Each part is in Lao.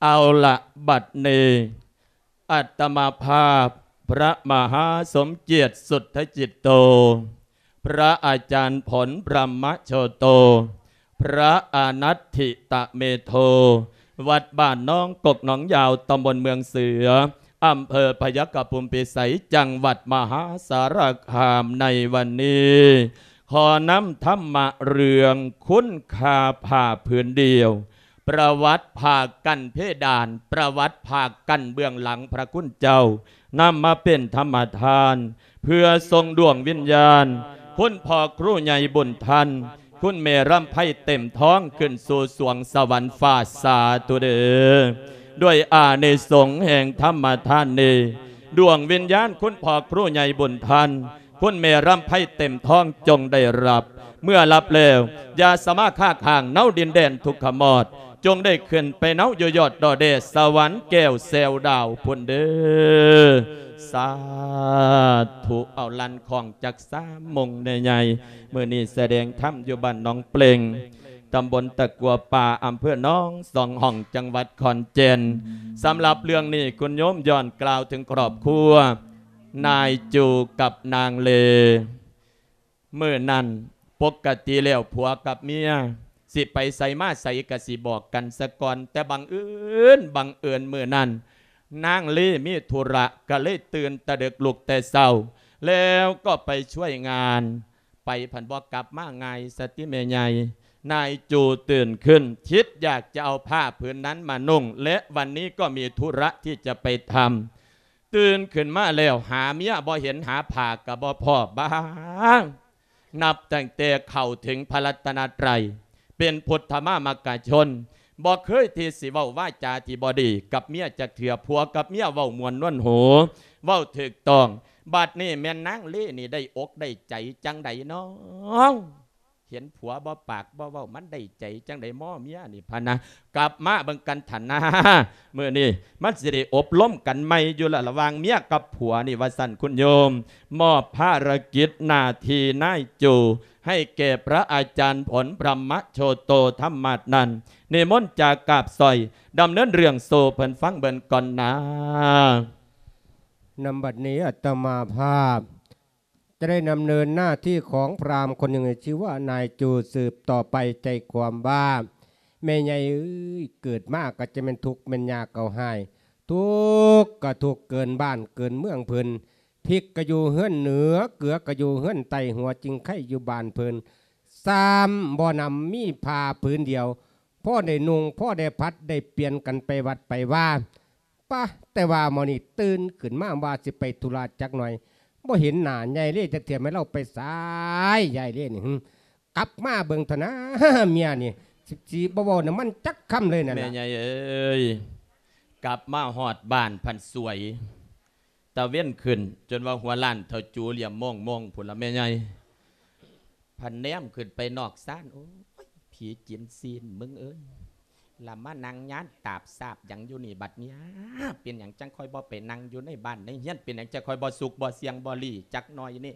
ເອົາລະ ບັດນີ້ ອາດຕະມາພາບ ພະມະຫາສົມກຽດ ສຸດທະຈິດໂຕ ພະອາຈານຜົນ ພຣມະໂຊໂຕ ພຣະອານັດທິຕະເມໂທ ວັດບ້ານໜອງກົກໜອງຍາວ ຕຳບົນເມືອງເສືອ ອຳເພີພະຍາຄະພູມພິໄສ ຈັງຫວັດມະຫາສາລະຄາມ ໃນວັນນີ້ ຂໍນຳທຳມະເລື່ອງຄຸນຄ່າຜ້າຜືນດຽວ ປະຫວັດຜ້າກັ້ນເພດານ ປະຫວັດຜ້າກັ້ນເບື້ອງຫຼັງພະຄຸນເຈົ້າ ນຳມາເປັນທຳມະທານ ເພື່ອສົ່ງດວງວິນຍານ ຄຸນພໍ່ຄູໃຫຍ່ບຸນທັນ ຄຸນແມ່ລຳໄພເຕັມທອງ ຂຶ້ນສູ່ສວງສະຫວັນຟ້າ ສາທຸເດີ. ດ້ວຍອານິສົງແຫ່ງທຳມະທານນີ້ ດວງວິນຍານຄຸນພໍ່ຄູໃຫຍ່ບຸນທັນ ຄຸນແມ່ລຳໄພເຕັມທອງ ຈົ່ງໄດ້ລັບ ເມື່ອລັບແລ້ວ ຢ່າສະມາຄ້າຄ້າງເນົາດິນແດນທຸກຂະມອດ ຈົ່ງໄດ້ຂຶ້ນໄປເນົາຢູ່ຍອດດອຍແດດສະຫວັນແກ້ວແຊວດາວພຸ້ນເດີ. ສາທຸ. ເອົາ ລັນຂອງຈັກສາມໂມງໃຫຍ່ໆ ມື້ນີ້ສະແດງທຳຢູ່ບ້ານໜອງເປ່ງ ຕຳບົນຕະກົວປ່າ ອຳເພີໜອງສອງຫ້ອງ ຈັງຫວັດຂອນແກ່ນ. ສຳລັບເລື່ອງນີ້ ຄຸນໂຍມຍ້ອນກ່າວເຖິງຄອບຄົວ ນາຍຈູກັບນາງເລ. ມື້ນັ້ນ ປົກກະຕິແລ້ວຜົວກັບເມຍ ຊິໄປໃສມາໃສກະຊິບອກກັນສາກ່ອນ ແຕ່ບັງເອີນ ບັງເອີນມື້ນັ້ນ ນາງເລມີທຸລະ ກະເລີຍຕື່ນແຕ່ເດິກລຸກແຕ່ເຊົ້າ ແລ້ວກໍໄປຊ່ວຍງານ ໄປພັນບໍ່ກັບມາງ່າຍສະຕິແມ່ໃຫຍ່. ນາຍຈູຕື່ນຂຶ້ນ ຄິດຢາກຈະເອົາຜ້າຜືນນັ້ນມານຸ່ງ ແລະ ວັນນີ້ກໍມີທຸລະທີ່ຈະໄປທຳ. ຕື່ນຂຶ້ນມາແລ້ວ ຫາເມຍບໍ່ເຫັນ ຫາຜ້າກໍບໍ່ພໍ້ ບ້າງ. ນັບຕັ້ງແຕ່ເຂົ້າເຖິງພະລັດຕະນະໄຕ ເປັນພຸດທະມາມັກກະຊົນ ບໍ່ເຄີຍທີ່ຊິເວົ້າວາຈາທີ່ບໍ່ດີກັບເມຍຈັກເທື່ອ. ຜົວກັບເມຍເວົ້າມ່ວນນວນຫູ ເວົ້າຖືກຕ້ອງ. ບັດນີ້ແມ່ນນາງເລນີ້ໄດ້ອົກໄດ້ໃຈຈັ່ງໃດນ້ອ? ເຫັນຜົວບໍ່ປາກບໍ່ເວົ້າ ມັນໄດ້ໃຈຈັ່ງໃດ ໝໍເມຍນີ້ພະນະ. ກັບມາເບິ່ງກັນຫັ້ນນາ ມື້ນີ້ມັນຊິໄດ້ອົບລົມກັນໃໝ່ຢູ່ລະ ລະຫວ່າງເມຍກັບຜົວນີ້ ວ່າຊັ້ນຄຸນໂຍມ. ມອບພາລະກິດໜ້າທີ່ນາຍຈູໃຫ້ແກ່ພະອາຈານຜົນ ພຣມະໂຊໂຕທຳມະນັ້ນ ນິມົນຈາກາບສອຍ ດຳເນີນເລື່ອງສູ່ເພິ່ນຟັງເບິ່ງກ່ອນນາ. ນຳບັດນີ້ອາດຕະມາພາບ ຈະໄດ້ດຳເນີນໜ້າທີ່ຂອງພຣາມຄົນໜຶ່ງ ຊື່ວ່ານາຍຈູ ສືບຕໍ່ໄປ. ໃຈຄວາມວ່າ ແມ່ໃຫຍ່ເອີຍ ເກີດມາກໍຈະແມ່ນທຸກ ແມ່ນຍາກໍຮ້າຍ ທຸກກໍທຸກເກີນບ້ານເກີນເມືອງເພິ່ນ ພິກກໍຢູ່ເຮືອນເໜືອ ເກືອກໍຢູ່ເຮືອນໃຕ້ ຫົວຈິງໄຄຢູ່ບ້ານເພິ່ນ ຊ້ຳບໍ່ນຳມີຜ້າຜືນດຽວ ພໍໄດ້ນຸ່ງ ພໍໄດ້ຜັດ ໄດ້ປ່ຽນກັນໄປວັດໄປວາ. ປະ ແຕ່ວ່າມື້ນີ້ຕື່ນຂຶ້ນມາວ່າຊິໄປທຸລະຈັກໜ່ອຍ ບໍ່ເຫັນໜ້າຍາຍເລຈັກເທື່ອ ແມ່ນລາວໄປໃສ ຍາຍເລນີ້ ຫື ກັບມາເບິ່ງເຖາະນາ ເມຍນີ້ ຊິ ຊິບໍ່ເວົ້ານຳມັນຈັກຄຳເລີຍນັ້ນ ແມ່ໃຫຍ່ເອີຍ. ກັບມາຮອດບ້ານພັນສວຍ ຕາເວັນຂຶ້ນ ຈົນວ່າຫົວລ້ານເຖົ້າຈູຫຼ້ຽມໂມງໆ ພຸ້ນລະແມ່ໃຫຍ່. ພັນແນມຂຶ້ນໄປນອກຊານ ໂອ້ຍ ຜີຈີນຊີນມຶງເອີຍ ລະມານັ່ງຍານຕາບສາບຫຍັງຢູ່ນີ້ບັດນີ້? ເປັນຫຍັງຈັ່ງຄ່ອຍບໍ່ໄປນັ່ງຢູ່ໃນບ້ານໃນເຮືອນ? ເປັນຫຍັງຈັ່ງຄ່ອຍບໍ່ສຸກບໍ່ສ່ຽງບໍ່ຫຼີ່ຈັກໜ້ອຍນີ້?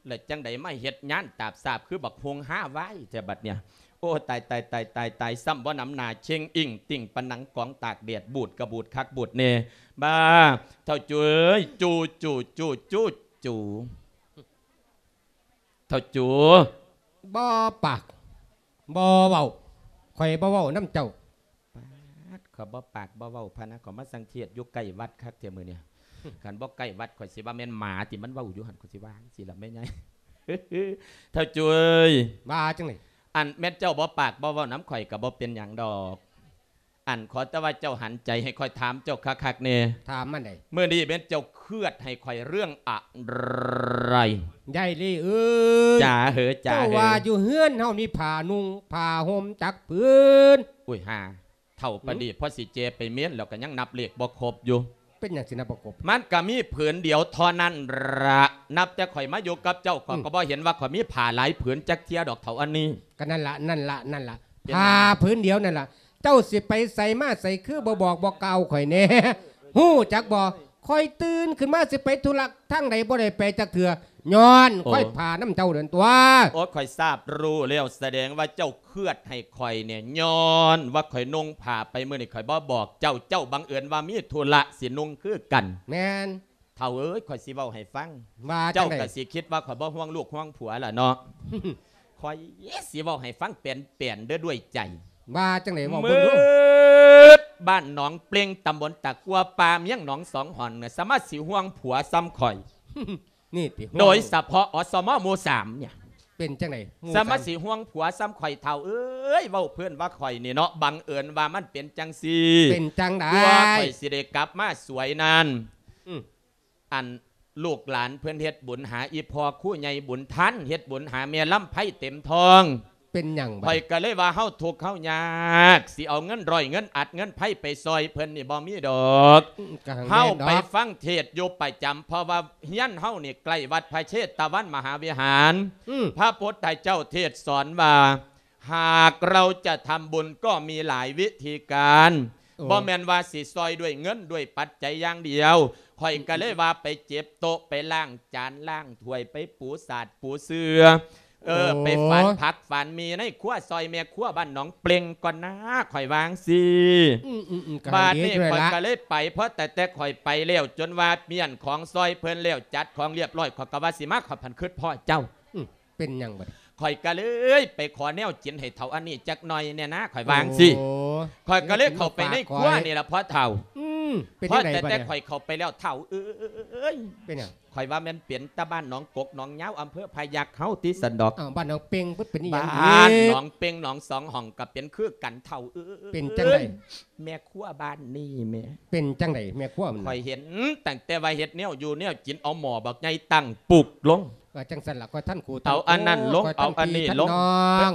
ແລ້ວຈັ່ງໃດມາເຮັດຍານຕາບສາບຄືບັກຮຸ່ງຫ້າວາຍແທ້ບັດນີ້? ໂອ້ ຕາຍ ຕາຍ ຕາຍ ຕາຍ ຕາຍ ຊ້ຳບໍ່ນຳໜ້າເຊັງອິ້ງຕິ່ງປານໜັງກອງຕາກແດດ ບູດກະບູດຄັກບູດແນ່. ບ້າ ເຖົ້າຈູເອີຍ ຈູ ຈູ ຈູ ຈູ ຈູ. ເຖົ້າຈູ ບໍ່ປາກ ບໍ່ເວົ້າ ຂ້ອຍບໍ່ເວົ້ານຳເຈົ້າ. ປາດ ຂ້ອຍບໍ່ປາກບໍ່ເວົ້າພະນະ ຂ້ອຍມາສັງເກດຢູ່ໃກ້ວັດຄັກແທ້ມື້ນີ້. ຄັນບໍ່ໃກ້ວັດ ຂ້ອຍຊິວ່າແມ່ນໝາທີ່ມັນເວົ້າຢູ່ຫັ້ນ ຂ້ອຍຊິວ່າຈັ່ງຊີ້ລະແມ່ໃຫຍ່. ເຖົ້າຈູເອີຍ ວ່າຈັ່ງໃດ? ອັນແມ່ນເຈົ້າບໍ່ປາກບໍ່ເວົ້ານຳຂ້ອຍກໍບໍ່ເປັນຫຍັງດອກ. ອັນ ຂໍແຕ່ວ່າເຈົ້າຫັນໃຈໃຫ້ຂ້ອຍຖາມເຈົ້າຄັກໆແດ່. ຖາມມາໄດ໋? ມື້ນີ້ແມ່ນເຈົ້າເຄືອດໃຫ້ຂ້ອຍເລື່ອງອະໄລ? ຍາຍລີເອີຍ ຈ໋າເຫີ ຈ໋າເຫີ ເຈົ້າວ່າຢູ່ເຮືອນເຮົາມີຜ້ານຸ່ງຜ້າຫົ່ມຈັກຜືນ? ອຸ້ຍ ຫາ ເຖົ້າປານນີ້ ຫື ພໍຊິແຈໄປເມນແລ້ວກໍຍັງນັບເລກບໍ່ຄົບຢູ່. ເປັນຫຍັງຊິນັບບໍ່ຄົບ? ມັນກໍມີຜືນດຽວເທົ່ານັ້ນລະ. ນັບແຕ່ຂ້ອຍມາຢູ່ກັບເຈົ້າ ຂ້ອຍ ອືມ ກໍບໍ່ເຫັນວ່າຂ້ອຍມີຜ້າຫຼາຍຜືນຈັກເທື່ອດອກເຖົ້າອັນນີ້. ກໍນັ້ນລະ ນັ້ນລະ ນັ້ນລະ ເປັນຫຍັງ? ຜ້າຜືນດຽວນັ້ນລະ. ເຈົ້າຊິໄປໃສມາໃສ ຄືບໍ່ບອກບໍ່ກ່າວຂ້ອຍແດ່? ຮູ້ຈັກບໍ່? ຂ້ອຍຕື່ນຂຶ້ນມາຊິໄປທຸລະທາງໃດ ບໍ່ໄດ້ໄປຈັກເທື່ອ ຍ້ອນ ໂອ້ ຂ້ອຍພານຳເຈົ້ານັ້ນຕົວະ. ໂອ້ ຂ້ອຍຊາບຮູ້ແລ້ວ ສະແດງວ່າເຈົ້າເຄືອດໃຫ້ຂ້ອຍນີ້ ຍ້ອນວ່າຂ້ອຍນຸ່ງຜ້າໄປມື້ນີ້ ຂ້ອຍບໍ່ບອກເຈົ້າ ເຈົ້າບັງເອີນວ່າມີທຸລະຊິນຸ່ງຄືກັນ. ແມ່ນ. ເຖົ້າເອີຍ ຂ້ອຍຊິເວົ້າໃຫ້ຟັງ. ວ່າ ເຈົ້າ ຈັ່ງໃດ? ກໍຊິຄິດວ່າຂ້ອຍບໍ່ຫ່ວງລູກຫ່ວງຜົວລະເນາະ. ຂ້ອຍຊິເວົ້າໃຫ້ຟັງແປນໆເດີ້ ດ້ວຍໃຈ. ວ່າຈັ່ງໃດ ເວົ້າເບິ່ງດູ. ໝົດບ້ານໜອງເປ່ງ ຕຳບົນຕາກົວ ປ່າມຽງໜອງສອງຫອນ ສາມາດຊິຫ່ວງຜົວສ່ຳຂ້ອຍ ນີ້ຕິ ໂດຍສະເພາະ ອສມ ໝູ່ສາມ ເນ່ຍ. ເປັນຈັ່ງໃດ ໝູ່ສາມ? ສາມາດຊິຫ່ວງຜົວສ່ຳຂ້ອຍ ເຖົ້າເອີຍ. ເວົ້າເພິ່ນວ່າຂ້ອຍນີ້ເນາະ ບັງເອີນວ່າມັນເປັນຈັ່ງຊີ້. ເປັນຈັ່ງໃດ? ກວ່າຂ້ອຍຊິໄດ້ກັບມາສວຍນັ້ນ ອືມ ອັນລູກຫຼານເພິ່ນເຮັດບຸນຫາອີ່ພໍ່ຄູໃຫຍ່ບຸນທັນ ເຮັດບຸນຫາແມ່ລຳໄພເຕັມທອງ. ເປັນຫຍັງບັດ? ຂ້ອຍກໍເລີຍວ່າເຮົາທຸກເຮົາຍາກ ຊິເອົາເງິນຮ້ອຍເງິນອັດເງິນໄພໄປຊ່ອຍເພິ່ນນີ້ບໍ່ມີດອກ. ອືມ ກໍຫາງ ເຮົາ ແມ່ນດອກ ໄປຟັງເທດຢູ່ປະຈຳ ເພາະວ່າເຮືອນເຮົານີ້ໃກ້ວັດພະເຊຕະວັນມະຫາວິຫານ. ອືມ ພະພຸດທະເຈົ້າເທດສອນວ່າ ຫากเราจะทำบุญก็มีหลายวิธีการ โอ้ บ่แม่นว่าสิซ่อยด้วยเงินด้วยปัจจัยอย่างเดียว ข้อยก็เลยว่าไปเก็บโต๊ะ ไปล้างจาน ล้างถ้วย ไปปูสาดปูเสื่อ เออ โอ้ ไปฝานผักฝานหมี่ในครัวซ่อยแม่ครัวบ้านหนองเปล่งก่อนนะ ข้อยว่าจั่งซี้ อืมๆๆ บาดนี้ข้อยก็เลยไป พอแต่แต่ข้อยไปแล้ว จนว่าเมี้ยนของซ่อยเพิ่นแล้ว จัดของเรียบร้อย ข้อยก็ว่าสิมา ข้อยพันคิดพ้อเจ้า อืม เป็นหยังบัดนี้ ข้อยก็เลยไปขอแนวกินให้เฒ่าอันนี้จักหน่อยแหน่นะ ข้อยว่าจั่งซี้ โอ้ ข้อยก็เลยเข้าไปในครัวนี่ล่ะพ่อเฒ่า อืม เป็นจั่งใด๋บัดนี้ พอแต่แต่ข้อยเข้าไปแล้ว เฒ่าเอ้ย เป็นหยัง ข้อยว่าแม่นเป็นตาบ้านหนองกกหนองยาว อำเภอพะยัคฆ์เฮาติ ซั้นดอก อ้าว บ้านหนองเป่งเพิ่นเป็นอีหยัง บ้านหนองเป่งหนองสองห้องก็เป็นคือกัน เฒ่าเอ้ย เป็นจั่งใด๋ แม่ครัวบ้านนี้แหม เป็นจั่งใด๋แม่ครัวมัน ข้อยเห็นตั้งแต่ว่าเฮ็ดแนวอยู่แนวกิน เอาหม้อบักใหญ่ตั้งปุกลง ว่าจั่งซั่นล่ะ ข้อยทันคู่ เอาอันนั้นลง เอาอันนี้ลง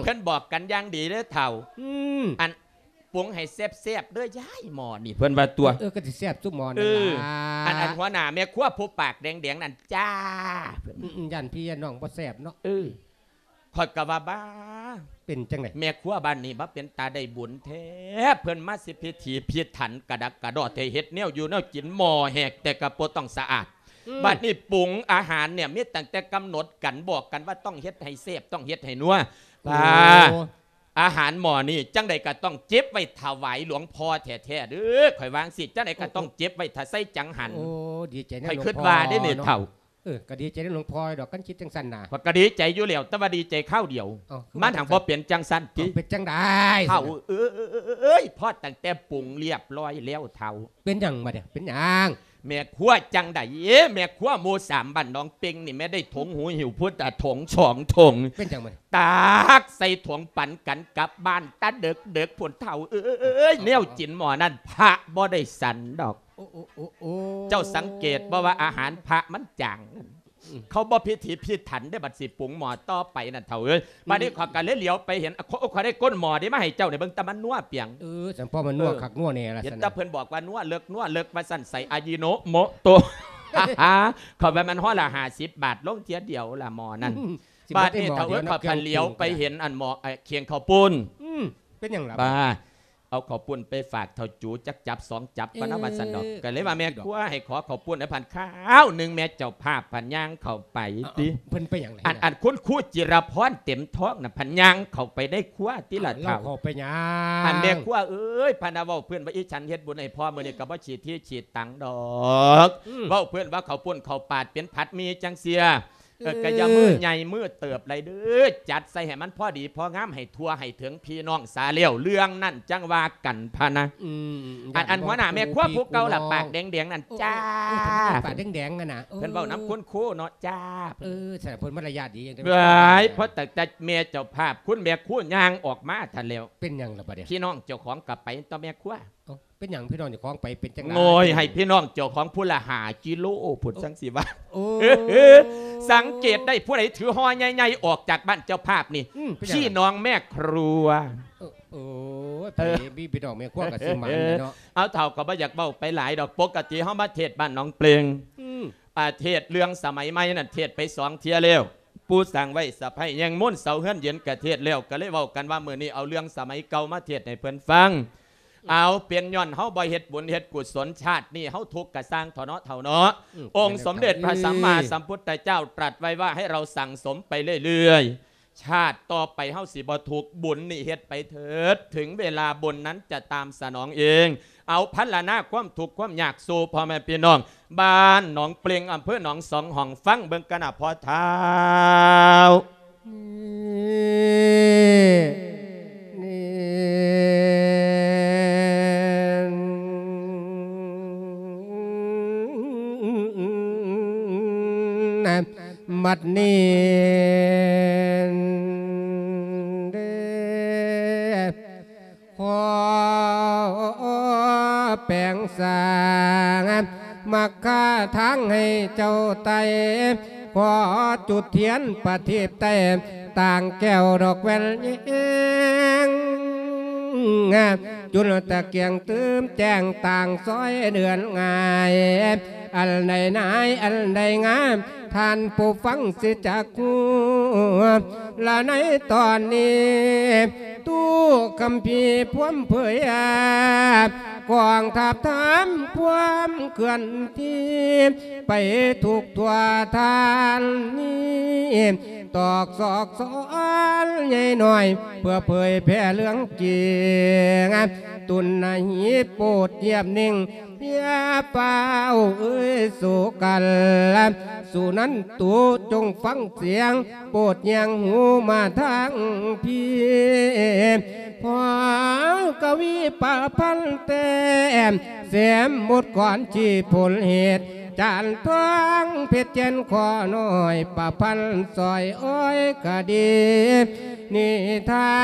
เพิ่นบอกกันอย่างดีเด้อเฒ่า อืม อันปรุงให้แซ่บๆเด้อยายหม้อนี่ เพิ่นว่าตั๊ว เออ ก็สิแซ่บซุหม้อนั่นล่ะ อัน อันหัวหน้าแม่ครัวผู้ปากแดงๆนั่นจ้า อืมๆ ย่านพี่ย่านน้องบ่แซ่บเนาะ เออ ข้อยก็ว่า บ้า เป็นจั่งใด๋ แม่ครัวบ้านนี้มาเป็นตาได้บุญแท้ เพิ่นมาสิพิถีพิถันกระดักกระดอแท้ เฮ็ดแนวอยู่แนวกินหม้อแหกแต่ก็บ่ต้องสะอาด อืม บัดนี้ปรุงอาหารเนี่ยมีตั้งแต่กำหนดกัน บอกกันว่าต้องเฮ็ดให้แซ่บ ต้องเฮ็ดให้นัว โอ้ ป้า อาหารหม้อนี้จั่งใด๋ก็ต้องเก็บไว้ถวายหลวงพ่อแท้ๆเด้อ ข้อยว่าจั่งซี้ จั่งใด๋ก็ต้องเก็บไว้ถ้าใส่จังหัน โอ้ ดีใจนำ ข้อยคิดว่าเด้นี่เฒ่า เออ ก็ดีใจนำหลวงพ่อดอก คันคิดจั่งซั่นน่ะ ข้อยก็ดีใจอยู่แล้ว แต่ว่าดีใจคราวเดียว เอ้า คือ มันหั้นบ่เป็นจั่งซั่นติ เอ้า เป็นจั่งใด๋ เฒ่าเอ้ย พอตั้งแต่ปรุงเรียบร้อยแล้วเฒ่า เป็นหยังบัดนี้ เป็นหยัง แม่ครัวจั่งใด๋ แม่ครัวหมู่สามบ้านหนองเป่งนี่แม่ได้ถงหูหิ้วพุทธะถงสองถง เป็นหยังบัดนี้ ตักใส่ถงปันกันกลับบ้านตาเดิกๆพุ้นเฒ่าเอ้ย แนวกินหม้อนั้นพระบ่ได้ฉันดอก โอ้ โอ้ โอ้ โอ้ เจ้าสังเกตบ่ว่าอาหารพระมันจาง อืม เขาบ่พิถีพิถันเด้ บัดสิปรุงหม้อต่อไปนั่นเฒ่าเอ้ย อืม บัดนี้ข้อยก็เลยเหลียวไปเห็น ข้อย ข้อยได้ก้นหม้อเด้มาให้เจ้านี่ เบิ่งแต่มันนัวเปียง เออ ซั่น พอมันนัว เออ คักนัวแน่ล่ะ เห็น ซั่น แต่เพิ่นบอกว่านัวเลิกนัวเลิกว่าซั่น ใส่อายิโนโมโตะ ข้อยว่ามันห่อละห้าสิบบาท ลงเทื่อเดียวล่ะหม้อนั่น อืม บัดนี้เฒ่าเอ้ย ข้อยพันเหลียวไปเห็นอันหม้อ ไอ้เคียงข้าวปุ้น อืม เป็นหยังล่ะ ป้า เอาข้าวปุ้นไปฝากเฒ่าจูจักจับสองจับก่อนนะ เออ ว่าซั่นดอก ก็เลยว่าแม่ครัวให้ขอข้าวปุ้นให้พันคราวหนึ่ง แม่เจ้าภาพพันย่างเข้าไป เอ้า ติ เพิ่นไปหยังล่ะ อัน อันคุณครูจิรพรเต็มท้องน่ะ พันย่างเข้าไปในครัวติล่ะ เฒ่า เฒ่า เข้าไปหยัง อันแม่ครัวเอ้ย พันน่ะเว้าเพิ่นว่า อีฉันเฮ็ดบุญให้พ่อมื้อนี้ก็บ่ฉีดที่ฉีดตังดอก อืม เว้าเพิ่นว่าข้าวปุ้นข้าวปาดเป็นผัดหมี่จั่งเซี้ย เออ ก็อย่ามือใหญ่มือเติบหลายเด้อ จัดใส่ให้มันพอดีพองาม ให้ทั่วให้ถึงพี่น้องสาแล้ว เรื่องนั้นจั่งว่ากันพะนะ อืม อัน อันหัวหน้าแม่ครัวผู้เก่าล่ะ ปากแดงๆนั่น โอ้ จ้า โอ้ ปากแดงๆนั่นน่ะ เพิ่นเว้านำคุณครูเนาะ จ้า เออ ซั่นเพิ่นมารยาทดีจั่ง เว้ย พอตั้งแต่แม่เจ้าภาพ คุณแม่ครัวย่างออกมาทันแล้ว เป็นหยังล่ะบัดนี้ พี่น้องเจ้าของก็ไปต่อแม่ครัว เอ้า เป็นหยังพี่น้องเจ้าของไปเป็นจั่งใด๋ โง่ย ให้พี่น้องเจ้าของผู้ละห้ากิโลพุ้น โอ้ จั่งสิว่า โอ้ สังเกตได้ผู้ใดถือห่อใหญ่ๆออกจากบ้านเจ้าภาพนี่ อืม เป็นหยัง พี่น้องแม่ครัว เออ โอ้ย ไผมีพี่น้องแม่ครัวก็สิหมานแหละเนาะ เอาเฒ่าก็บ่อยากเว้าไปหลายดอก ปกติเฮามาเทศน์บ้านหนองเปล่ง อืม อ่า เทศน์เรื่องสมัยใหม่นั่นเทศน์ไปสองเทื่อแล้ว ปู่สร้างไว้สะใภ้แยงมนต์เสาเฮือนเย็นก็เทศน์แล้ว ก็เลยเว้ากันว่ามื้อนี้เอาเรื่องสมัยเก่ามาเทศน์ให้เพิ่นฟัง ເອົາ ເປັນຍ້ອນເຮົາບໍ່ເຮັດບຸນເຮັດກຸສົນ ຊາດນີ້ເຮົາທຸກກະຊ່າງເຖາະເນາະ ເຖົ້າເນາະ. ອືມ ອົງສົມເດັດພະສຳມາສຳພຸດທະເຈົ້າຕລັດໄວ້ວ່າໃຫ້ເຮົາສັ່ງສົມໄປເລື້ອຍໆ ຊາດຕໍ່ໄປເຮົາຊິບໍ່ທຸກ ບຸນນີ້ເຮັດໄປເຖີດ ເຖິງເວລາບຸນນັ້ນຈະຕາມສະໜອງເອງ. ເອົາ ພັນລະນາຄວາມທຸກຄວາມຍາກສູ່ພໍ່ແມ່ພີ່ນ້ອງ ບ້ານໜອງເປ່ງ ອຳເພີໜອງສອງຫ້ອງ ຟັງເບິ່ງກັນນະພໍ່ທ້າວ. ນີ້ ນີ້ ບັດນີ້ເດ້ ຂໍແປງສ້າງມັກຄາທາງໃຫ້ເຈົ້າໄຕ່ ຂໍຈຸດທຽນປະທີບໄຕ້ ຕ່າງແກ້ວດອກແວ່ນແຍງ ຈຸດຕະກຽງຕື່ມແຈ້ງຕ່າງຊອຍເດືອນງ່າຍ ອັນໃດນາຍ ອັນໃດງາມ ທ່ານຜູ້ຟັງຊິຈັກຮູ້ ລະໃນຕອນນີ້ ຕູ້ຄຳພີພວມເຜີຍ ກອງທັບຖາມຄວາມເຄື່ອນທີ່ ໄປທຸກທົ່ວທ່ານນີ້ ຕອກຊອກຊອນໃຫຍ່ນ້ອຍ ເພື່ອເຜີຍແຜ່ເລື່ອງຈິງ ຕຸນນະຫີໂປດຢຽບນິ່ງ ຢ່າຟ້າວເອີຍສູ່ກັນ ສຸນັນຕຸ ຈົ່ງຟັງສຽງ ໂປດແຍງຫູມາທາງພີ້ ພໍກະວີປະພັນແຕ້ມ ແຊມບົດກອນຊີ້ຜົນເຫດ ຈານທອງເພັດແກ່ນຂໍນ້ອຍ ປະພັນຊອຍອ້ອຍຄະດີ ນິທາ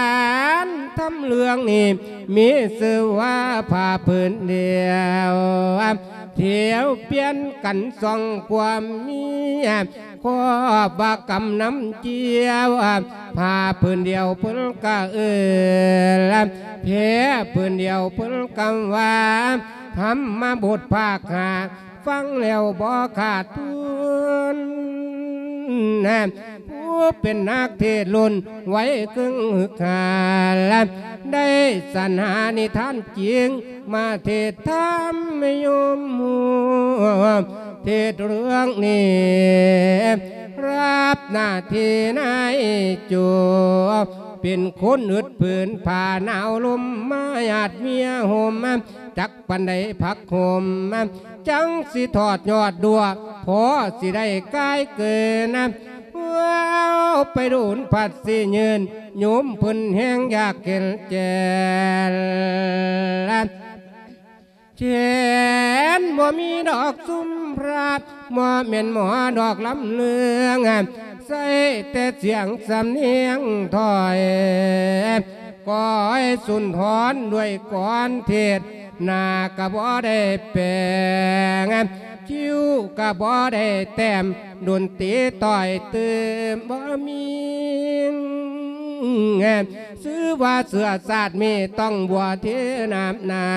ນທຳເລື່ອງນີ້ ມີຊື່ວ່າຜ້າຜືນດຽວ ທຽວປ່ຽນກັນສອງຄວາມເມຍ ຄອບວ່າກຳນຳຈຽວ ຜ້າຜືນດຽວເພິ່ນກະເອີ້ນ ແພຜືນດຽວເພິ່ນກະວ່າ ທຳມະບົດພາກຫ້າ ຟັງແລ້ວບໍ່ຂາດທຶນ ຜູ້ເປັນນັກເທດລຸ້ນໄວເຄິ່ງຮຶກຮາ ໄດ້ສັນຫານິທານຈິງ ມາເທດທຳໃຫ້ໂຍມຮູ້ ເທດເລື່ອງນີ້ ຮັບໜ້າທີ່ນາຍໂຈ ເປັນຄົນອຶດຜືນຜ້າໜາວລົມ ມາຍາດເມຍຫົ່ມ ຈັກປານໃດຜັກຫົມ ຈັ່ງຊິທອດຍອດດ້ວຍ ພໍຊິໄດ້ກາຍເກີນ ເວົ້າໄປໂດນພັດຊິຍືນ ໂຍມເພິ່ນແຮງຢາກເຫັນແກ່ນ ແຂນບໍ່ມີດອກຊຸມພະ ບໍ່ແມ່ນໝໍດອກລຳເລື່ອງ ໃຊ້ແຕ່ສຽງສຳນຽງຖ້ອຍ ກອຍສຸນທອນດ້ວຍກອນເທດ ໜ້າກະບໍ່ໄດ້ແປງ ຄິ້ວກະບໍ່ໄດ້ແຕ້ມ ດົນຕີຕ່ອຍຕື່ມບໍ່ມີ ຊື່ວ່າເຊື້ອຊາດມີຕ້ອງບົວເທນ້ຳໜາ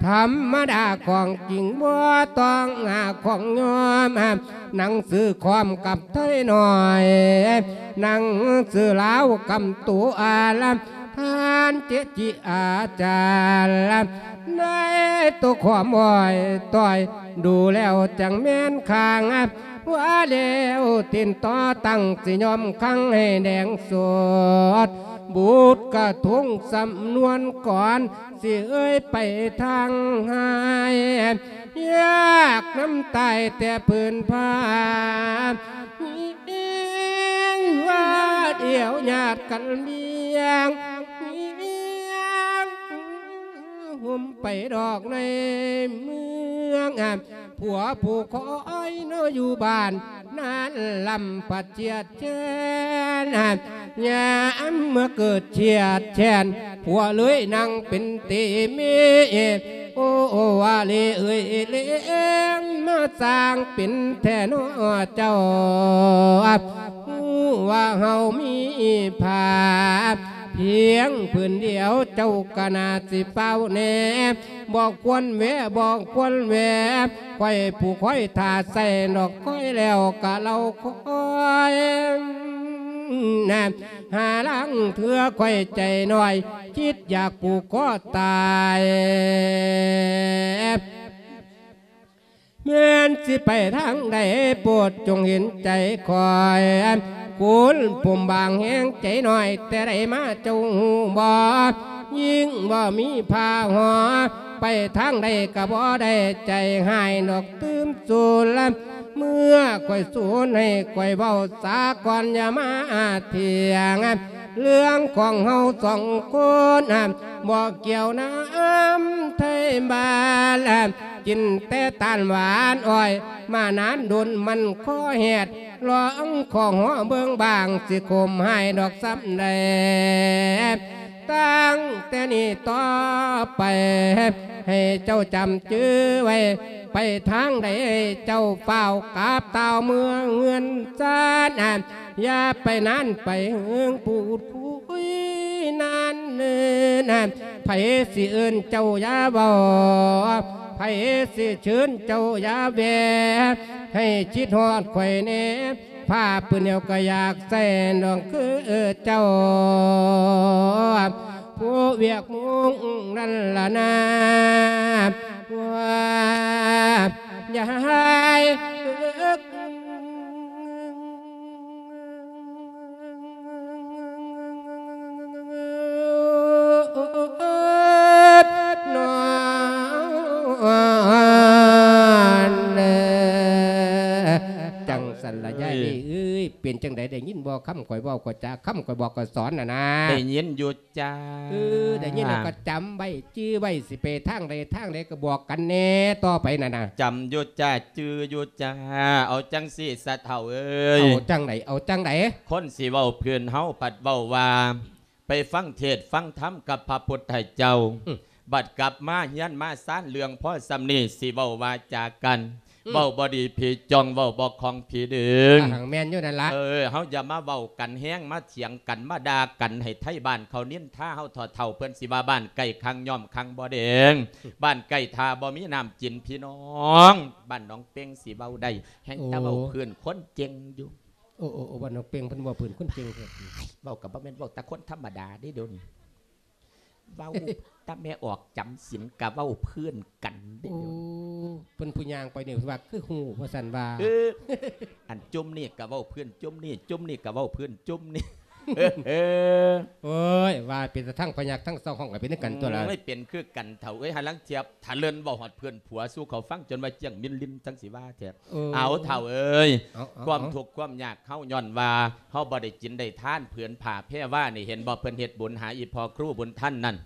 ທຳມະດາຂອງຈິງບໍ່ຕ້ອງຫາຂອງຍອມ ໜັງສືຄອມກັບໄທໜ້ອຍ ໜັງສືລາວກຳໂຕອາລາມ ທ່ານເຈຈິອາຈານ ໃນໂຕຄວາມອ້ອຍຕ້ອຍ ດູແລ້ວຈັ່ງແມ່ນຂ້າງ ວ່າແລ້ວຕິນຕໍ່ຕັ້ງ ຊິຍອມຄັງໃຫ້ແດງສົດ ບຸດກະທົງສຳນວນກ່ອນ ຊິເອີຍໄປທາງຫາຍ ຍາກນຳຕາຍແຕ່ພື້ນຜາ ວ່າດຽວຍາດກັນລ້ຽງ ຫົມໄປດອກໃນເມືອງ ຜົວຜູ້ຄອຍເນາະຢູ່ບ້ານ ນັ້ນລຳພັດຈຽດແຄ້ນ ຍາມເມື່ອເກີດຈຽດແຄ້ນ ຜົວເລີຍນັ່ງເປັນເຕເມ ໂອ ວາເລເອີຍເລງ ມາສ້າງເປັນແທ້ເນາະເຈົ້າ ຮູ້ວ່າເຮົາມີຜ້າ ພຽງຜືນດຽວເຈົ້າກະໜ້າຊິຟ້າວແດ່ ບໍ່ຄວນແວະ ບໍ່ຄວນແວະ ຂ້ອຍຜູ້ຄອຍຖ້າໃສ່ດອກ ຂ້ອຍແລ້ວກະເລົ່າຄອຍ ນະ ຫາລາງເທື່ອຂ້ອຍໃຈນ້ອຍ ຄິດຢາກຜູກຄໍຕາຍ ແມ່ນຊິໄປທາງໃດ ໂປດຈົ່ງເຫັນໃຈຂ້ອຍ ຄຸນປຸ້ມບາງແຮງໃຈນ້ອຍ ແຕ່ໃດມາເຈົ້າຮູ້ບໍ່ ຍິ່ງບໍ່ມີຜ້າຫໍ ໄປທາງໃດກໍບໍ່ໄດ້ ໃຈຮ້າຍດອກຕື່ມສູນລະ ເມື່ອຂ້ອຍສູນໃຫ້ຂ້ອຍເວົ້າສາກ່ອນ ຢ່າມາຖຽງ ເລື່ອງຂອງເຮົາສອງຄົນ ບໍ່ກ່ຽວນຳໄທບ້ານ ກິນແຕ່ຕານຫວານອ້ອຍ ມານານດົນມັນຄໍແຮດ ລອງຂໍເບິ່ງບາງ ຊິຂົມຮ້າຍດອກສ່ຳໃດ ຕັ້ງແຕ່ນີ້ຕໍ່ໄປ ໃຫ້ເຈົ້າຈຳຈື່ໄວ້ ໄປທາງໃດໃຫ້ເຈົ້າຟ້າວກັບຕ່າວເມືອງເຮືອນຊານ ຢ່າໄປນານໄປເຫິງ ພູດຄຸຍນານເນີນ ໃຜຊິເອີ້ນເຈົ້າຢ່າເວົ້າ ໃຜຊິເຊີນເຈົ້າຢ່າແວ່ ໃຫ້ຄິດຮອດຂ້ອຍແດ່ ຜ້າພື້ນດຽວກໍຢາກໃສ່ ດອກຄືເຈົ້າ ຜູ້ວຽກມຸງນັ້ນລະນາ ວ່າ ຍາຍ ນອນເດີ ຈັ່ງຊັ້ນລະຍາຍເອີຍ ເປັນຈັ່ງໃດ ໄດ້ຍິນບໍ່ ຄຳຂ້ອຍເວົ້າຂ້ອຍຈາ ຄຳຂ້ອຍບອກຂ້ອຍສອນນະນາ? ໄດ້ຍິນຢູ່ ຈ້າ ເອີ ໄດ້ຍິນແລ້ວກໍຈຳໄວ້ ຈື່ໄວ້ ຊິໄປທາງໃດທາງໃດກໍບອກກັນແດ່ຕໍ່ໄປນັ້ນນະ. ຈຳຢູ່ຈ້າ ຈື່ຢູ່ຈ້າ. ເອົາຈັ່ງຊີ້ຊະເຖົ້າເອີຍ ເອົາຈັ່ງໃດ ເອົາຈັ່ງໃດ? ຄົນຊິເວົ້າພື້ນເຮົາພັດເວົ້າວ່າ ໄປຟັງເທດຟັງທຳກັບພະພຸດທະເຈົ້າ ອືມ ບັດກັບມາເຮືອນມາຊານ ເລື່ອງພໍສ່ຳນີ້ ຊິເວົ້າວາຈາກັນ ອືມ ເວົ້າບໍ່ດີຜີຈ້ອງ ເວົ້າບໍ່ຄ່ອງຜີດຶງ ອ່າ ແມ່ນຢູ່ນັ້ນລະ. ເອີ ເຮົາຢ່າມາເວົ້າກັນແຮງ ມາຖຽງກັນ ມາດ່າກັນ ໃຫ້ໄທບ້ານເຂົານິນທາເຮົາ. ເຖົ້າໆ ເພິ່ນຊິວ່າ ບ້ານໃກ້ຄັງຍ່ອມຄັງບໍ່ແດງ ບ້ານໃກ້ທ່າບໍ່ມີນ້ຳກິນ ພີ່ນ້ອງ. ບ້ານໜອງເປັງຊິເວົ້າໄດ້ ແຮ່ງແຕ່ເວົ້າ ໂອ້ ພື້ນຄົນເກັ່ງຢູ່. ໂອ້ ໂອ້ ໂອ້ ບ້ານໜອງເປັງເພິ່ນເວົ້າພື້ນຄົນເກັ່ງເດ້. ເວົ້າກໍບໍ່ແມ່ນເວົ້າແຕ່ຄົນທຳມະດາເດ້ ດຽວນີ້ ເວົ້າແຕ່ແມ່ອອກຈຳສິນກະເວົ້າພື້ນກັນເດ້. ໂອ້ ເພິ່ນຜູ້ຍ່າງໄປນີ້ເພິ່ນວ່າຄືຮູ້ວ່າຊັ້ນວ່າ ເອີ ອັນຈຸ່ມນີ້ກະເວົ້າພື້ນ ຈຸ່ມນີ້ ຈຸ່ມນີ້ກະເວົ້າພື້ນ ຈຸ່ມນີ້ ໂອ້ຍ ວ່າເປັນຕາທັງພະຍັກທັງຊາວຫ້ອງກະເປັນຄືກັນຕົວລະ. ໂອ້ຍ ເປັນຄືກັນເຖົ້າເອີຍ. ຫາລາງທຽບ ຖ້າເລີນເວົ້າຮອດເພື່ອນຜົວສູ່ເຂົາຟັງ ຈົນວ່າຈ້ຽງມິນລິນຈັ່ງຊິວ່າແທ້. ເອີ ເອົາເຖົ້າເອີຍ ເອົາ ເອົາ ຄວາມທຸກຄວາມຍາກເຮົາຍ້ອນວ່າເຮົາບໍ່ໄດ້ກິນໄດ້ທານ ຜືນຜ້າແພວານີ້ ເຫັນບໍ່ ເພິ່ນເຮັດບຸນຫາອີ່ພໍ່ຄູບຸນທັນນັ້ນ.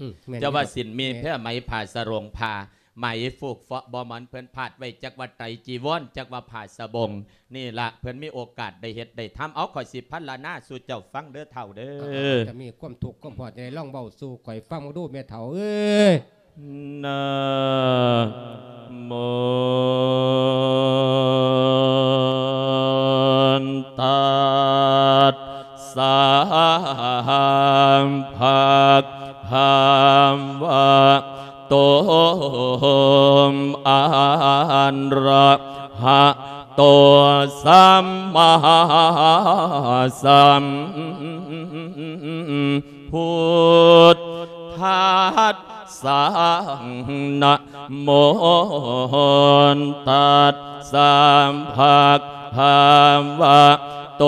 ອືມ ແມ່ນ ເຈົ້າວ່າສິ້ນມີ ແມ່ນ ແພໄໝ ຜ້າສະໂຫຼງ ຜ້າໄໝ ຟູກເຟາະບໍ່ໝອນ ເພິ່ນພາດໄວ້ ຈັກວ່າໄຕຈີວອນ ຈັກວ່າຜ້າສະບົງ. ນີ້ລະ ເພິ່ນມີໂອກາດໄດ້ເຮັດໄດ້ທຳ. ເອົາ ຂ້ອຍຊິພັນລະນາສູ່ເຈົ້າຟັງເດີເຖົ້າເດີ. ເອີ ເອີ ເອີ ຈະມີຄວາມທຸກຄວາມຮອດຈັ່ງໃດ ລອງເວົ້າສູ່ຂ້ອຍຟັງເບິ່ງດູແມ່ເຖົ້າເອີຍ. ນະໂມ ຕັດສະ ພະຄະວະໂຕ ອະຣະຫະໂຕ ສຳມາສຳພຸດທັດສະ. ນະໂມ ຕັດສະ ພະຄະວະໂຕ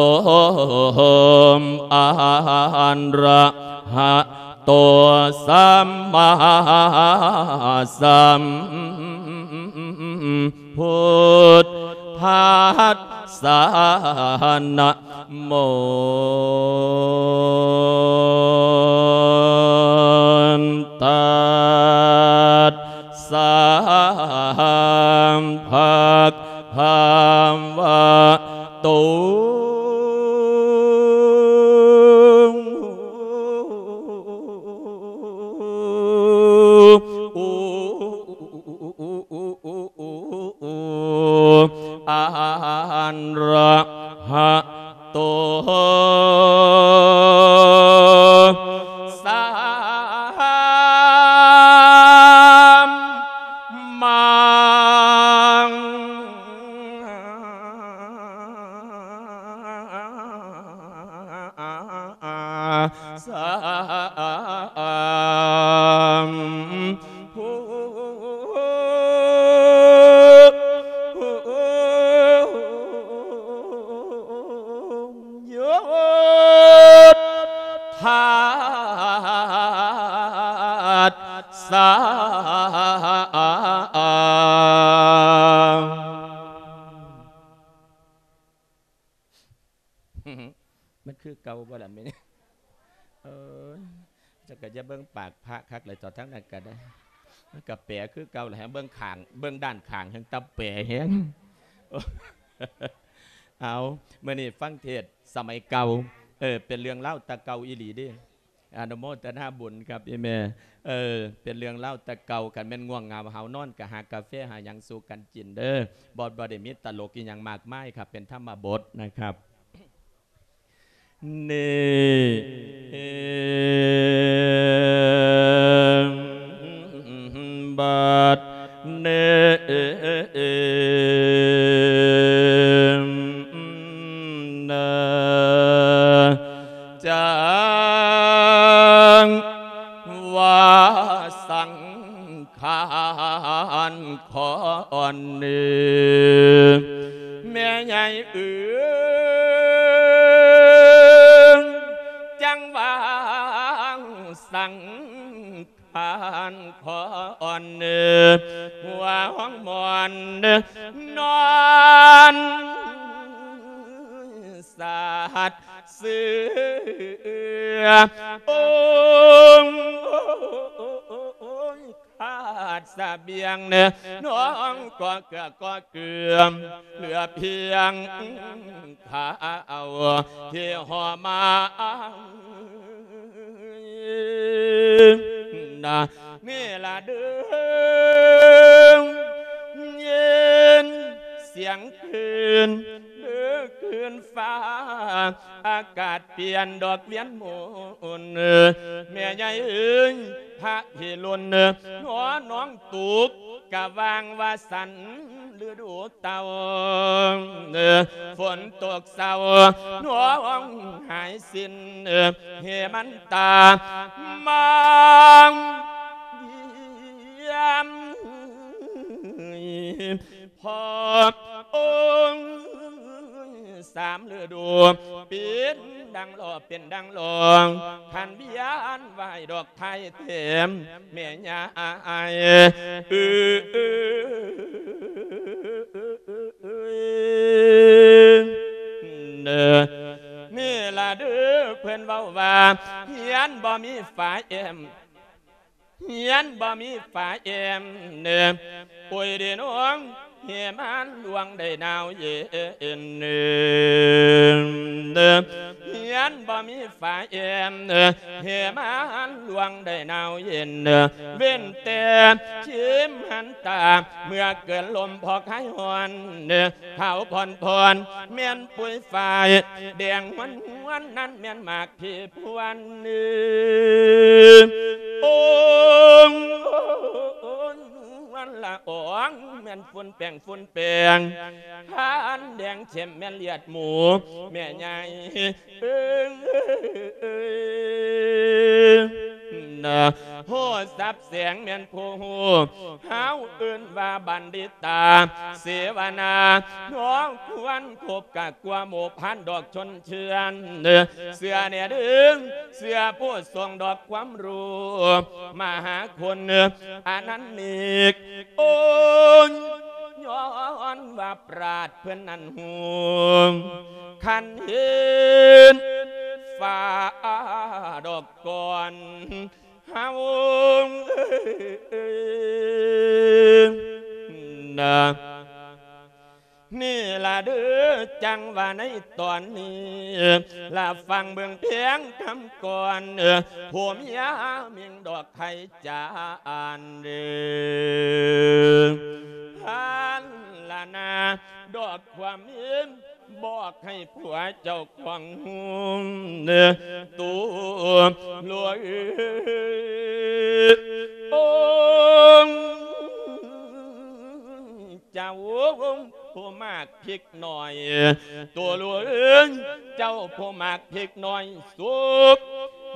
ອະຣະຫະໂຕ ສຳມາສຳພຸດທັດສະ. ນະໂມ ຕັດສະ ພະຄະວະໂຕ ອະຣະຫະໂຕ ສຳມາ ໂຍທາດສາ ມັນຄືເກົ່າບໍ່ລະແມ່? ເອີຍ ເຈົ້າກໍຢ່າເບິ່ງປາກພະຄັກເລີຍ ເຈົ້າທາງນັ້ນກໍໄດ້ ມັນກໍແປຄືເກົ່າແຫຼະ ເບິ່ງຂ້າງ ເບິ່ງດ້ານຂ້າງແຮ່ງຕຳແປແຮງ. ເອົາ ມື້ນີ້ຟັງເທດສະໄໝເກົ່າ ເອີ ເປັນເລື່ອງລາວແຕ່ເກົ່າອີ່ຫຼີເດ້. ອະນຸໂມທະນາບຸນຄັບອີ່ແມ່. ເອີ ເປັນເລື່ອງລາວແຕ່ເກົ່າ ຄັນແມ່ນງ່ວງເຫງົາຫາວນອນ ກໍຫາກາເຟຫາຫຍັງສູ່ກັນກິນເດີ. ບໍ່ ບໍ່ໄດ້ມີຕະຫຼົກອີ່ຫຍັງມາກມາຍຄັບ ເປັນທຳມະບົດນະຄັບ. ນີ້ ບັດນີ້ນະ ຈັ່ງວ່າສັງຂານຂ້ອນີ້ ແມ່ໃຫຍ່ເອີຍ ຈັ່ງວ່າສັງ ຂານຂ້ອນ ຫົວຫ້ອງໝອນ ນອນສາດເສືອ ໂອ້ຍ ຂາດສະບຽງ ນ້ອງກໍເກືອກໍເກືອ ເຫຼືອພຽງ ຂ້າເອົາທີ່ຫໍ່ມາ ນະ ນີ້ລະເດີ ຍິນສຽງຄື້ນເດີ ຄື້ນຟ້າ ອາກາດປ່ຽນດອກວຽນໝູນ ແມ່ໃຫຍ່ເອີຍ ພະພິລຸນ ໜໍນ້ອງຕຸກ ກະວ່າງວ່າສັນ ລະດູເຕົາ ຝົນຕົກເຊົາ ໜໍຮ້ອງຫາຍສິ້ນ ເຫມັນຕາ ມາຢ້ຽມ ພໍ່ອົງສາມລະດູ ເປັນດັ່ງລໍ້ ເປັນດັ່ງລໍ້ ຄັນວຽນໄຫວ້ດອກໄທເຕັມ ແມ່ຍາຍເອີຍ ນີ້ລະເດີ ເພິ່ນເວົ້າວ່າ ເຮືອນບໍ່ມີຝາແອ້ມ ເຮືອນບໍ່ມີຝາແອ້ມ ໂອ້ຍເດນ້ອງ ເຮມານລວງໄດ້ໜາວເຢັນ ເຮືອນບໍ່ມີຝາແອ້ມ ເຮມານລວງໄດ້ໜາວເຢັນ ເວັ້ນແຕ່ເຂັມຫັນຕາ ເມື່ອເກີນລົມພອກຫາຍຮ້ອນ ຂາວຜ່ອນໆ ແມ່ນປຸຍຝ້າຍ ແດງຫວນໆ ນັ້ນແມ່ນໝາກພີພວນ ໂອ້ງ ລະອອງ ແມ່ນຝຸ່ນແປ້ງຝຸ່ນແປ້ງ ຄັນແດງເຂັ້ມແມ່ນເລືອດໝູ ແມ່ໃຫຍ່ເອີຍ ນະ ໂຫສັບແສງແມ່ນຜູ້ຮູ້ ເຮົາເອີ້ນວ່າບັນດິຕາ ເສວະນາ ນ້ອງຄວນຄົບກະກວ່າໝູ່ພັນດອກຊົນເຊື້ອນ ເຊື່ອແດ່ເດີ ເຊື່ອຜູ້ຊົງດອກຄວາມຮູ້ ມະຫາຄຸນ ອະນັນເນກ ໂອ້ຍ ຍ້ອນວ່າປາດເພິ່ນນັ້ນຮູ້ ຄັນເຫັນຟ້າດອກກ່ອນ ເຮົານະ ນີ້ລະເດີ ຈັ່ງວ່າໃນຕອນນີ້ ລະຟັງເບິ່ງພຽງຄຳກ່ອນ ຜົມຍາມິງດອກໄຂ່ຈານເດີ ພັນລະນາ ດອກຄວາມເຫັນ ບອກໃຫ້ຜົວເຈົ້າຂອງຮູ້ ໂຕຫຼວງເອີຍ ໂອ້ ເຈົ້າຜູ້ໝາກພິກໜ້ອຍ ໂຕຫຼວງເອີຍ ເຈົ້າຜູ້ໝາກພິກໜ້ອຍ ສຸກ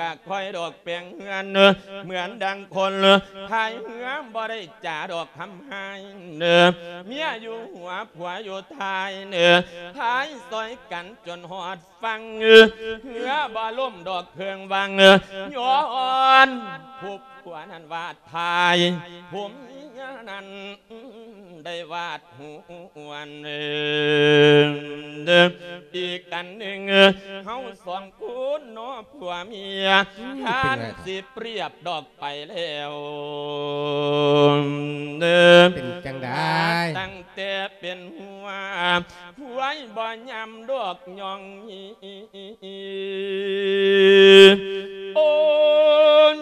ກະຄ່ອຍດອກແປງເຮືອນ ເໝືອນດັ່ງຄົນພາຍເຮືອ ບໍ່ໄດ້ຈາດອກຄຳຮ້າຍ ເມຍຢູ່ຫົວ ຜົວຢູ່ທ້າຍ ພາຍຊ່ອຍກັນຈົນຮອດຝັ່ງ ເຮືອບໍ່ລົ້ມດອກເຄື່ອງວັງ ຍ້ອນຜູ້ຜົວນັ້ນວ່າ ຖ່າຍຜົມເມຍນັ້ນໄດ້ວາດຫວນ. ອີກອັນໜຶ່ງ ເຮົາສອງຄົນເນາະຜົວເມຍ ອືມ ທ່ານ ເປັນไง ຊິປຽບດອກໄປແລ້ວ ເປັນจั่งใด ຕັ້ງແຕ່ເປັນຫົວ ຫວຍບໍ່ຍຳດອກຍອງ ໂອ້ນ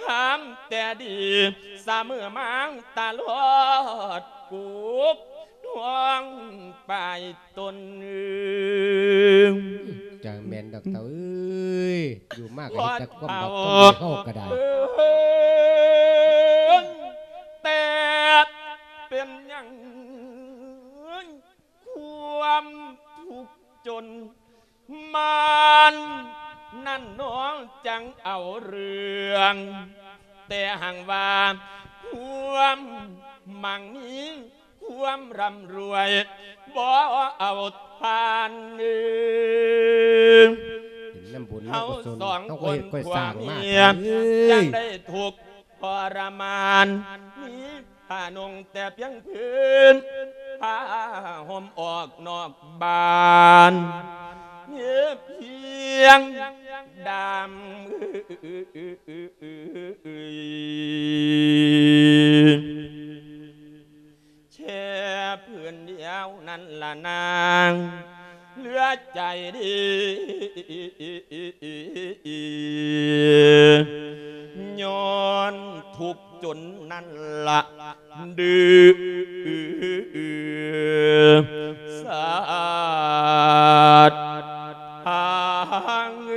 ຖາມແຕ່ດີສະເໝີມາງຕະຫຼອດ ປຸກທ້ອງປາຍຕົນ. ຈັກແມ່ນດອກເຕົ້າເອີຍ ຢູ່ມາກະເຮັດແຕ່ຄວາມບາບຄວາມດີ ເຮົາກະໄດ້ ເອີນ ແຕ່ເປັນຫຍັງ ຄວາມທຸກຈົນມານນັ້ນໜໍ ຈັ່ງເອົາເລື່ອງ ແຕ່ຫາກວ່າຄວາມໝັ່ງມີ ຄວາມຮ່ຳລວຍ ບໍ່ເອົາທ່ານເອີຍ ເປັນນຳບຸນນຳກຸສົນ ເຮົາສອງຄົນ ເຮົາກໍເຮັດກໍສ້າງມາ ຜົວເມຍ ເອີຍ ຍັງໄດ້ທຸກ ທໍລະມານ ມີຜ້ານຸ່ງແຕ່ພຽງພື້ນ ຜ້າຫົ່ມອອກນອກບ້ານ ມີພຽງດາມ ແຄ່ພື້ນດຽວນັ້ນລະນາງ ເຫຼືອໃຈດີ ຍ້ອນທຸກຈົນນັ້ນລະ ດື້ສາດທາງ ໂຍ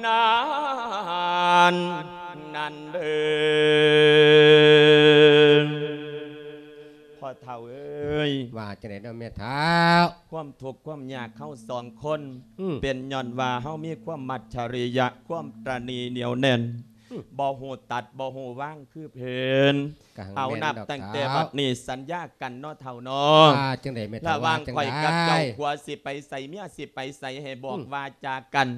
ນານ ນັ້ນເດີ ພໍ່ເຖົ້າເອີຍ ວ່າຈັ່ງໃດເນາະແມ່ເຖົ້າ? ຄວາມທຸກຄວາມຍາກເຮົາສອງຄົນ ອືມ ເປັນຍ້ອນວ່າເຮົາມີຄວາມມັດຈະລິຍະ ຄວາມຕະໜີໜຽວແໜ້ນ ອືມ ບໍ່ຮູ້ຕັດ ບໍ່ຮູ້ວາງຄືເພິ່ນ. ກະ ເອົາ ແມ່ນ ນັບຕັ້ງແຕ່ບັດນີ້ສັນຍາກັນເນາະເຖົ້າເນາະ ວ່າຈັ່ງໃດແມ່ເຖົ້າ? ລະຫວ່າງຂ້ອຍກັບເຈົ້າ ວ່າຈັ່ງໃດ? ຜົວຊິໄປໃສ ເມຍຊິໄປໃສ ໃຫ້ບອກ ອືມ ວາຈາກັນ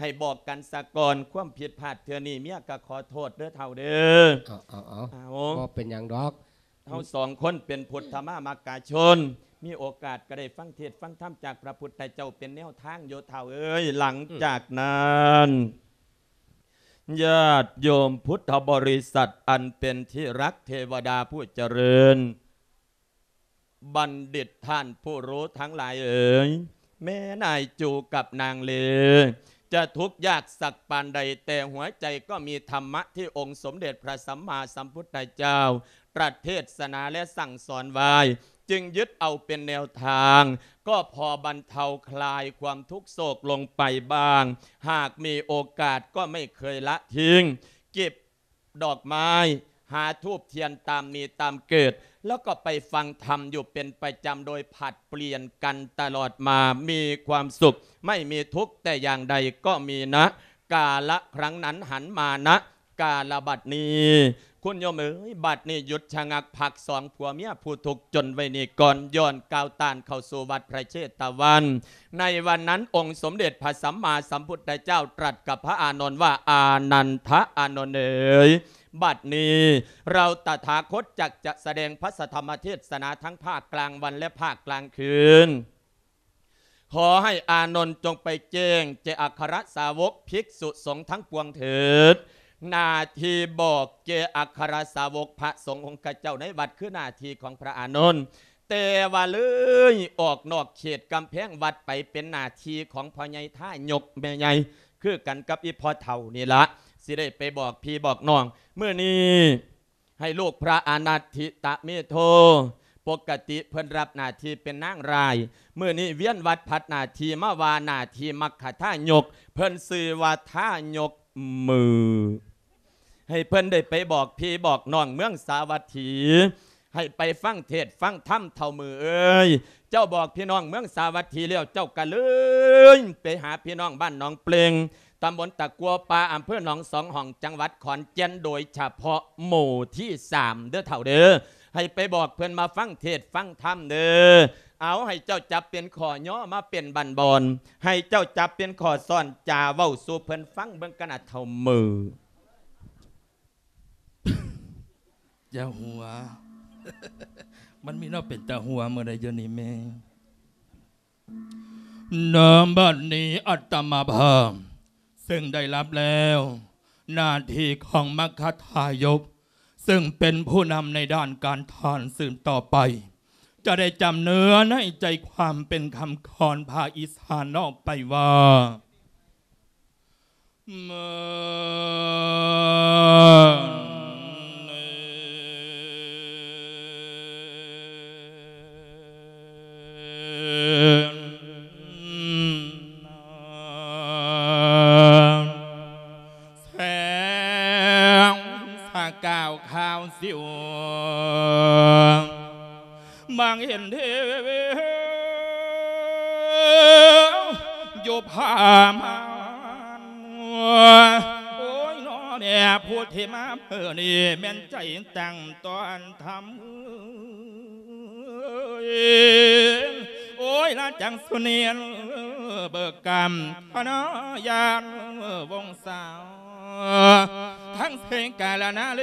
ໃຫ້ບອກກັນສາກ່ອນ ຄວາມຜິດພາດເທື່ອນີ້ ເມຍກໍຂໍໂທດເດີເຖົ້າເດີ. ເອົາ ເອົາ ເອົາ ເອົາ ບໍ່ເປັນຫຍັງດອກ ເຮົາສອງຄົນເປັນພຸດທະມາມັກກະຊົນ ມີໂອກາດກໍໄດ້ຟັງເທດຟັງທຳຈາກພະພຸດທະເຈົ້າເປັນແນວທາງຢູ່ເຖົ້າເອີຍ. ຫຼັງຈາກນັ້ນ ອືມ ຍາດໂຍມພຸດທະບໍລິສັດອັນເປັນທີ່ຮັກ ເທວະດາຜູ້ຈະເລີນ ບັນດິດທ່ານຜູ້ຮູ້ທັງຫຼາຍເອີຍ, ແມ່ນາຍຈູກັບນາງເລຈະທຸກຍາກສັກປານໃດ, ແຕ່ຫົວໃຈກໍມີທຳມະທີ່ອົງສົມເດັດພະສຳມາສຳພຸດທະເຈົ້າ ຕລັດເທດສະໜາ ແລະ ສັ່ງສອນໄວ້, ຈຶ່ງຍຶດເອົາເປັນແນວທາງ, ກໍພໍບັນເທົາຄລາຍຄວາມທຸກໂສກລົງໄປບ້າງ. ຫາກມີໂອກາດກໍໄມ່ເຄີຍລະຖິ້ງ, ເກັບ ດອກໄມ້, ຫາທູບທຽນຕາມມີຕາມເກີດ, ແລ້ວກໍໄປຟັງທຳຢູ່ເປັນປະຈຳ ໂດຍຜັດປ່ຽນກັນຕະຫຼອດມາ, ມີຄວາມສຸກ, ໄມ່ມີທຸກແຕ່ຢ່າງໃດກໍມີນະ ກາລະຄັ້ງນັ້ນຫັນມານະ ກາລະບັດນີ້. ຄຸນໂຍມເອີຍ, ບັດນີ້ຢຸດຊະງັກພັກສອງຜົວເມຍຜູ້ທຸກຈົນໄວ້ນີ້ກ່ອນ, ຍ້ອນກ້າວຕ່ານເຂົ້າສູ່ວັດພະເຊຕະວັນ. ໃນວັນນັ້ນ ອົງສົມເດັດພະສຳມາສຳພຸດທະເຈົ້າຕລັດກັບພະອານົນວ່າ, ອານັນທະອານົນເອີຍ, ບັດນີ້ເຮົາຕະຖາຄົດຈັກຈະສະແດງພະສະທຳມະເທດສະໜາທັງພາກກາງວັນ ແລະ ພາກກາງຄືນ. ຂໍໃຫ້ອານົນຈົ່ງໄປແຈ້ງແກ່ອັກຄະລະສາວົກ, ພິກສຸສົງທັງປວງເຖີດ. ໜ້າທີ່ບອກແກ່ອັກຄະລະສາວົກພະສົງອົງຄະເຈົ້າໃນວັດ ຄືໜ້າທີ່ຂອງພະອານົນ. ແຕ່ວ່າເລີຍອອກນອກເຂດກຳແພງວັດໄປ ເປັນໜ້າທີ່ຂອງພໍ່ໃຫຍ່ທາຍົກແມ່ໃຫຍ່ ຄືກັນກັບອີ່ພໍ່ເຖົ້ານີ້ລະ ຊິໄດ້ໄປບອກພີ່ບອກນ້ອງ. ມື້ນີ້ໃຫ້ລູກພະອານັດທິຕະເມໂທ ປົກກະຕິເພິ່ນຮັບໜ້າທີ່ເປັນນາງຮ້າຍ, ມື້ນີ້ວຽນວັດຜັດໜ້າທີ່ມາວ່າໜ້າທີ່ມັກຄະທາຍົກ, ເພິ່ນຊື່ວ່າທາຍົກມື. ໃຫ້ເພິ່ນໄດ້ໄປບອກພີ່ບອກນ້ອງເມືອງສາວັດຖີ, ໃຫ້ໄປຟັງເທດຟັງທຳເຖົ້າມືເອີຍ. ເຈົ້າບອກພີ່ນ້ອງເມືອງສາວັດຖີແລ້ວ, ເຈົ້າກະເລີຍໄປຫາພີ່ນ້ອງບ້ານໜອງເປງ, ຕຳບົນຕະກົວປ່າ, ອຳເພີໜອງສອງຫ້ອງ, ຈັງຫວັດຂອນແກ່ນ, ໂດຍສະເພາະໝູ່ທີສາມເດີເຖົ້າເດີ. ໃຫ້ໄປບອກເພິ່ນມາຟັງເທດຟັງທຳເດີ. ເອົາ ໃຫ້ເຈົ້າຈັບເປັນຂໍ້ຍໍມາເປັນບັ້ນບ່ອນ, ໃຫ້ເຈົ້າຈັບເປັນຂໍ້ສອນຈາເວົ້າສູ່ເພິ່ນຟັງເບິ່ງກັນນະເຖົ້າມື. ຢ່າຫົວ ມັນມີແນວເປັນຕາຫົວມື້ໃດຢູ່ນີ້ແມ່. ນະບັດນີ້ອາດຕະມາພາບເຊິ່ງໄດ້ຮັບແລ້ວໜ້າທີ່ຂອງມັກຄະທາຍົກ ເຊິ່ງເປັນຜູ້ນຳໃນດ້ານການທານສືບຕໍ່ໄປ ຈະໄດ້ຈຳເນື້ອໃນໃຈຄວາມເປັນຄຳຂອນພາກອີສານອອກໄປວ່າ ແສງສະກາວຂາວສິວ ມອງເຫັນເທວຢູ່ຜາມ່ານ. ໂອ້ຍ ນ້ອແມ່ ຜູ້ທີ່ມາມື້ນີ້ແມ່ນໃຈຕັ້ງຕ້ອນທຳ. ໂອ້ຍ ລະຈັງສຸເນນເບີກກຳ ພະນາຍານວົງສາວ ທັງເຊກາລະນາເລ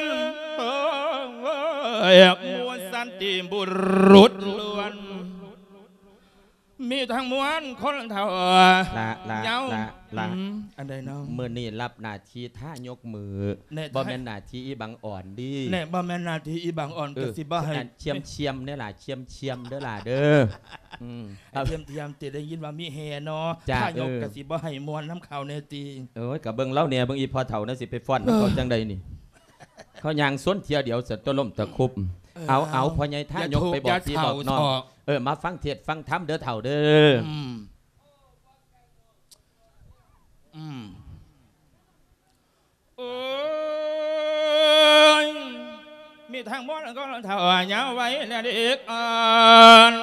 ນ ເອີຍ ໝູ່ສັນຕິບຸລຸດລ້ວນ ມີທັງມວນຄົນເຖົ້າ ລະ ລະ ເຍົາ ລະ ລະ ອືມ ອັນໃດເນາະ? ມື້ນີ້ຮັບໜ້າທີ່ທາຍົກມື ແນ່ ບໍ່ແມ່ນໜ້າທີ່ອີບັງອ່ອນເດ. ແນ່ ບໍ່ແມ່ນໜ້າທີ່ອີບັງອ່ອນ ເອີ ກະຊິບໍ່ໃຫ້ ອັນ ຊຽມໆເດີຫຼ້າ ຊຽມໆເດີຫຼ້າເດີ. ອືມ ໃຫ້ທຽມໆ ຊິໄດ້ຍິນວ່າມີແຫ່ເນາະ ທາຍົກ ເອີ ກະຊິບໍ່ໃຫ້ມ່ວນນຳເຂົາແນ່ຕິ. ໂອ້ຍ ກະເບິ່ງລາວແນ່ ເບິ່ງອີ່ພໍ່ເຖົ້ານັ້ນຊິໄປຟ້ອນນຳເຂົາ ເອີ ຈັ່ງໃດນີ້. ເຂົາຍ່າງຊົນເທື່ອດຽວ ສະຕົວລົ້ມຕະຄຸບ. ເອີ ເອົາ ເອົາ ພໍ່ໃຫຍ່ທາຍົກ ໄປບອກພີ່ບອກນ້ອງ ເອີ ມາຟັງເທດຟັງທຳເດີເຖົ້າເດີ. ອືມ ອືມ ໂອ້ຍ ມີທັງໝົດກໍເຖົ້າຍາວໄວ ແລະເດັກອ່ອນ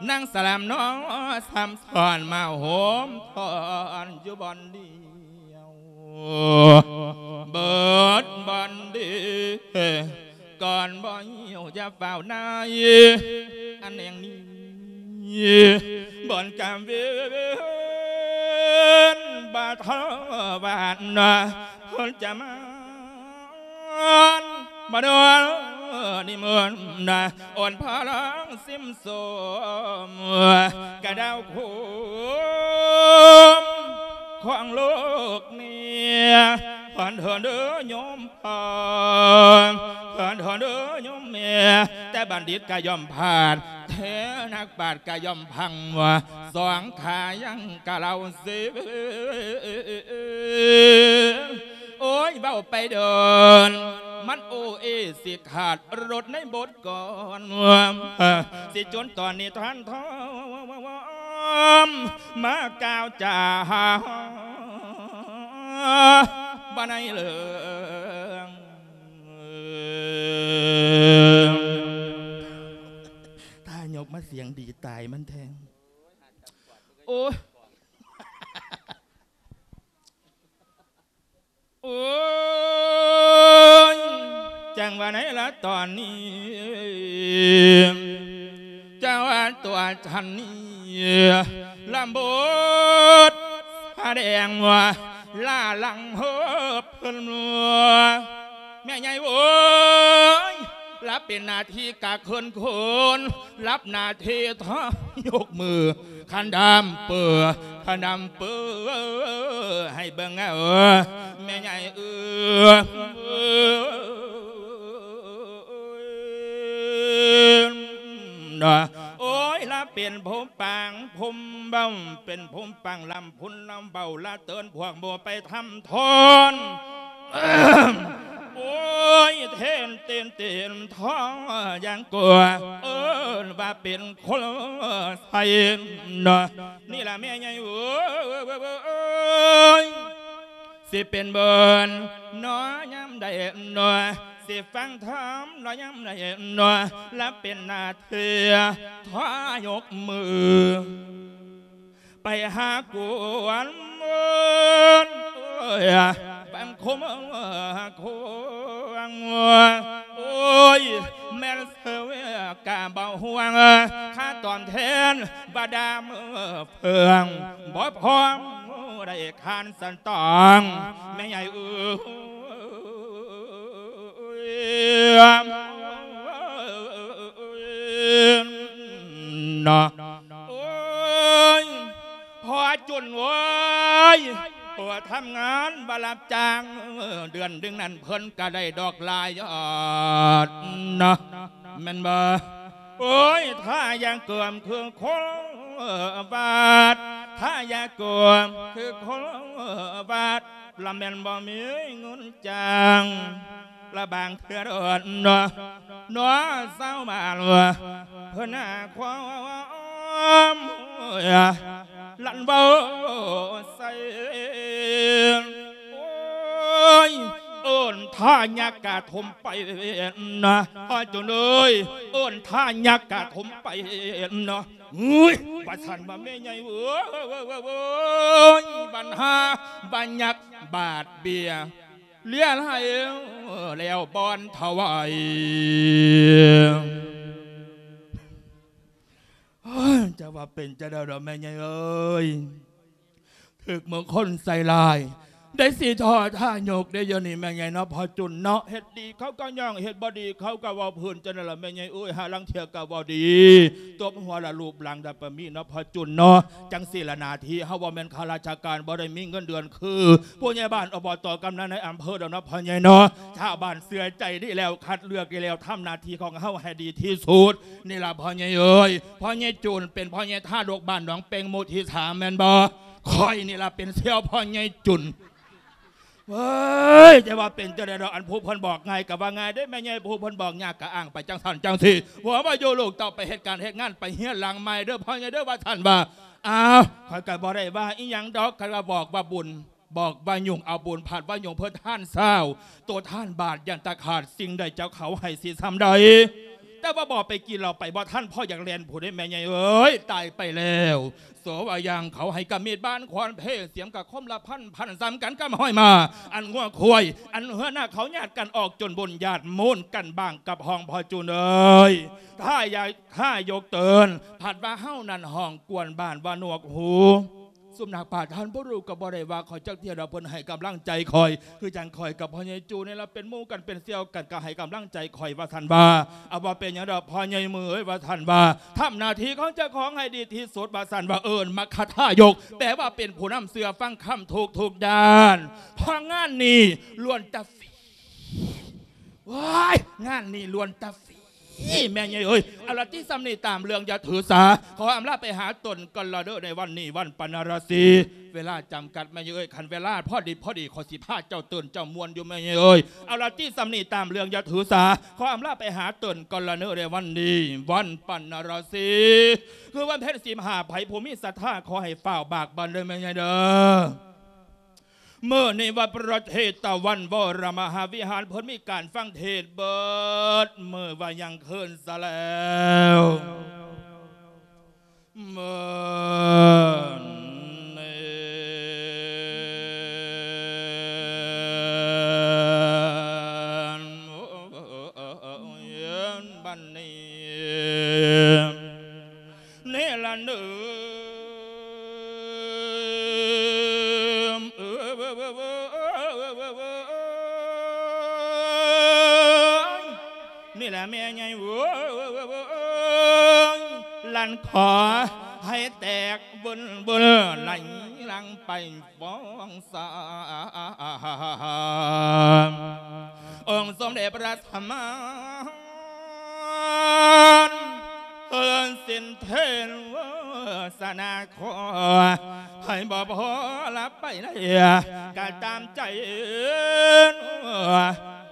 ນາງສະຫຼາມນ້ອຍຊ້ຳຊ້ອນມາໂຮມທອນຢູ່ບ່ອນດຽວ ເບິດບ່ອນດີ ກ່ອນບໍ່ຫິວຢ່າຟ້າວນາຍ ອັນແຫ່ງນີ້ ບ່ອນກາມເວນ ບາດເທາວານ ເພິ່ນຈະມາ ມາດວນນິມົນ ອ່ອນພະລັງຊິມ ສົມກະດາວໂຄມຂອງໂລກນີ້ ເພິ່ນເທີເດີໂຍມພໍ່ ເພິ່ນເທີເດີໂຍມແມ່ ແຕ່ບັນດິດກະຍ່ອມພາດ ແທ້ນັກປາດກະຍ່ອມພັງ ສອງຂາຍັງກະເລົ່າເສ ໂອ້ຍ ເວົ້າໄປເດີນ ມັນໂອເອຊິຂາດລົດໃນບົດກ່ອນ ຊິຈົນຕອນນີ້ທ່ານທອມ ມາກ່າວຈາບໍ່ໃນເລື່ອງ ຖ້າຍົກມາສຽງດີຕາຍມັນແທງ ໂອ້ຍ ໂອ້ຍ ຈັ່ງວ່າໃນລະຕອນນີ້ ຈັ່ງວ່າຕົວທ່ານນີ້ ລຳບົດສະແດງວ່າ ລ້າຫຼັງເຮີບເພິ່ນ ແມ່ໃຫຍ່ເອີຍ ລະເປັນໜ້າທີ່ກະເຂີນໂຄນ ຮັບໜ້າທີ່ທາຍົກມື ຄັນດຳເປີ ຄັນດຳເປີ ໃຫ້ເບິ່ງເອີ ແມ່ໃຫຍ່ເອີ ໂອ້ຍ ລະ ປັນຜູ້ປາງຜູ້ເວົ້າ ເປັນຜູ້ປາງລຳພຸນລຳເວົ້າ ລະເຕີນພວກໝູ່ໄປທຳທອນ. ໂອ້ຍ ເຫັນຕີນຕີນທອງຢ່າງກົວ ເອີ້ນວ່າເປັນຄົນໃສເນາະ. ນີ້ລະແມ່ໃຫຍ່ເອີຍ ຊິເປັນບຸນເນາະຍາມໃດເນາະ ຊິຟັງທຳເນາະຍາມໃດເນາະ ລະເປັນໜ້າທີ່ທາຍົກມື ໄປຫາກວນເອີຍ ບັງຄົມຄວງ ໂອ້ຍ ແມ່ນເຊີກະບໍ່ຫ່ວງ ຄ່າຕອບແທນບໍ່ດາມເພິ່ງ ບໍ່ພ້ອມໄດ້ຄານສັນຕອງ ແມ່ໃຫຍ່ເອີຍ ເນາະ. ໂອ້ຍ ພໍ່ຈຸນເອີຍ ເພິ່ນທຳງານບໍ່ຮັບຈ້າງ ເດືອນໜຶ່ງນັ້ນເພິ່ນກະໄດ້ດອກຫຼາຍຍອດເນາະ ແມ່ນບໍ່? ໂອ້ຍ ຖ້າຢາກເກີມຄືຄົນບາດ ຖ້າຢາກເກີມຄືຄົນບາດ ລະແມ່ນບໍ່ມີເງິນຈ້າງ ລະບາງເທື່ອເນາະ ເນາະ ຊາວບ້ານເພິ່ນຫາຄວາມ ລັນເວົ້າໃສ່ ໂອ້ຍ ເອີ້ນທ່າຍັກກະຖົມໄປນະ ພໍ່ຈຸນເອີຍ ເອີ້ນທ່າຍັກກະຖົມໄປນະ. ເຮີ້ຍ ວ່າຊັ້ນວ່າແມ່ໃຫຍ່ເອີຍ ບັນຫາບັນຍັກບາດເບຍ ເລຍລາຍແລ້ວບ່ອນຖວາຍ. ເອີຍ ຈະວ່າເປັນຈັ່ງໃດດອກແມ່ໃຫຍ່ເອີຍ ຖືກເມືອງຄົນໃສ່ຮ້າຍ ໄດ້ຊິທໍ້ຖ້າຍົກໄດ້ຢູ່ນີ້ແມ່ໃຫຍ່ເນາະ ພໍ່ຈຸນເນາະ ເຮັດດີເຂົາກໍຍ້ອງ ເຮັດບໍ່ດີເຂົາກໍເວົ້າພື້ນ ຈັ່ງນັ້ນລະແມ່ໃຫຍ່ເອີຍ ຫາລາງເທື່ອກໍເວົ້າດີ ຕົບຫົວລະລູບຫຼັງດະປະມີເນາະ ພໍ່ຈຸນເນາະ. ຈັ່ງຊີ້ລະ ໜ້າທີ່ເຮົາບໍ່ແມ່ນຂ້າລາຊະການ ບໍ່ໄດ້ມີເງິນເດືອນຄືຜູ້ໃຫຍ່ບ້ານ ອບຕ ກຳນັນ ໃນອຳເພີດອກເນາະ ພໍ່ໃຫຍ່ເນາະ. ຊາວບ້ານເຊື່ອໃຈດີແລ້ວ ຄັດເລືອກດີແລ້ວ ທຳໜ້າທີ່ຂອງເຮົາໃຫ້ດີທີ່ສຸດ ນີ້ລະພໍ່ໃຫຍ່ເອີຍ. ພໍ່ໃຫຍ່ຈຸນເປັນພໍ່ໃຫຍ່ທາດົກບ້ານໜອງເປັງ ໝູ່ທີສາມ ແມ່ນບໍ່? ຂ້ອຍນີ້ລະເປັນສ່ຽວພໍ່ໃຫຍ່ຈຸນ. ເວີຍ ຈະວ່າເປັນຈັ່ງໃດດອກ ອັນຜູ້ເພິ່ນບອກງ່າຍກໍວ່າງ່າຍເດ້ແມ່ໃຫຍ່ ຜູ້ເພິ່ນບອກຍາກກໍອ້າງໄປຈັ່ງຊັ້ນຈັ່ງຊີ້ ຜົວວ່າຢູ່ລູກເຕົ້າໄປເຮັດການເຮັດງານ ໄປເຮືອນຫຼັງໃໝ່ເດີ້ພໍ່ໃຫຍ່ເດີ້ ວ່າຊັ້ນວ່າ. ອ້າວ ຂ້ອຍກໍບໍ່ໄດ້ວ່າອີ່ຫຍັງດອກ ຄັນວ່າບອກວ່າບຸນ ບອກວ່າຫຍຸ້ງ ເອົາບຸນພັດວ່າຫຍຸ້ງ ເພິ່ນທານຊາວ ໂຕທານບາດ ຢ້ານຕາຂາດ ສິ່ງໃດເຈົ້າເຂົາໃຫ້ຊິຊ່ຳໃດ. ແຕ່ວ່າບໍ່ໄປກິນເຫຼົ້າໄປບໍ່ທັນ ພໍຢາກແລ່ນພຸ້ນເດ້ແມ່ໃຫຍ່ເອີຍ ຕາຍໄປແລ້ວ. ໂສວ່າຢ່າງເຂົາໃຫ້ກະມີດບານຂວານເພ ສຽມກະຄົມລະພັນ ພັນສ່ຳກັນກັບຫ້ອຍມ້າ ອັນງົວຄວາຍ ອັນເຮືອນາເຂົາຍາດກັນອອກ ຈົນບຸນຍາດມູນກັນບາງກັບຫ້ອງພໍ່ຈູນເອີຍ. ຖ້າຢາກ ຖ້າຍົກເຕີນ ພັດວ່າເຮົານັ້ນຫ້ອງກວນບ້ານວ່າໜວກຫູ. ສຸມນັກປາດທ່ານບໍ່ຮູ້ກໍບໍ່ໄດ້ວ່າຂ້ອຍຈັກເທື່ອດອກ ເພິ່ນໃຫ້ກຳລັງໃຈຂ້ອຍ ຄືຈັ່ງຂ້ອຍກັບພໍ່ໃຫຍ່ຈູນີ້ລະເປັນໝູ່ກັນເປັນສ່ຽວກັນ ກໍໃຫ້ກຳລັງໃຈຂ້ອຍວ່າຊັ້ນວ່າ. ເອົາ ບໍ່ເປັນຫຍັງດອກພໍ່ໃຫຍ່ເມີເອີຍ ວ່າຊັ້ນວ່າ. ທຳໜ້າທີ່ຂອງເຈົ້າຂອງໃຫ້ດີທີ່ສຸດວ່າຊັ້ນວ່າ. ເອີ້ນມັກຄະທາຍົກ ແປວ່າເປັນຜູ້ນຳເຊື່ອຟັງຄຳທຸກໆດ້ານ ເພາະງານນີ້ລ້ວນແຕ່ ໂອ້ຍ ງານນີ້ລ້ວນແຕ່ຟຣີ ແມ່ໃຫຍ່ເອີຍ. ເອົາລະຕິ ສ່ຳນີ້ຕາມເລື່ອງຢ່າຖືສາ ຂໍອຳລາໄປຫາຕົນກ່ອນລະເດີ້ ໃນວັນນີ້ວັນປັນນະລະສີ ເວລາຈຳກັດແມ່ໃຫຍ່ເອີຍ. ຄັນເວລາພໍດີພໍດີ ຂ້ອຍຊິພາເຈົ້າຕື່ນເຈົ້າມ່ວນຢູ່ແມ່ໃຫຍ່ເອີຍ. ເອົາລະຕິ ສ່ຳນີ້ຕາມເລື່ອງຢ່າຖືສາ ຂໍອຳລາໄປຫາຕົນກ່ອນລະເດີ້ ໃນວັນນີ້ວັນປັນນະລະສີ ຄືວັນເພັນສິບຫ້າ ໃຜຜູ້ມີສັດທາຂໍໃຫ້ຟ້າວບາກບັນເດີ້ແມ່ໃຫຍ່ເດີ້. ມື້ນີ້ວັດພະເທຕະວັນວໍລະມະຫາວິຫານ ເພິ່ນມີການຟັງເທດເບິດມື້ວ່າຍັງຄືນຊະແລ້ວ. ມື້ນີ້ ບັດນີ້ ນີ້ລະເນີມ ນີ້ລະແມ່ໃຫຍ່ເອີຍ ລັນຂໍໃຫ້ແຕກເບິນໆ ໄຫຼຫຼັງໄປຟອງສາ ອົງສົມເດັດພະສະມານ ເພິ່ນສິ້ນເທນ ສະນາຂໍໃຫ້ບໍ່ພໍລະໄປໃນກະຕາມໃຈ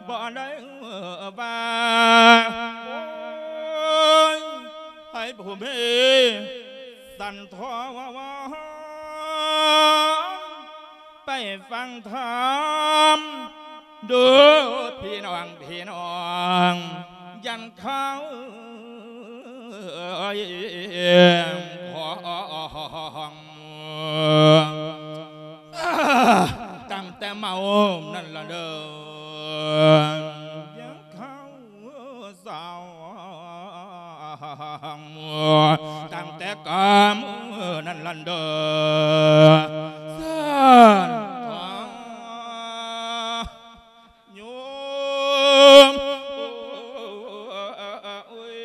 ບໍ່ໄດ້ວ່າ ໂອ້ຍ ໃຫ້ຜູ້ມີສັນທອງ ໄປຟັງທຳເດີພີ່ນ້ອງ ພີ່ນ້ອງ ຢ້ານເຂົາຂອງ ຕັ້ງແຕ່ເມົານັ້ນລະເດີ ຢ້ານເຂົາ ສາວ ຕັ້ງແຕ່ກາມນັ້ນລັນເດີ ສານທາຍ ໂຍມ ໂອ້ຍ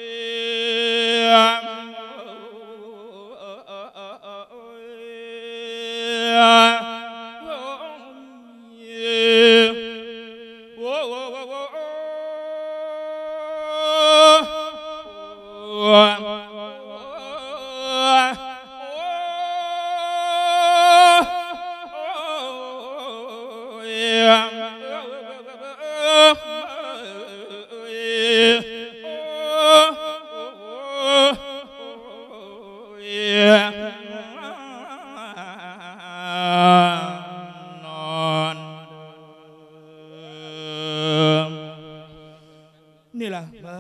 ນີ້ລະ ເອີ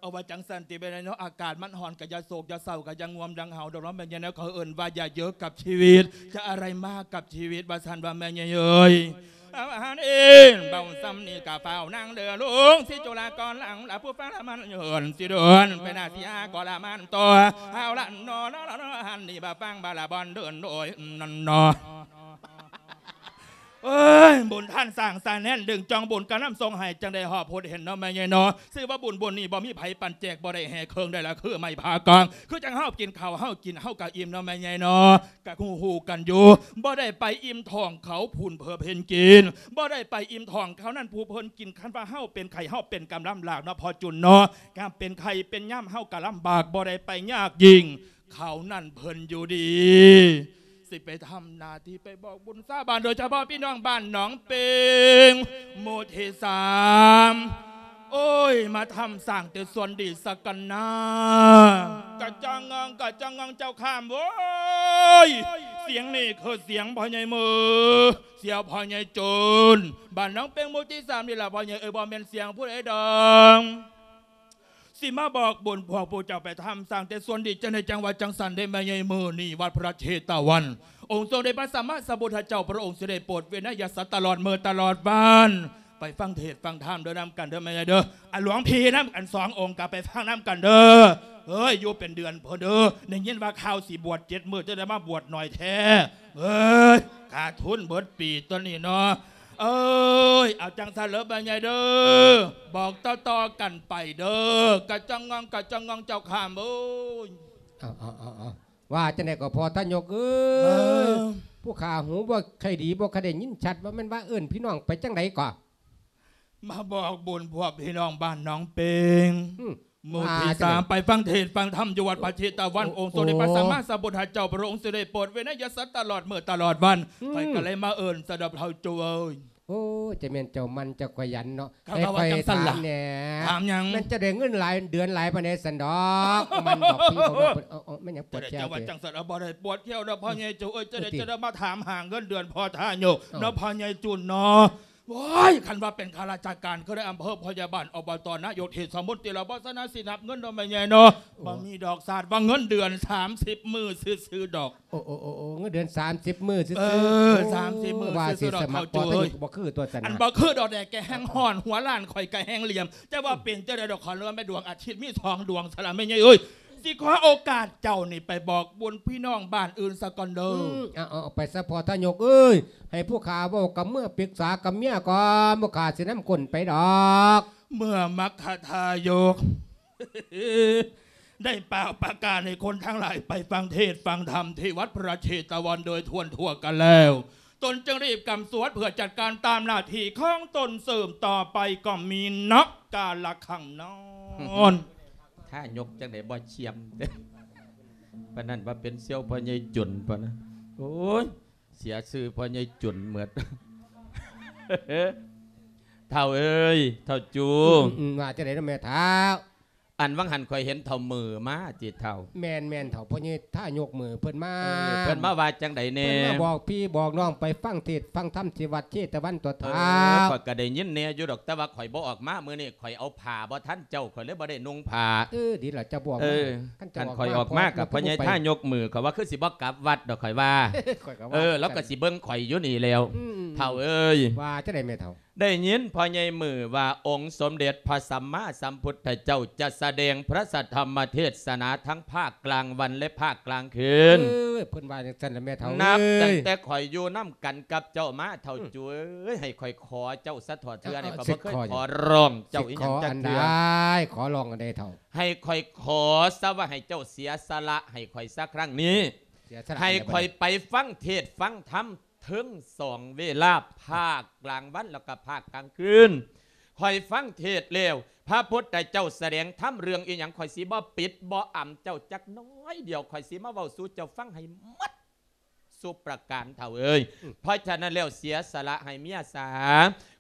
ເອົາວ່າຈັ່ງຊັ້ນຕິແມ່ໃຫຍ່ເນາະ ອາກາດມັນຮ້ອນ ກະຢ່າໂສກຢ່າເສົ້າ ກະຢ່າງ່ວງດັ່ງເຮົາດອກເນາະແມ່ໃຫຍ່ເນາະ ເຂົາເອີ້ນວ່າຢ່າເຍີກກັບຊີວິດ ຈະອະໄລມາກັບຊີວິດ ວ່າຊັ້ນວ່າແມ່ໃຫຍ່ເອີຍ. ເອົາຫັ້ນເອງ ເວົ້າສ່ຳນີ້ກະຟ້າວນາງເດີ ລຸງສີຈຸລາກອນຫຼັງລະ ຜູ້ຟັງລະມັນເຫີນ ຊິເດີນໄປໜ້າເສຍກໍລະມັນຕໍ່ ເອົາລະເນາະ ຫັ້ນນີ້ບາດຟັງບາດລະບ່ອນເດີນໂດຍນັ້ນເນາະ. ເອີຍ ບຸນທ່ານສ້າງສາແໜ້ນ ດຶງຈອງບຸນກະນຳສົ່ງໃຫ້ ຈັ່ງໄດ້ຮອບພົບເຫັນເນາະແມ່ໃຫຍ່ເນາະ ຊື່ວ່າບຸນບຸນນີ້ບໍ່ມີໃຜປັນແຈກ ບໍ່ໄດ້ແຫ່ເຄື່ອງໄດ້ລະຄືໄມ້ພາກອງ ຄືຈັ່ງເຮົາກິນເຂົ້າ ເຮົາກິນເຮົາກະອີ່ມເນາະແມ່ໃຫຍ່ເນາະ ກະຮູ້ໆກັນຢູ່ ບໍ່ໄດ້ໄປອີ່ມທ້ອງເຂົາຜູ້ເພິ່ນເຫັນກິນ ບໍ່ໄດ້ໄປອີ່ມທ້ອງເຂົານັ້ນຜູ້ເພິ່ນກິນ ຄັນວ່າເຮົາເປັນໄຂ້ ເຮົາເປັນກຳລຳບາກເນາະພໍ່ຈຸນເນາະ ການເປັນໄຂ້ເປັນຍາມເຮົາກະລຳບາກ ບໍ່ໄດ້ໄປຍາກຍິ່ງ ເຂົານັ້ນເພິ່ນຢູ່ດີ ຊິໄປທຳໜ້າທີ່ໄປບອກບຸນຊາວບ້ານ ໂດຍສະເພາະພີ່ນ້ອງບ້ານໜອງເປັງ ໝູ່ທີສາມ ໂອ້ຍ ມາທຳສ້າງແຕ່ສ່ວນດີສາກັນນາ. ກະຈັ່ງງອງ ກະຈັ່ງງອງເຈົ້າຂ້າມເວີຍ ສຽງນີ້ຄືສຽງພໍ່ໃຫຍ່ມື ສຽງພໍ່ໃຫຍ່ຈູນ ບ້ານໜອງເປັງ ໝູ່ທີສາມນີ້ລະພໍ່ໃຫຍ່ເອີຍ ບໍ່ແມ່ນສຽງຜູ້ໃດດອກ. ຊິມາບອກບຸນພວກຜູ້ເຈົ້າໄປທຳສ້າງແຕ່ສ່ວນດີ ຈັ່ງໃດຈັ່ງວ່າຈັ່ງຊັ້ນເດ້ແມ່ໃຫຍ່ ມື້ນີ້ວັດພະເຊຕະວັນ ອົງສົມເດັດພະສຳມາສຳພຸດທະເຈົ້າ ພະອົງສິໄດ້ໂປດວິໄນຍະສັດຕະຫຼອດມື້ຕະຫຼອດວັນ ໄປຟັງເທດຟັງທຳເດີນຳກັນເດີແມ່ໃຫຍ່ເດີ ອາ ຫຼວງພີ່ນຳກັນສອງອົງກະໄປຟັງນຳກັນເດີ ເອີຍ ຢູ່ເປັນເດືອນພຸ້ນເດີ ໄດ້ຍິນວ່າຂ່າວຊິບວດເຈັດມື້ ຈັ່ງໄດ້ມາບວດໜ້ອຍແທ້ ເອີຍ ຂາດທຶນເບິດປີຕົວນີ້ເນາະ. ເອີຍ ເອົາຈັ່ງຊັ້ນເລີແມ່ໃຫຍ່ເດີ ບອກຕໍ່ໆກັນໄປເດີ ກະຈັ່ງງອງ ກະຈັ່ງງອງເຈົ້າຂ້າມເອີຍ. ເອົາ ເອົາ ເອົາ ເອົາ ວ່າຈັ່ງໃດກໍພໍ່ທະຍົກເອີຍ ເອີ ຜູ້ຂ້າຫູບໍ່ຄ່ອຍດີ ບໍ່ຄ່ອຍໄດ້ຍິນຊັດ ວ່າແມ່ນວ່າເອີ້ນພີ່ນ້ອງໄປຈັ່ງໃດກໍ ມາບອກບຸນພວກພີ່ນ້ອງບ້ານໜອງເປັງ ອືມ ໝູ່ທີສາມ ໄປຟັງເທດຟັງທຳຢູ່ວັດພະເຊຕະວັນ ໂອ້ ອົງສົມເດັດພະສຳມາສຳພຸດທະເຈົ້າ ພະອົງສິໄດ້ໂປດວິໄນຍະສັດຕະຫຼອດມື້ຕະຫຼອດວັນ ອືມ ຂ້ອຍກະເລີຍມາເອີ້ນສະດອກເຖົ້າໂຈເອີຍ. ໂອ້ ຈະແມ່ນເຈົ້າໝັ່ນເຈົ້າຂະຫຍັນເນາະ ໃຫ້ຂ້ອຍຖາມແດ່ ຖາມຫຍັງ ແມ່ນເຈົ້າໄດ້ເງິນຫຼາຍເດືອນຫຼາຍປານໃດຊັ້ນດອກ ໝັ່ນບອກພີ່ບອກນ້ອງເພິ່ນ ເອົາ ເອົາ ແມ່ນຫຍັງປວດແຂ້ວ ເຈົ້າວ່າຈັ່ງຊັ້ນ ເອົາ ບໍ່ໄດ້ປວດແຂ້ວດອກພໍ່ໃຫຍ່ຈູເອີຍ ຈັ່ງໃດຈັ່ງໃດມາຖາມຫາເງິນເດືອນພໍ່ທະຍົກເນາະ ພໍ່ໃຫຍ່ຈູນເນາະ. ໂອ້ຍ ຄັນວ່າເປັນຂ້າລາຊະການ ຄືໄດ້ອຳເພີ ພະຍາບານ ອບຕ ນາຍົກ ເທດສະມົນຕີລະ ບໍ່ສະນັ້ນຊິນັບເງິນດອກແມ່ໃຫຍ່ເນາະ ໂອ້ ບໍ່ມີດອກ ຊາດວ່າເງິນເດືອນສາມສິບມື້ຊື່ໆດອກ. ໂອ້ ໂອ້ ໂອ້ ໂອ້ ເງິນເດືອນສາມສິບມື້ຊື່ໆ ເອີ ໂອ້ ສາມສິບມື້ ວ່າຊິສະໝັກພໍທະຍຸກບໍ່ຄືຕົວຊັ້ນ ອັນບໍ່ຄືດອກແດ່ ແກແຮ່ງຮ້ອນ ຫົວລ້ານຂ້ອຍກະແຮ່ງຫຼຽມ ຈະວ່າເປັນຈັ່ງໃດດອກ ຂໍເລີຍແມ່ດວງອາທິດມີສອງດວງຊະລະແມ່ໃຫຍ່ເອີຍ. ຊິຂໍໂອກາດເຈົ້ານີ້ໄປບອກບຸນພີ່ນ້ອງບ້ານອື່ນສາກ່ອນເດີ ອືມ ເອົາ ເອົາ ເອົາໄປສະພໍ່ທະຍົກເອີຍ ໃຫ້ຜູ້ຂ້າເວົ້າກັບເມືອ ປຶກສາກັບເມຍກ່ອນ ຜູ້ຂ້າຊິນຳຄົນໄປດອກ ເມື່ອມັກຄະທາຍົກ ໄດ້ປ່າວປະກາດໃຫ້ຄົນທັງຫຼາຍໄປຟັງເທດຟັງທຳທີ່ວັດພະເຊຕະວັນໂດຍທົ່ວທົ່ວກັນແລ້ວ ຕົນຈຶ່ງຣີບກຳສວດເພື່ອຈັດການຕາມໜ້າທີ່ຂອງຕົນສືບຕໍ່ໄປ ກໍມີນັບກາລະຄັງນອນ ທາຍົກຈັ່ງໃດບໍ່ຊຽມ ປານນັ້ນວ່າເປັນສ່ຽວພໍ່ໃຫຍ່ຈຸນປານນັ້ນ. ໂອ້ຍ ເສຍຊື່ພໍ່ໃຫຍ່ຈຸນໝົດ. ເຖົ້າເອີຍ ເຖົ້າຈູ ອືມ ອືມ ວ່າຈັ່ງໃດເນາະແມ່ເຖົ້າ? ອັນຫວ່າງຫັ້ນຂ້ອຍເຫັນເຖົ້າມືມາຕິເຖົ້າ. ແມ່ນໆ ເຖົ້າ ພໍ່ໃຫຍ່ທາຍົກມືເພິ່ນມາ. ເອີ ເພິ່ນມາວ່າຈັ່ງໃດແດ່? ເພິ່ນມາບອກພີ່ບອກນ້ອງໄປຟັງເທດຟັງທຳທີ່ວັດເຊຕະວັນຕົວະ ເອີ ເຖົ້າ. ຂ້ອຍກໍໄດ້ຍິນແດ່ຢູ່ດອກ ແຕ່ວ່າຂ້ອຍບໍ່ອອກມາມື້ນີ້ ຂ້ອຍເອົາຜ້າບໍ່ທັນເຈົ້າ ຂ້ອຍເລີຍບໍ່ໄດ້ນຸ່ງຜ້າ. ເອີ ດີລະ ເຈົ້າບໍ່ອອກມາ. ເອີ ຄັນເຈົ້າອອກມາ ຂ້ອຍອອກມາກັບພໍ່ໃຫຍ່ທາຍົກມື ຂ້ອຍວ່າຄືຊິບໍ່ກັບວັດດອກ ຂ້ອຍວ່າ. ຂ້ອຍກໍວ່າ ເອີ ລາວກໍຊິເບິ່ງຂ້ອຍຢູ່ນີ້ແລ້ວ. ອືມ ເຖົ້າເອີຍ ວ່າຈັ່ງໃດແມ່ເຖົ້າ? ໄດ້ຍິນພໍ່ໃຫຍ່ມືວ່າ ອົງສົມເດັດພະສຳມາສຳພຸດທະເຈົ້າ ຈະສະແດງພະສັດທຳມະເທດສະໜາທັງພາກກາງວັນ ແລະ ພາກກາງຄືນ. ເອີ ເພິ່ນວ່າຈັ່ງຊັ້ນລະແມ່ເຖົ້າເອີຍ. ນັບຕັ້ງແຕ່ຂ້ອຍຢູ່ນຳກັນກັບເຈົ້າມາ ເຖົ້າ ອືມ ຈູເອີຍ ໃຫ້ຂ້ອຍຂໍເຈົ້າສະເຖາະເທື່ອນີ້ ເອີ ຂ້ອຍບໍ່ເຄີຍຂໍຮ້ອງເຈົ້າອີ່ຫຍັງຈັກເທື່ອ. ຂໍອັນໃດ? ຂໍຮ້ອງອັນໃດເຖົ້າ? ໃຫ້ຂ້ອຍຂໍຊະວ່າ ໃຫ້ເຈົ້າເສຍສະຫຼະໃຫ້ຂ້ອຍຊະຄັ້ງນີ້. ເສຍສະຫຼະ ໃຫ້ຂ້ອຍໄປຟັງເທດຟັງທຳ ເຖິງສອງເວລາ ພາກກາງວັນ ແລ້ວກໍພາກກາງຄືນ. ຂ້ອຍຟັງເທດແລ້ວ ພະພຸດທະເຈົ້າສະແດງທຳເລື່ອງອີ່ຫຍັງ ຂ້ອຍຊິບໍ່ປິດບໍ່ອຳເຈົ້າຈັກໜ້ອຍດຽວ ຂ້ອຍຊິມາເວົ້າສູ່ເຈົ້າຟັງໃຫ້ໝົດສູ່ປະການ ເຖົ້າເອີຍ. ອືມ ເພາະສະນັ້ນແລ້ວ ເສຍສະຫຼະໃຫ້ເມຍສາ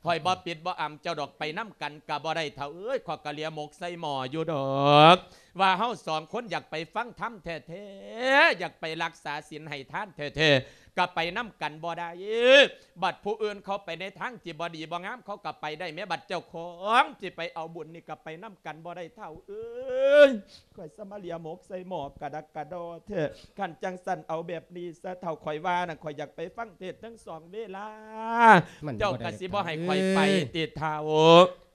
ຂ້ອຍບໍ່ປິດບໍ່ອຳເຈົ້າດອກ ໄປນຳກັນກໍບໍ່ໄດ້ ເຖົ້າເອີຍ. ຂ້ອຍກໍເລຍໝົກໃສ່ໝໍ້ຢູ່ດອກ ວ່າເຮົາສອງຄົນຢາກໄປຟັງທຳແທ້ໆ ຢາກໄປລັກສາສິນໃຫ້ທານແທ້ໆ ກໍໄປນຳກັນບໍ່ໄດ້. ບັດຜູ້ອື່ນເຂົາໄປໃນທາງທີ່ບໍ່ດີບໍ່ງາມ ເຂົາກໍໄປໄດ້ແມ້ ບັດເຈົ້າຂອງຊິໄປເອົາບຸນນີ້ ກໍໄປນຳກັນບໍ່ໄດ້ ເຖົ້າເອີຍ. ຂ້ອຍສະມາເລຍໝົກໃສ່ໝໍ້ກະດັກກະດໍແທ້. ຄັນຈັ່ງຊັ້ນເອົາແບບນີ້ຊະ ເຖົ້າ ຂ້ອຍວ່ານະ ຂ້ອຍຢາກໄປຟັງເທດທັງສອງເວລາ ມັນບໍ່ໄດ້ ເຈົ້າກໍຊິບໍ່ໃຫ້ຂ້ອຍໄປຕິເຖົ້າ?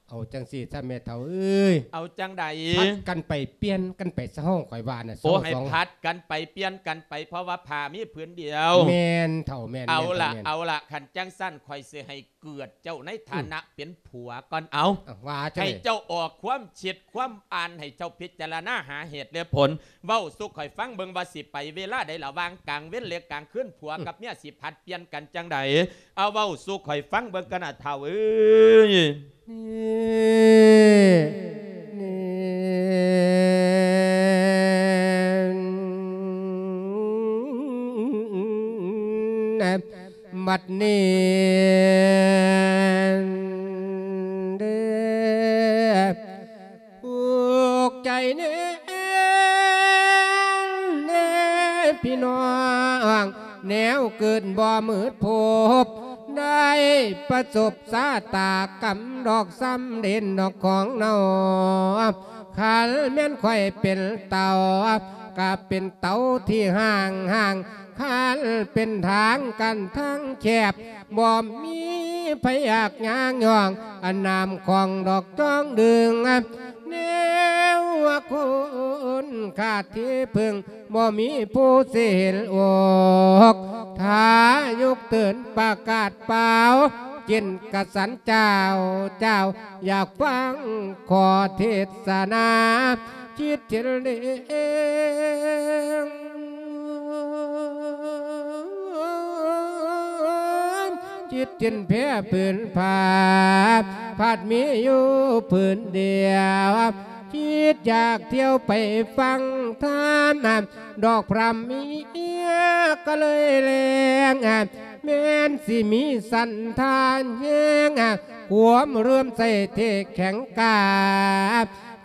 ເອົາຈັ່ງຊີ້ຊະແມ່ເຖົ້າເອີຍ. ເອົາຈັ່ງໃດ? ຜັດກັນໄປປ່ຽນກັນໄປຊະ ເຮົາຂ້ອຍວ່ານະ. ໂອ້ ສອງ ໃຫ້ ສອງ ຜັດກັນໄປປ່ຽນກັນໄປ ເພາະວ່າຜ້າມີຜືນດຽວ. ແມ່ນເຖົ້າ ແມ່ນ. ເອົາລະ ແມ່ນ ເອົາລະ ຄັນຈັ່ງຊັ້ນຂ້ອຍຊິໃຫ້ເກີດເຈົ້າໃນຖານະ ອືມ ເປັນຜົວກ່ອນ. ເອົາ ເອົາ ວ່າຈັ່ງໃດ? ໃຫ້ເຈົ້າອອກຄວາມຄິດຄວາມອ່ານ ໃຫ້ເຈົ້າພິຈາລະນາຫາເຫດແລະຜົນ ເວົ້າສູ່ຂ້ອຍຟັງເບິ່ງວ່າຊິໄປເວລາໃດ ລະຫວ່າງກາງເວັນ ແລະ ກາງຄືນ ຜົວ ອືມ ກັບເມຍຊິຜັດປ່ຽນກັນຈັ່ງໃດ? ເອົາ ເວົ້າສູ່ຂ້ອຍຟັງເບິ່ງກັນນະ ເຖົ້າເອີຍ. ນີ້ ນີ້ ບັດນີ້ເດີ ອຸກໃຈແນ່ ແນ່ພີ່ນ້ອງ ແນວເກີດບໍ່ມືດພົບ ໄດ້ປະສົບຊະຕາກຳດອກ ສ່ຳເດັ່ນດອກຂອງເຮົາ. ຄັນແມ່ນຂ້ອຍເປັນເຕົ່າ ກະເປັນເຕົ່າທີ່ຫ້າງໆ ຄັນເປັນທາງກັນທາງແຄບ ບໍ່ມີໃຜຢາກຍ່າງຍ່ອງ ອັນນ້ຳຂອງດອກຈອງດຶງ ແນວວ່າຄົນຂາດທີ່ເພິ່ງ ບໍ່ມີຜູ້ຊິເຫັນອົກ ຖ້າຍົກເຕີນປະກາດປ່າວ ເຈັນກະສັນເຈົ້າ ເຈົ້າຢາກຟັງຂໍເທດສະໜາ ຈິດຈິນເດງ ຈິດຈິນແພຜືນຜ້າ ພັດມີຢູ່ຜືນດຽວ ຈິດຢາກທ່ຽວໄປຟັງທຳ ດອກພຣຳເມຍກໍເລີຍແລງ ແມ່ນຊິມີສັນທານແຮງ ຄວາມເຫຼື້ອມໃສທີ່ແຂງກ້າ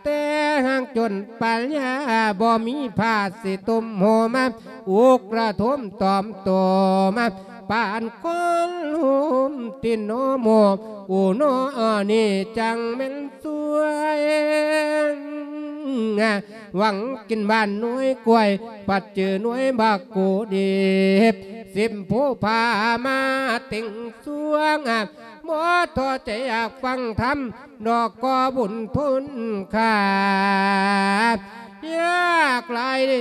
ແຕ່ຫາກຈົນປັນຍາ ບໍ່ມີຜ້າຊິຕຸ້ມໂຮມ ອຸກລະທົມຕອມໂຕມ ປານຄົນໂຮມຕິນໂນໂມ ອູໂນນີ້ຈັ່ງແມ່ນສວຍ ຫວັງກິນຫວານໜ່ວຍກ້ວຍ ພັດເຈີໜ່ວຍບັກກູດີບ ສິມຜູ້ພາມາຕິງສວງ ບໍ່ທໍ້ໃຈຢາກຟັງທຳ ດອກກໍບຸນຄຸນຄ່າ ຢາກຫຼາຍເດີ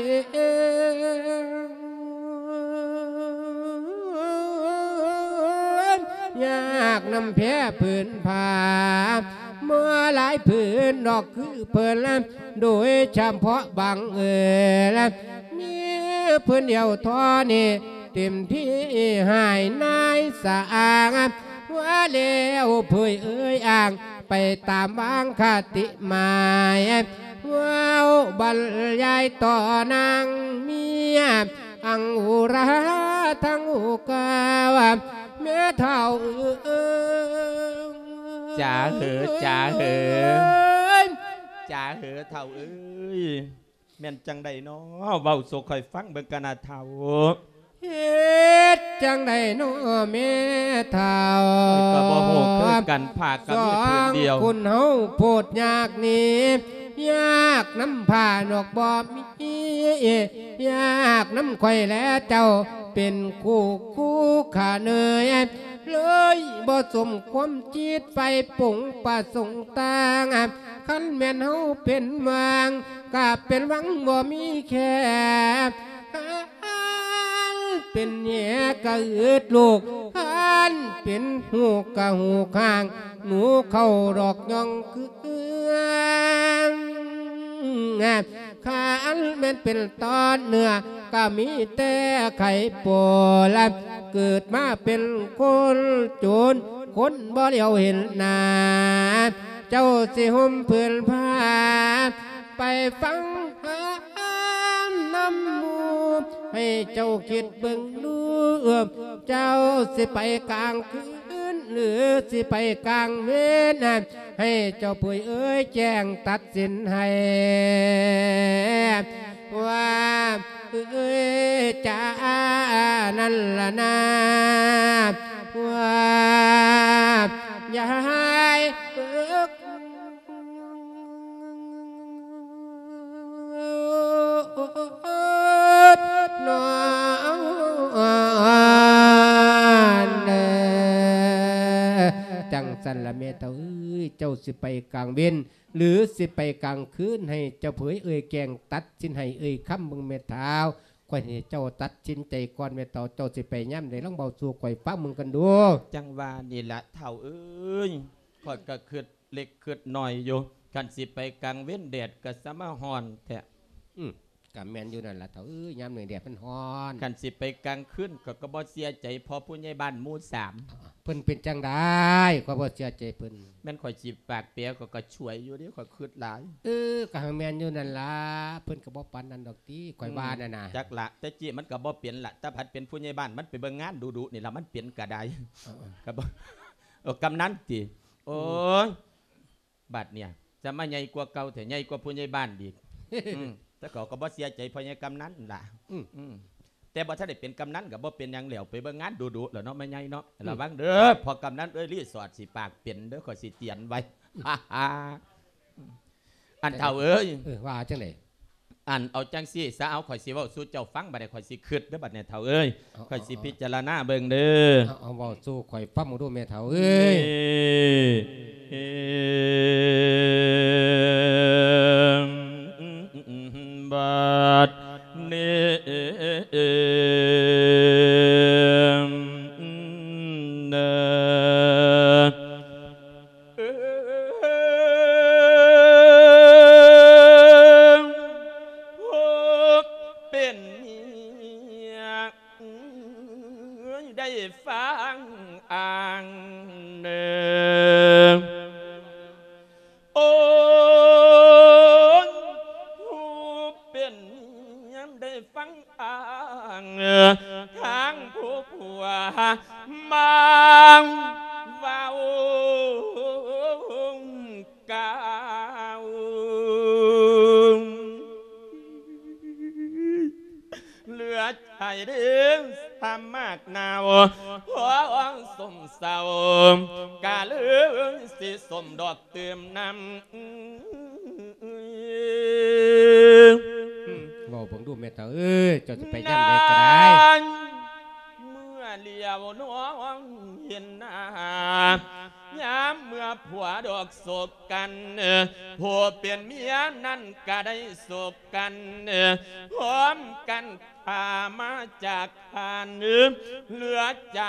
ຢາກນຳແພຜືນຜ້າ ເມື່ອຫຼາຍຜືນດອກຄືເພິ່ນ ໂດຍສະເພາະບັງເອີນ ມີຜືນດຽວທໍ່ນີ້ ເຕັມທີ່ໃຫ້ນາຍສະອາງ ວ່າແລ້ວເຜີຍເອີຍອ້າງ ໄປຕາມວາງຄະຕິໝາຍ ເວົ້າບັນຍາຍຕໍ່ນາງເມຍ ອັງອຸຣາທັງຫົກກາວ ແມ່ເຖົ້າເອີຍ. ຈາເຫີ ຈາເຫີ ຈາເຫີເຖົ້າເອີຍ. ແມ່ນຈັ່ງໃດນໍ? ເວົ້າສູ່ຂ້ອຍຟັງເບິ່ງກະນາເຖົ້າ. ເຮັດຈັ່ງໃດນໍແມ່ເຖົ້າ? ຂ້ອຍກໍບໍ່ຮູ້ຄືກັນ ຜ້າກໍມີຜືນດຽວ. ສອງຄົນເຮົາໂພດຍາກນີ້ ຍາກນຳຜ້ານອກບໍ່ມີ ຍາກນຳຂ້ອຍແລເຈົ້າ ເປັນຄູ່ຄູ່ຂ້າເນີຍ ເລີຍບໍ່ສົມຄວາມຈິດໄຟປົງປະສົງຕ່າງ. ຄັນແມ່ນເຮົາເປັນຫວັງ ກະເປັນຫວັງບໍ່ມີແຄ່ ຄັນເປັນແຫກະອຶດລູກ ຄັນເປັນຫູກະຫູກຫ່າງ ໜູເຂົ້າດອກຍ່ອງຄື ຄັນແມ່ນເປັນຕອນເນື້ອ ກະມີແຕ່ໄຂ່ປົວລະ ເກີດມາເປັນຄົນຈົນ ຄົນບໍ່ຫຼຽວເຫັນໜ້າ ເຈົ້າຊິຫົ່ມຜືນຜ້າ ໄປຟັງຄຳນຳໝູ່ ໃຫ້ເຈົ້າຄິດເບິ່ງດູ ເຈົ້າຊິໄປກາງຄືນ ຫຼື ຊິໄປກາງເວັນ ໃຫ້ເຈົ້າຜູ້ເອີຍແຈ້ງຕັດສິນໃຫ້ ວ່າເອີຍຈານັ້ນລະນາ ວ່າຢາຍເອີຍ ນອນເດີ. ຈັ່ງຊັ້ນລະແມ່ເຖົ້າເອີຍ ເຈົ້າຊິໄປກາງເວັນ ຫຼື ຊິໄປກາງຄືນ ໃຫ້ເຈົ້າເຜີຍເອີຍແກງຕັດສິນໃຫ້ເອີຍຄຳເບິ່ງແມ່ເຖົ້າ. ຂ້ອຍໃຫ້ເຈົ້າຕັດສິນໃຈກ່ອນແມ່ເຖົ້າ ເຈົ້າຊິໄປຍາມໃດ ລອງເວົ້າສູ່ຂ້ອຍຟັງເບິ່ງກັນດູ. ຈັ່ງວ່ານີ້ລະເຖົ້າເອີຍ ຂ້ອຍກໍຄິດ ເລັກຄິດນ້ອຍຢູ່ ຄັນຊິໄປກາງເວັນແດດກໍສະມາຮ້ອນແທ້. ອືມ ກໍແມ່ນຢູ່ນັ້ນລະເຖົ້າເອີຍ ຍາມນີ້ແດດມັນຮ້ອນ. ຄັນຊິໄປກາງຄືນ ຂ້ອຍກໍບໍ່ເຊື່ອໃຈພໍ່ຜູ້ໃຫຍ່ບ້ານໝູ່ສາມ. ເພິ່ນເປັນຈັ່ງໃດ? ຂ້ອຍບໍ່ເຊື່ອໃຈເພິ່ນ. ແມ່ນຂ້ອຍຊິປາກແປ ຂ້ອຍກໍຊ່ວຍຢູ່ເດ້ ຂ້ອຍຄິດຫຼາຍ. ເອີ ກໍໃຫ້ແມ່ນຢູ່ນັ້ນລະ ເພິ່ນກໍບໍ່ປານນັ້ນດອກຕິ ຂ້ອຍວ່ານັ້ນນະ. ອືມ ຈັກລະ ແຕ່ກີ້ມັນກໍບໍ່ເປັນລະ ແຕ່ພັດເປັນຜູ້ໃຫຍ່ບ້ານ ມັນໄປເບິ່ງງານດຸໆນີ້ລະ ມັນເປັນກໍໄດ້. ເອີໆ ກໍບໍ່ ເອີ ກຳນັນຕິ ໂອ້ຍ ອືມ ບາດເນີ້ຍ ຈະມາໃຫຍ່ກວ່າເກົ່າແທ້ ໃຫຍ່ກວ່າຜູ້ໃຫຍ່ບ້ານອີກ. ອືມ ແຕ່ເຂົາກໍບໍ່ເສຍໃຈພໍ່ໃຫຍ່ກຳນັນລະ. ອືມ ອືມ ແຕ່ບໍ່ທັນໄດ້ເປັນກຳນັນກໍບໍ່ເປັນຫຍັງແລ້ວ ໄປເບິ່ງງານດຸໆແລ້ວເນາະ ແມ່ໃຫຍ່ເນາະ. ອືມ ລະວັງເດີ ພໍກຳນັນເອີຍ ຣີສອດຊິປາກເປັນເດີ ຂ້ອຍຊິຕຽນໄວ້. ອັນເຖົ້າເອີຍ ເອີ ວ່າຈັ່ງໃດ? ອັນ ເອົາຈັ່ງຊີ້ຊະ ເອົາ ຂ້ອຍຊິເວົ້າສູ່ເຈົ້າຟັງ ບາດນີ້ຂ້ອຍຊິຄຶດເດີ ບາດນີ້ເຖົ້າເອີຍ ເອົາ ຂ້ອຍຊິ ເອົາ ພິຈາລະນາເບິ່ງເດີ. ເອົາ ເອົາ ເວົ້າສູ່ຂ້ອຍຟັງເບິ່ງດູແມ່ເຖົ້າເອີຍ. ເອີ ບາດນີ້ ເອີ ເອີ ເປັນເມຍ ໄດ້ຟັງອ້າງເດີ ໂອ້ຍ ຜູ້ເປັນເມຍໄດ້ຟັງອ້າງ ທາງຜູ້ຜົວມາເວົ້າກ່າວ ເຫຼືອໃຈເດີ ສາມາດໜາວ ພໍສົມເຊົາ ກະເລີຍຊິສົມດອກ ຕື່ມນ້ຳ ເວົ້າເບິ່ງດູແມ່ເຖົ້າເອີຍ ເຈົ້າຊິໄປຍາມໃດກໍໄດ້ ເມື່ອຫຼຽວມອງເຫັນໜ້າ ຍາມເມື່ອຜົວດອກສົບກັນ ຜູ້ເປັນເມຍນັ້ນກະໄດ້ສົບກັນ ພ້ອມກັນ ພາມາຈາກທ່ານ ເຫຼືອໃຈ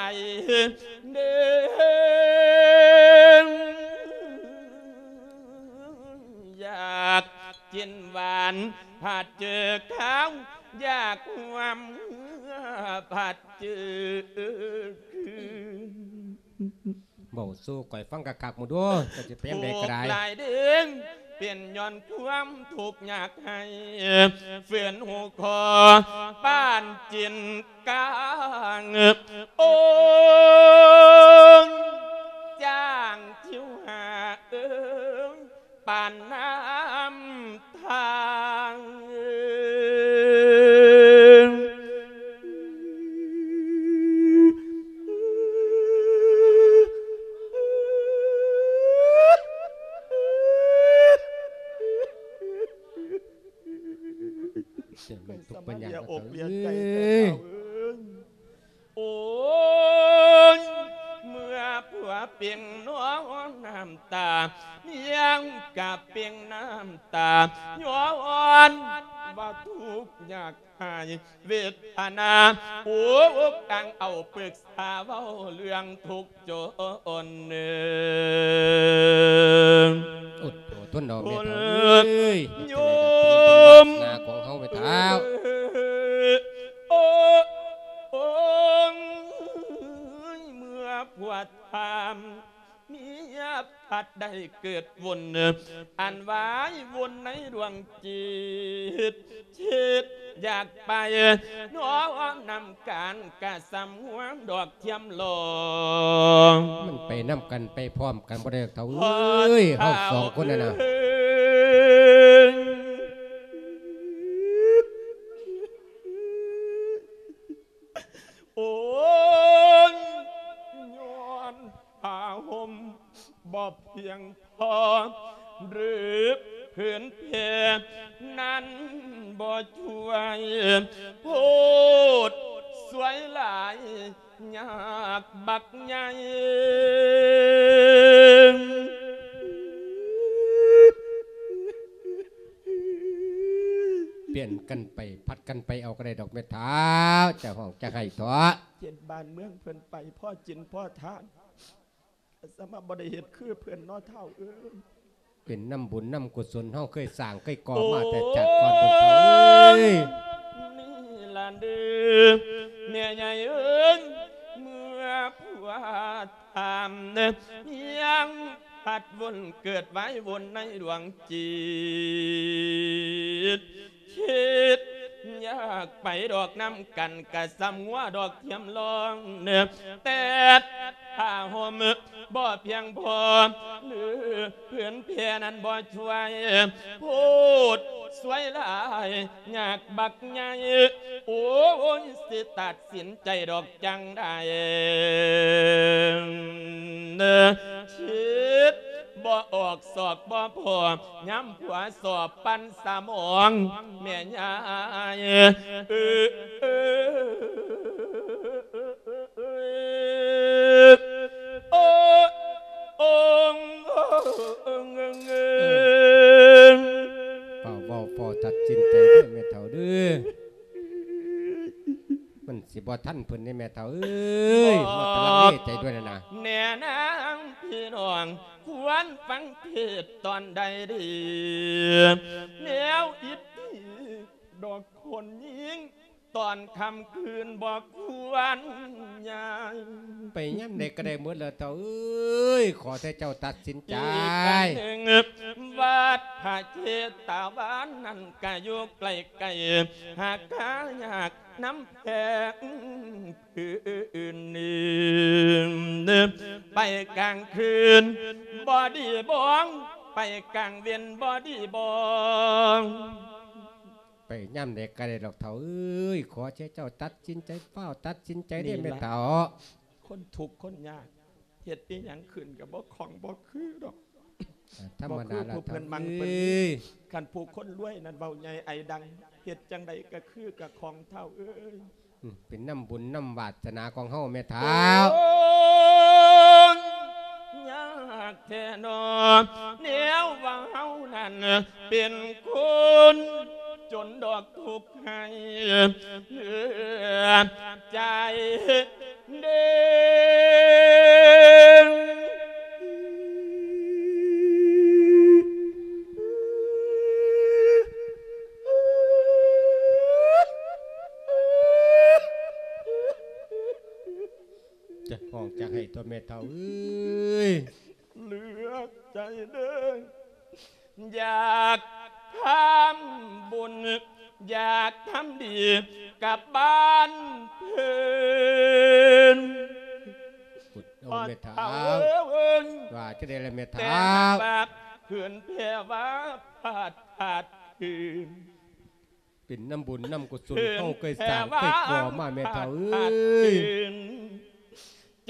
ເດີ ຢາກກິນຫວານ ພັດເຈີຄາວ ຢາກຮ່ວມເຮືອ ພັດເຈີຄືນ ເວົ້າສູ່ຂ້ອຍຟັງຄັກໆ ໝູ່ດູ ເຈົ້າຊິໄປຍາມໃດກໍໄດ້ ໂຊກຫຼາຍເດີ ເປັນຍ້ອນຄວາມທຸກຍາກໄຮ້ ເຝືນຫູຄໍປານຈີນກາງ ໂອຍ ຈ້າງທິວຫາເອີຍ ປານນ້ຳທາງ. ເສຍງມັນຕົກປັນຍາ ເສຍງມັນເສຍອົກເສຍໃຈແທ້ເອີຍ. ໂອ້ຍ ເມື່ອຜົວເປັນນ້ອງນ້ຳຕາ ເມຍກະເປັນນ້ຳຕາ ຍ້ອນວ່າທຸກຍາກຫາຍເວທະນາ ໂອ້ ກາງເອົາປຶກສາເວົ້າເລື່ອງທຸກຈົນເນີ. ອົດໂທທົນເນາະແມ່ເຖົ້າເອີຍ ໂຍມ ວາສະໜາຂອງເຮົາແມ່ເຖົ້າ. ໂອ້ ໂອ້ຍ ເມື່ອຜົວຖາມ ເມຍພັດໄດ້ເກີດວົນ ອັນວາຍວົນໃນດວງຈິດ ຄິດຢາກໄປ ນອນນຳກັນກະສ່ຳງົວດອກທຽມລອງ. ມັນໄປນຳກັນໄປພ້ອມກັນບໍ່ໄດ້ດອກເຖົ້າເອີຍ ເຮົາສອງຄົນນັ້ນນະ. ໂອ້ຍ ຍ້ອນຜ້າຫົ່ມບໍ່ພຽງພໍ ຫຼືຜືນແພນັ້ນບໍ່ຊ່ວຍ ໂພດສວຍຫຼາຍ ຍາກບັກໃຫຍ່. ປ່ຽນກັນໄປ ຜັດກັນໄປເອົາກໍໄດ້ດອກແມ່ທ້າວ ຈະຮ້ອງຈະໄຫ້ເຖາະ. ເຮັດບ້ານເມືອງເພິ່ນໄປ ພໍກິນພໍທານ ສາມາດບໍ່ໄດ້ເຮັດຄືເພິ່ນເນາະທ້າວເອີຍ. ເປັນນຳບຸນນຳກຸສົນເຮົາເຄີຍສ້າງເຄີຍກໍ່ມາແຕ່ຊາດກ່ອນພຸ້ນເອີຍ. ນີ້ລະເດີແມ່ໃຫຍ່ເອີຍ ເມື່ອຜົວຖາມ ຍັງພັດວົນເກີດວາຍວົນໃນດວງຈິດ ຄິດຢາກໄປດອກນຳກັນ ກະສ່ຳງົວດອກທຽມລອງ ແຕ່ຜ້າຫົ່ມບໍ່ພຽງພໍ ຫຼືຜືນແພນັ້ນບໍ່ຊ່ວຍ ໂພດສວຍຫຼາຍ ຍາກບັກໃຫຍ່ ໂອ້ຍ ຊິຕັດສິນໃຈດອກຈັ່ງໃດ ຄິດບໍ່ອອກຊອກບໍ່ພໍ ຍາມຜົວສອບປັ່ນສະໝອງ ແມ່ຍາຍ ເອີ ເອີ ໂອ້ ໂອ້ ເອີ ເອີ ເອີ ເອີ ເອີ ເຝົ້າເວົ້າ ເຝົ້າຕັດສິນໃຈເດີແມ່ເຖົ້າເດີ ມັນຊິບໍ່ທັນເພິ່ນເດ້ແມ່ເຖົ້າເອີຍ ເຮົາກຳລັງເລໃຈດ້ວຍນະນະ. ແນ່ນາງພີ່ນ້ອງ ຄວນຟັງເທດຕອນໃດດີ ແນວອິດດີດອກຄົນຍິງ ຕອນຄ່ຳຄືນບໍ່ຄວນຍ້າຍ ໄປຍາມໃດກໍໄດ້ໝົດແລ້ວເຖົ້າເອີຍ ຂໍແຕ່ເຈົ້າຕັດສິນໃຈ. ອີກອັນໜຶ່ງ ວັດພະເຊຕະວານນັ້ນກະຢູ່ໃກ້ໆ ຫາກາຍາກນຳແພງ ຄືນນີ້ ໄປກາງຄືນບໍ່ດີບໍ ໄປກາງເວັນບໍ່ດີບໍ. ໄປຍາມໃດກໍໄດ້ດອກເຖົ້າເອີຍ ຂໍໃຫ້ເຈົ້າຕັດສິນໃຈ ຟ້າວຕັດສິນໃຈເດີແມ່ເຖົ້າ. ຄົນທຸກຄົນຍາກ ເຮັດອີ່ຫຍັງຂຶ້ນກໍບໍ່ຄ່ອງບໍ່ຄືດອກ. ທຳມະດາລະເຖົ້າເອີຍ ຄັນຜູ້ຄົນລວຍນັ້ນເວົ້າໃຫຍ່ໄອດັງ ເຮັດຈັ່ງໃດກໍຄືກໍຄ່ອງເຖົ້າເອີຍ. ອືມ ເປັນນຳບຸນນຳວາສະໜາຂອງເຮົາແມ່ທ້າວ. ໂອ້ຍ ຍາກແທ້ນໍ ແນວວ່າເຮົານັ້ນເປັນຄົນຈົນດອກ ທຸກໃຫ້ເຫຼືອໃຈເດ້. ຈະຮ້ອງຈະໄຫ້ຕົວແມ່ເຖົ້າເອີຍ ເຫຼືອໃຈເດີ້. ຢາກທຳບຸນ ຢາກທຳດີກັບບ້ານເພິ່ນ ໂອ້ ແມ່ເຖົ້າ ວ່າຈັ່ງໃດລະແມ່ເຖົ້າ ແຕ່ຫາກວ່າເພິ່ນແຜ່ວ່າພາດ ພາດຄືນ ເປັນນຳບຸນນຳກຸສົນເຮົາເຄີຍສ້າງເຄີຍກໍ່ມາແມ່ເຖົ້າເອີຍ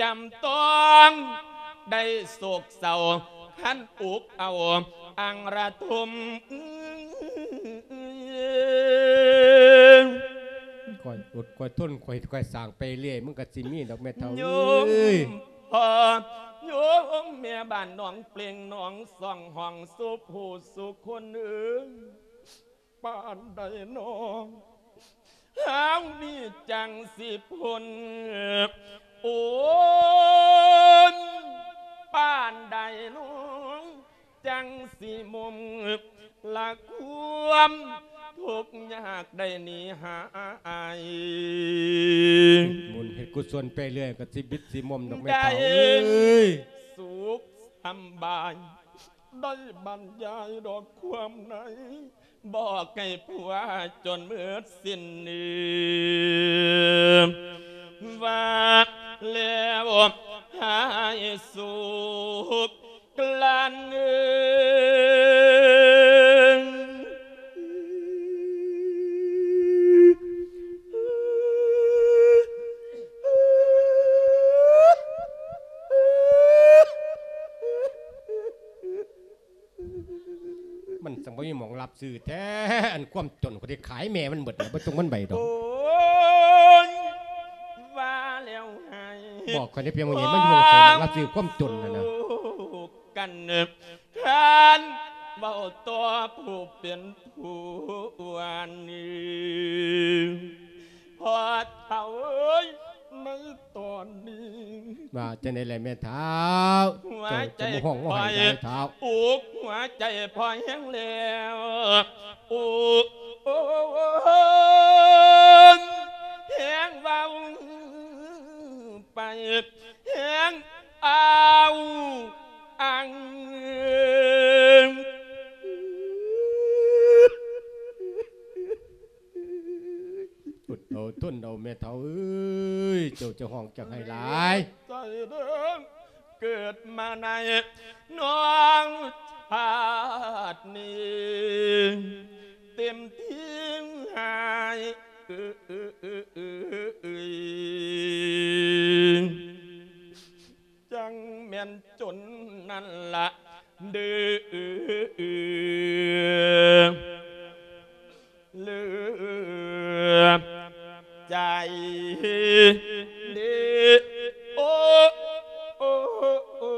ຈຳຕ້ອງໄດ້ໂສກເສົ້າ ຄັນອົກເອົາອັ່ງລະທົມ ຂ້ອຍອົດຂ້ອຍທົນ ຂ້ອຍ ຂ້ອຍສ້າງໄປເລື້ອຍ ມັນກໍຊິມີດອກແມ່ເຖົ້າເອີຍ ໂຍມພໍ່ ໂຍມແມ່ບ້ານໜອງເປ່ງ ໜອງຊ່ອງ ຫ້ອງສຸຜູ້ສຸຄົນເອີຍ ປານໃດນ້ອ ເຮົານີ້ຈັ່ງຊິພົ້ນ ໂອ້ຍ ປານໃດນ້ອ ຈັ່ງຊິໝົມ ລະຄວາມທຸກຍາກໄດ້ໜີຫາຍ ເຮັດບຸນເຮັດກຸສົນໄປເລື້ອຍ ກໍຊິບິດຊິໝົມດອກແມ່ເຖົ້າເອີຍ ໄດ້ສຸກສຳບາຍ ໄດ້ບັນຍາຍດອກຄວາມໃນ ບອກໃຫ້ຜົວຈົນໝົດສິ້ນເນີ ວ່າແລ້ວຫາຍສຸກກລັ້ນເອີ ມັນຈັ່ງບໍ່ມີໝ່ອງຮັບຊື້ແທ້ ອັນຄວາມຈົນ ຂ້ອຍໄດ້ຂາຍແມ່ມັນເບິດແລ້ວ ບໍ່ຕົກມັນໃບດອກ ໂອ້ຍ ວ່າແລ້ວໃຫ້ ບອກຂ້ອຍໄດ້ພຽງວ່າ ມັນຢູ່ໃສ ມັນຮັບຊື້ຄວາມຈົນຫັ້ນນະ ກັນ ທ່ານເວົ້າຕໍ່ຜູ້ເປັນຜົວນີ້ ພໍ່ເຖົ້າເອີຍ ໃນຕອນນີ້ ວ່າຈັ່ງໃດແລະແມ່ເຖົ້າ ຫົວໃຈ ເຈົ້າຈະມາຮ້ອງມາໄຫ້ໃດເຖົ້າ ອຸກຫົວໃຈພໍ່ແຮງແລ້ວ ອຸກ ໂອ້ ແຮງເວົ້າໄປ ແຮງອ້າວ ອັງ ອົດເອົາທົນເອົາແມ່ເຖົ້າເອີຍ ເຈົ້າຈະຮ້ອງຈະໄຫ້ຫຼາຍ ໃຈເດີ ເກີດມາໃນນ້ອງຊາດນີ້ ເຕັມທີ່ຫາຍ ເອີຍ ຈັ່ງແມ່ນຈົນນັ້ນລະເດີ ເຫຼືອໃຈເດີ ໂອ້ ໂອ້ ໂອ້ ໂອ້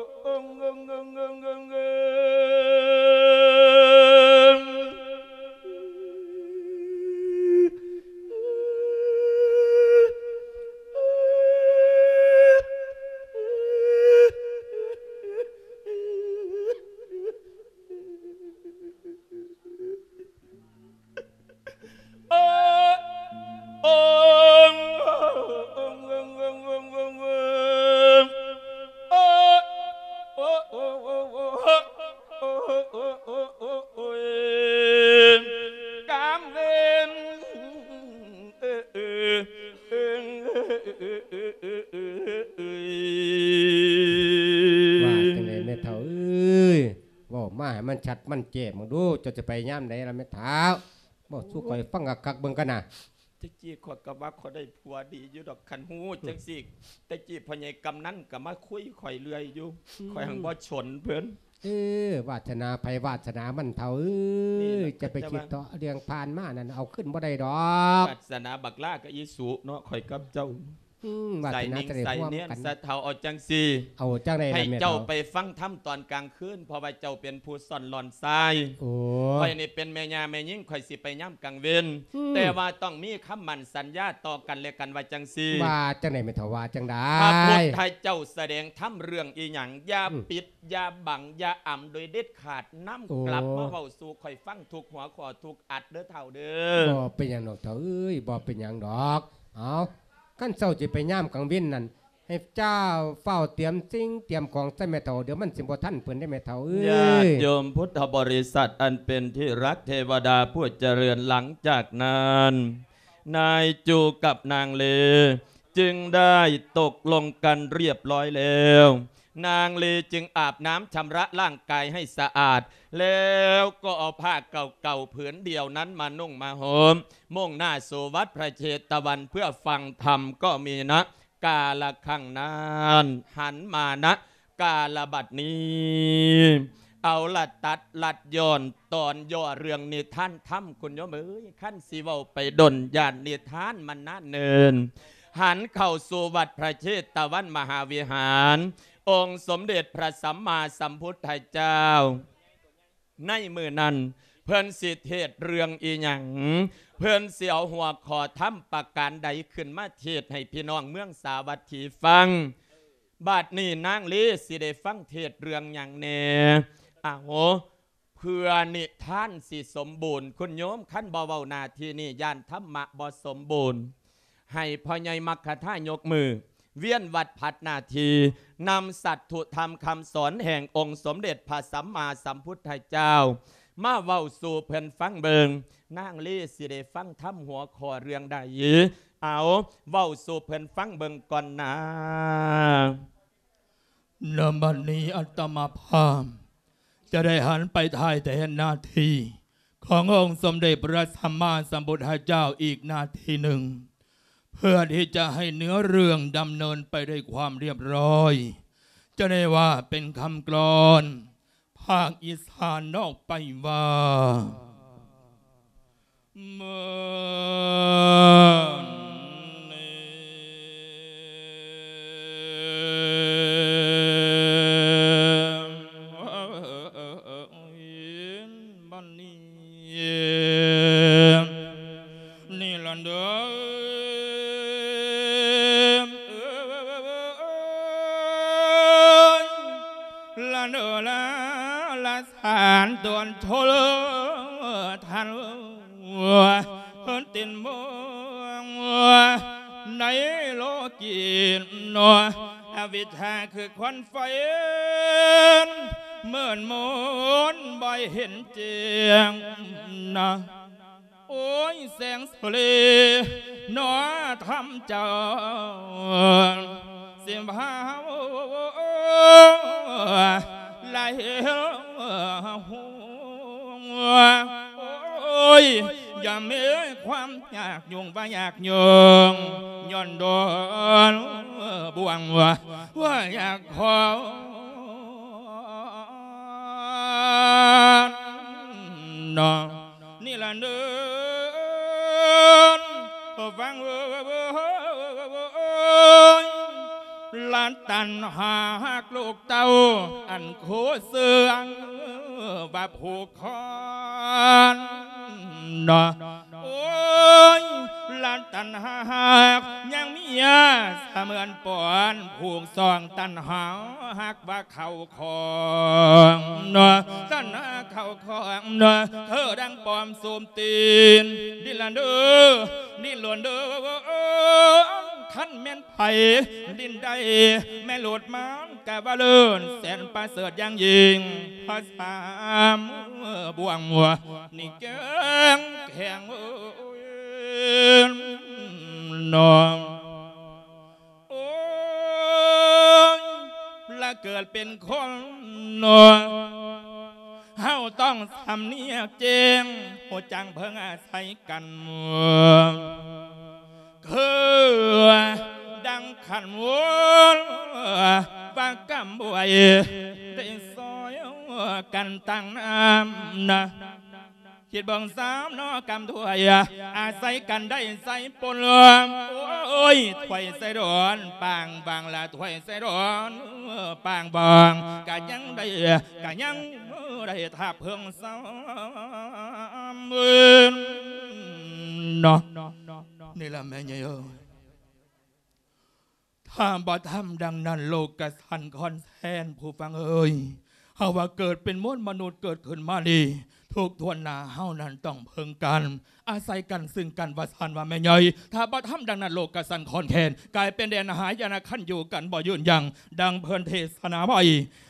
ໂອ້ ກາງເວັນ ວ່າຈັ່ງໃດແມ່ເຖົ້າເອີຍ ເວົ້າມາໃຫ້ມັນຊັດມັນແຈ້ງເບິ່ງດູ ເຈົ້າຈະໄປຍາມໃດລະແມ່ເຖົ້າ ເວົ້າສູ່ຂ້ອຍຟັງຄັກໆເບິ່ງກັນນະ. ແຕ່ກີ້ຂ້ອຍກໍວ່າຂ້ອຍໄດ້ຜົວດີຢູ່ດອກ ຄັນຮູ້ ອືມ ຈັ່ງຊີ້ ແຕ່ກີ້ພໍ່ໃຫຍ່ກຳນັນກໍມາຄຸຍຂ້ອຍເລື້ອຍຢູ່ ອືມ ຂ້ອຍຫັ້ນບໍ່ສົນເພິ່ນ. ເອີ ວາດສະໜາໃຜວາດສະໜາມັນເຖົ້າເອີຍ ນີ້ແຫຼະ ຈະໄປຄິດເທາະເລື່ອງຜ່ານມານັ້ນ ເອົາຄືນບໍ່ໄດ້ດອກ ວາດສະໜາບັກຫຼ້າກັບອີສຸເນາະ ຂ້ອຍກັບເຈົ້າ ອືມ ວາດສະໜາຈະໄດ້ຮ່ວມກັນ ໃສ່ເນນ ໃສ່ເຖົ້າ ເອົາຈັ່ງຊີ້ ເອົາຈັ່ງໃດລະແມ່ເຖົ້າ ໃຫ້ເຈົ້າໄປຟັງທຳຕອນກາງຄືນ ເພາະວ່າເຈົ້າເປັນຜູ້ຊ້ອນຫຼອນຊາຍ ໂອ້ ຂ້ອຍນີ້ເປັນແມ່ຍ່າແມ່ຍິງ ຂ້ອຍຊິໄປຍາມກາງເວັນ ອືມ ແຕ່ວ່າຕ້ອງມີຄຳໝັ້ນສັນຍາຕໍ່ກັນແລະກັນ ວ່າຈັ່ງຊີ້ ວ່າຈັ່ງໃດແມ່ເຖົ້າ ວ່າຈັ່ງໃດ ພະພຸດທະເຈົ້າສະແດງທຳເລື່ອງອີ່ຫຍັງ ຢ່າ ອືມ ປິດ ຢ່າບັງ ຢ່າອຳໂດຍເດັດຂາດ ນຳ ໂອ້ ກັບມາເວົ້າສູ່ຂ້ອຍຟັງທຸກຫົວຂໍ້ ທຸກອັດເດີເຖົ້າເດີ. ບໍ່ເປັນຫຍັງດອກເຖົ້າເອີຍ ບໍ່ເປັນຫຍັງດອກ ເອົາ ຄັນເຈົ້າຊິໄປຍາມກາງເວັນນັ້ນ ໃຫ້ ໃຫ້ເຈົ້າຟ້າວຕຽມສິ່ງຕຽມຂອງໃສ່ແມ່ເຖົ້າ ດຽວມັນຊິບໍ່ທັນເພິ່ນເດ້ແມ່ເຖົ້າເອີຍ. ຍາດໂຍມພຸດທະບໍລິສັດອັນເປັນທີ່ຮັກ ເທວະດາຜູ້ຈະເລີນ, ຫຼັງຈາກນັ້ນ ນາຍຈູກັບນາງເລຈຶ່ງໄດ້ຕົກລົງກັນຮຽບຮ້ອຍແລ້ວ. ນາງເລຈຶ່ງອາບນ້ຳຊຳລະຮ່າງກາຍໃຫ້ສະອາດ ແລ້ວກໍເອົາຜ້າເກົ່າໆຜືນດຽວນັ້ນມານຸ່ງມາຫົ່ມ ມຸ່ງໜ້າສູ່ວັດພະເຊຕະວັນເພື່ອຟັງທຳ ກໍມີນະ ກາລະຄັ້ງນັ້ນ ຫັນມານະ ກາລະບັດນີ້ ເອົາລະ ຕັດລັດຢ່ອນຕອນຫຍໍ້ເລື່ອງນິທານທຳ ຄຸນໂຍມເອີຍ, ຄັນຊິເວົ້າໄປດົນ ຢ້ານນິທານມັນນານເນີນ. ຫັນເຂົ້າສູ່ວັດພະເຊຕະວັນມະຫາວິຫານ ອົງສົມເດັດພະສຳມາສຳພຸດທະເຈົ້າ ໃນມື້ນັ້ນ ເພິ່ນຊິເທດເລື່ອງອີ່ຫຍັງ? ເພິ່ນຊິເອົາຫົວຂໍ້ທຳປະການໃດຂຶ້ນມາເທດໃຫ້ພີ່ນ້ອງເມືອງສາວັດຖີຟັງ? ບາດນີ້ນາງເລຊິໄດ້ຟັງເທດເລື່ອງຫຍັງແດ່? ເອົາ ເພື່ອນິທານຊິສົມບູນ ຄຸນໂຍມ, ຄັນບໍ່ເວົ້າໜ້າທີ່ນີ້ ຢ້ານທຳມະບໍ່ສົມບູນ. ໃຫ້ພໍ່ໃຫຍ່ມັກຄະທາຍົກມື ວຽນວັດຜັດໜ້າທີ່ ນຳສັດຖຸທຳຄຳສອນແຫ່ງອົງສົມເດັດພະສຳມາສຳພຸດທະເຈົ້າ ມາເວົ້າສູ່ເພິ່ນຟັງເບິ່ງ. ນາງເລຊິໄດ້ຟັງທຳຫົວຂໍ້ເລື່ອງໃດ? ເອົາ ເວົ້າສູ່ເພິ່ນຟັງເບິ່ງກ່ອນນາ. ນະ ບັດນີ້ອາດຕະມາພາບຈະໄດ້ຫັນໄປຖ່າຍແທນໜ້າທີ່ຂອງອົງສົມເດັດພະສຳມາສຳພຸດທະເຈົ້າອີກໜ້າທີ່ໜຶ່ງ ເພື່ອທີ່ຈະໃຫ້ເນື້ອເລື່ອງດຳເນີນໄປດ້ວຍຄວາມຮຽບຮ້ອຍ. ຈະໄດ້ວ່າເປັນຄຳກລອນພາກອີສານອອກໄປວ່າ ເມື່ອນີ້ ບັດນີ້ ນີ້ລະເດີ ລະເດີ ລະ ລະ ສານຕົນໂທເລີທັນ ເພິ່ນຕິນເມືອງໃນໂລກີເນາະ ອະວິດຊາຄືຄວັນໄຟ ມືດມົນບໍ່ເຫັນແຈ້ງນະ. ໂອ້ຍ ແສງສະເລເນາະທຳເຈົ້າ ຊິພາເຮົາໄຫຼຫົວ ໂອ້ຍ ຢ່າມີຄວາມຍາກຫຍຸ້ງວ່າຍາກຫຍຸ້ງ ຍ້ອນດອນບ່ວງວ່າ ວ່າຢາກຂໍນອນ ນີ້ລະເນີນ ຟັງເອີຍ ລະຕັນຫາຮັກລູກເຕົ້າ ອັນຄູ່ເຊື່ອງວ່າຜູກຄອນເນາະ. ໂອ້ຍ ລະຕັນຫາຮັກຍັງມີສະເໝືອນປອນຜູກຊ່ອງຕັນຫາຮັກວ່າ ເຂົ້າຂອງເນາະ ຕັນຫາເຂົ້າຂອງເນາະ ຄືດັ່ງປ້ອມສຸມຕີນ ດິນລະເດີ ດິນລະເດີ ຄັນແມ່ນໃຜດິນໄດ້ ແມ່ໂລດມາກະວ່າເລີດ ແສນປະເສີດຢ່າງຍິ່ງ ພະສາມບ່ວງ ນີ້ແກ້ງແຂງເອີຍ ນ້ອງ ໂອ້ຍ ລະເກີດເປັນຄົນເນາະ ເຮົາຕ້ອງສຳນຽກແຈ້ງ ຮູ້ຈັກເພິ່ງອາໄສກັນ ຄືດັ່ງຂັນວນວ່າກຳບວຍ ໄດ້ຊ່ອຍກັນຕັ້ງນ້ຳນະ. ຄິດເບິ່ງສາມເນາະ ກຳຖ້ວຍອາໄສກັນໄດ້ໃສ່ປົນ ໂອ້ຍ ຖ້ວຍໃສ່ດອນປາງບາງລະ ຖ້ວຍໃສ່ດອນປາງບາງ ກະຍັງໄດ້ ກະຍັງໄດ້ຖ້າເພິ່ງສາມເນາະ ນີ້ລະແມ່ໃຫຍ່ເອີຍ. ຖ້າບໍ່ທຳດັ່ງນັ້ນ ໂລກກະສັ່ນຄອນແຄນ ຜູ້ຟັງເອີຍ ເຮົາວ່າເກີດເປັນມວນມະນຸດເກີດຂຶ້ນມານີ້ ທຸກຖ້ວນໜ້າເຮົານັ້ນຕ້ອງເພິ່ງກັນ ອາໄສກັນເຊິ່ງກັນ ວ່າຊັ້ນວ່າແມ່ໃຫຍ່. ຖ້າບໍ່ທຳດັ່ງນັ້ນ ໂລກກະສັ່ນຄອນແຄນ ກາຍເປັນແດນຫາຍະນະ ຄັນຢູ່ກັນບໍ່ຍືນຍັງ ດັ່ງເພິ່ນເທສະນາໄວ້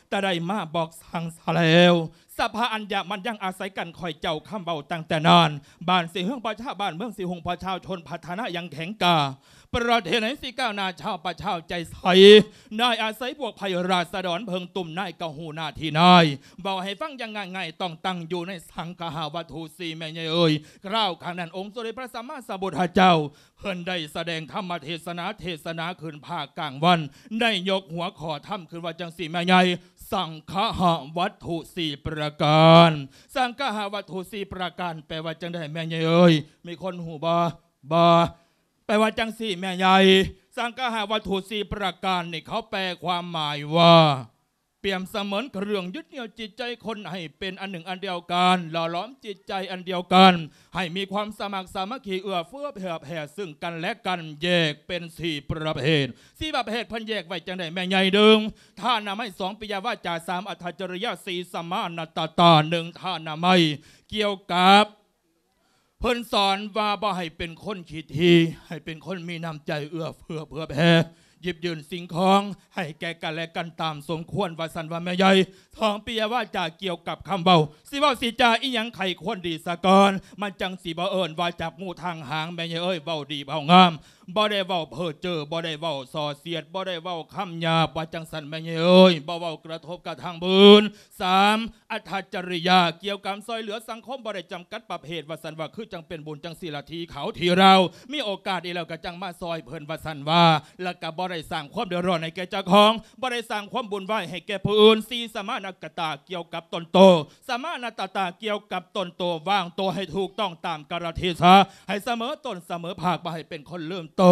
ແຕ່ໄດ້ມາບອກສັ່ງຊະແລ້ວ. ສະພາອັນຍະມັນຍັງອາໄສກັນ ຂ້ອຍເຈົ້າຄຳເວົ້າຕັ້ງແຕ່ນານ ບ້ານຊິເຮືອງປະຊາ ບ້ານເມືອງຊິຮຸ່ງ ປະຊາຊົນພັດທະນາຢ່າງແຂງກ້າ ປະເທດໃນຊິກ້າວໜ້າ ຊາວປະຊາຊົນໃຈໃສ ນາຍອາໄສພວກໃຜ ລາຊະດອນເພິ່ງຕຸ່ມ ນາຍກະຮູ້ໜ້າທີ່ນາຍ. ເວົ້າໃຫ້ຟັງຢ່າງງ່າຍໆ ຕ້ອງຕັ້ງຢູ່ໃນສັງຄະຫະວັດຖຸສີ່ ແມ່ໃຫຍ່ເອີຍ. ຄາວຄັ້ງນັ້ນ ອົງສົມເດັດພະສຳມາສຳພຸດທະເຈົ້າ ເພິ່ນໄດ້ສະແດງທຳມະເທສະນາ ເທສະນາຂຶ້ນພາກກາງວັນ ໄດ້ຍົກຫົວຂໍ້ທຳຂຶ້ນວ່າຈັ່ງຊີ້ແມ່ໃຫຍ່ ສັງຄະຫະວັດຖຸສີ່ປະການ. ສັງຄະຫະວັດຖຸສີ່ປະການ ແປວ່າຈັ່ງໃດແມ່ໃຫຍ່ເອີຍ? ມີຄົນຮູ້ບໍ່? ບໍ່. ແປວ່າຈັ່ງຊີ້ແມ່ໃຫຍ່ ສັງຄະຫະວັດຖຸສີ່ປະການນີ້ ເຂົາແປຄວາມໝາຍວ່າ ປຽບສະເໝືອນເຄື່ອງຍຶດໜຽວຈິດໃຈຄົນໃຫ້ເປັນອັນໜຶ່ງອັນດຽວກັນ, ຫຼໍ່ຫຼອມຈິດໃຈອັນດຽວກັນ, ໃຫ້ມີຄວາມສະໝັກສາມັກຄີ ເອື້ອເຟື້ອເຜື່ອແຜ່ເຊິ່ງກັນແລະກັນ. ແຍກເປັນສີ່ປະເພດ. ສີ່ປະເພດເພິ່ນແຍກໄວ້ຈັ່ງໃດແມ່ໃຫຍ່? ໜຶ່ງ ທານະໄມ, ສອງ ປິຍະວາຈາ, ສາມ ອັດຖະຈະລິຍະ, ສີ່ ສະມານະຕະຕາ. ໜຶ່ງ ທານະໄມ ກ່ຽວກັບ ເພິ່ນສອນວ່າບໍ່ໃຫ້ເປັນຄົນຂີ້ຖີ່, ໃຫ້ເປັນຄົນມີນ້ຳໃຈເອື້ອເຟື້ອເຜື່ອແຜ່, ຢິບຍື່ນສິ່ງຂອງໃຫ້ແກ່ກັນແລະກັນຕາມສົມຄວນ, ວ່າຊັ້ນວ່າແມ່ໃຫຍ່. ສອງ ປິຍະວາຈາ ກ່ຽວກັບຄຳເວົ້າ, ຊິເວົ້າຊິຈາອີ່ຫຍັງໃຫ້ຄວນດີສາກ່ອນ, ມັນຈັ່ງຊິບໍ່ເອີ້ນວ່າຈັບງູທາງຫາງ. ແມ່ໃຫຍ່ເອີຍ, ເວົ້າດີເວົ້າງາມ, ບໍ່ໄດ້ເວົ້າເພີ້ເຈີ້, ບໍ່ໄດ້ເວົ້າສ່ອສຽດ, ບໍ່ໄດ້ເວົ້າຄຳຫຍາບ, ວ່າຈັ່ງຊັ້ນແມ່ໃຫຍ່ເອີຍ, ບໍ່ເວົ້າກະທົບກະທຳຜູ້ອື່ນ. ສາມ ອັດຖະຈະລິຍະ ກ່ຽວກັບຊ່ອຍເຫຼືອສັງຄົມ ບໍ່ໄດ້ຈຳກັດປະເພດ, ວ່າຊັ້ນວ່າ ຄືຈັ່ງເປັນບຸນຈັ່ງສີລະ ທີ່ເຂົາທີ່ລາວມີໂອກາດດີແລ້ວ ກໍຈັ່ງມາຊ່ອຍເພິ່ນ, ວ່າຊັ້ນວ່າ, ແລ້ວກໍບໍ່ໄດ້ສ້າງຄວາມເດືອດຮ້ອນໃຫ້ແກ່ເຈົ້າຂອງ, ບໍ່ໄດ້ສ້າງຄວາມວຸ່ນວາຍໃຫ້ແກ່ຜູ້ອື່ນ. ສີ່ ສະມານະຕະຕາ ກ່ຽວກັບຕົນໂຕ, ສະມານະຕະຕາ ກ່ຽວກັບຕົນໂຕ, ວາງໂຕໃຫ້ຖືກຕ້ອງຕາມກາລະເທສະ, ໃຫ້ສະເໝີຕົ້ນສະເໝີພາກ, ບໍ່ໃຫ້ເປັນຄົນລືມໂຕ,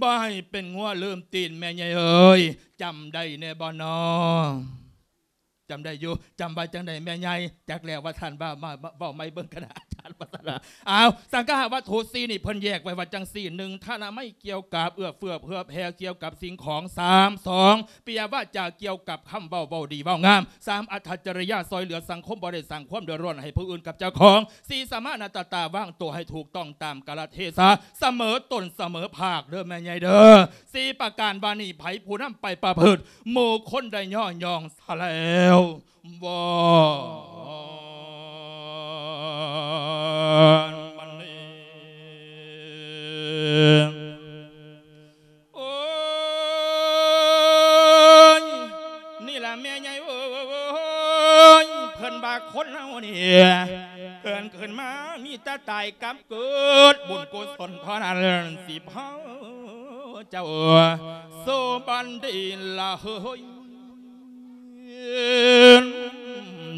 ບໍ່ໃຫ້ເປັນງົວລືມຕີນ. ແມ່ໃຫຍ່ເອີຍ, ຈຳໄດ້ແດ່ບໍ່ນໍ? ຈຳໄດ້ຢູ່. ຈຳວ່າຈັ່ງໃດແມ່ໃຫຍ່? ຈັກແລ້ວ ວ່າຊັ້ນວ່າ. ມາ ມາເວົ້າໃໝ່ເບິ່ງກັນນະອາຈານ ວ່າຊັ້ນວ່າ. ອ້າວ ສັງຄະຫະວັດຖຸສີ່ນີ້ ເພິ່ນແຍກໄວ້ວ່າຈັ່ງຊີ້: ໜຶ່ງ ທານະໄມ ກ່ຽວກັບເອື້ອເຟື້ອເຜື່ອແຜ່ ກ່ຽວກັບສິ່ງຂອງ. ສາມ ສອງ ປິຍະວາຈາ ກ່ຽວກັບຄຳເວົ້າ ເວົ້າດີເວົ້າງາມ. ສາມ ອັດຖະຈະລິຍະ ຊ່ອຍເຫຼືອສັງຄົມ ບໍ່ໄດ້ສ້າງຄວາມເດືອດຮ້ອນໃຫ້ຜູ້ອື່ນກັບເຈົ້າຂອງ. ສີ່ ສະມານະຕະຕາ ວາງໂຕໃຫ້ຖືກຕ້ອງຕາມກາລະເທສະ, ສະເໝີຕົ້ນສະເໝີພາກເດີແມ່ໃຫຍ່ເດີ. ສີ່ປະການວ່ານີ້ ໃຜຜູ້ນຳໄປປະພຶດ ໝູ່ຄົນໄດ້ຍໍຍ້ອງຊະແລ້ວ. ວອນມັນນີ້ ໂອ້ຍ ນີ້ລະແມ່ໃຫຍ່ເອີຍ, ເພິ່ນວ່າຄົນເຮົານີ້ ເກີດຂຶ້ນມາມີແຕ່ຕາຍກັບເກີດ, ບຸນກຸສົນເທົ່ານັ້ນຊິພາ ເຈົ້າ ໂສບັນດີລະເຮີຍ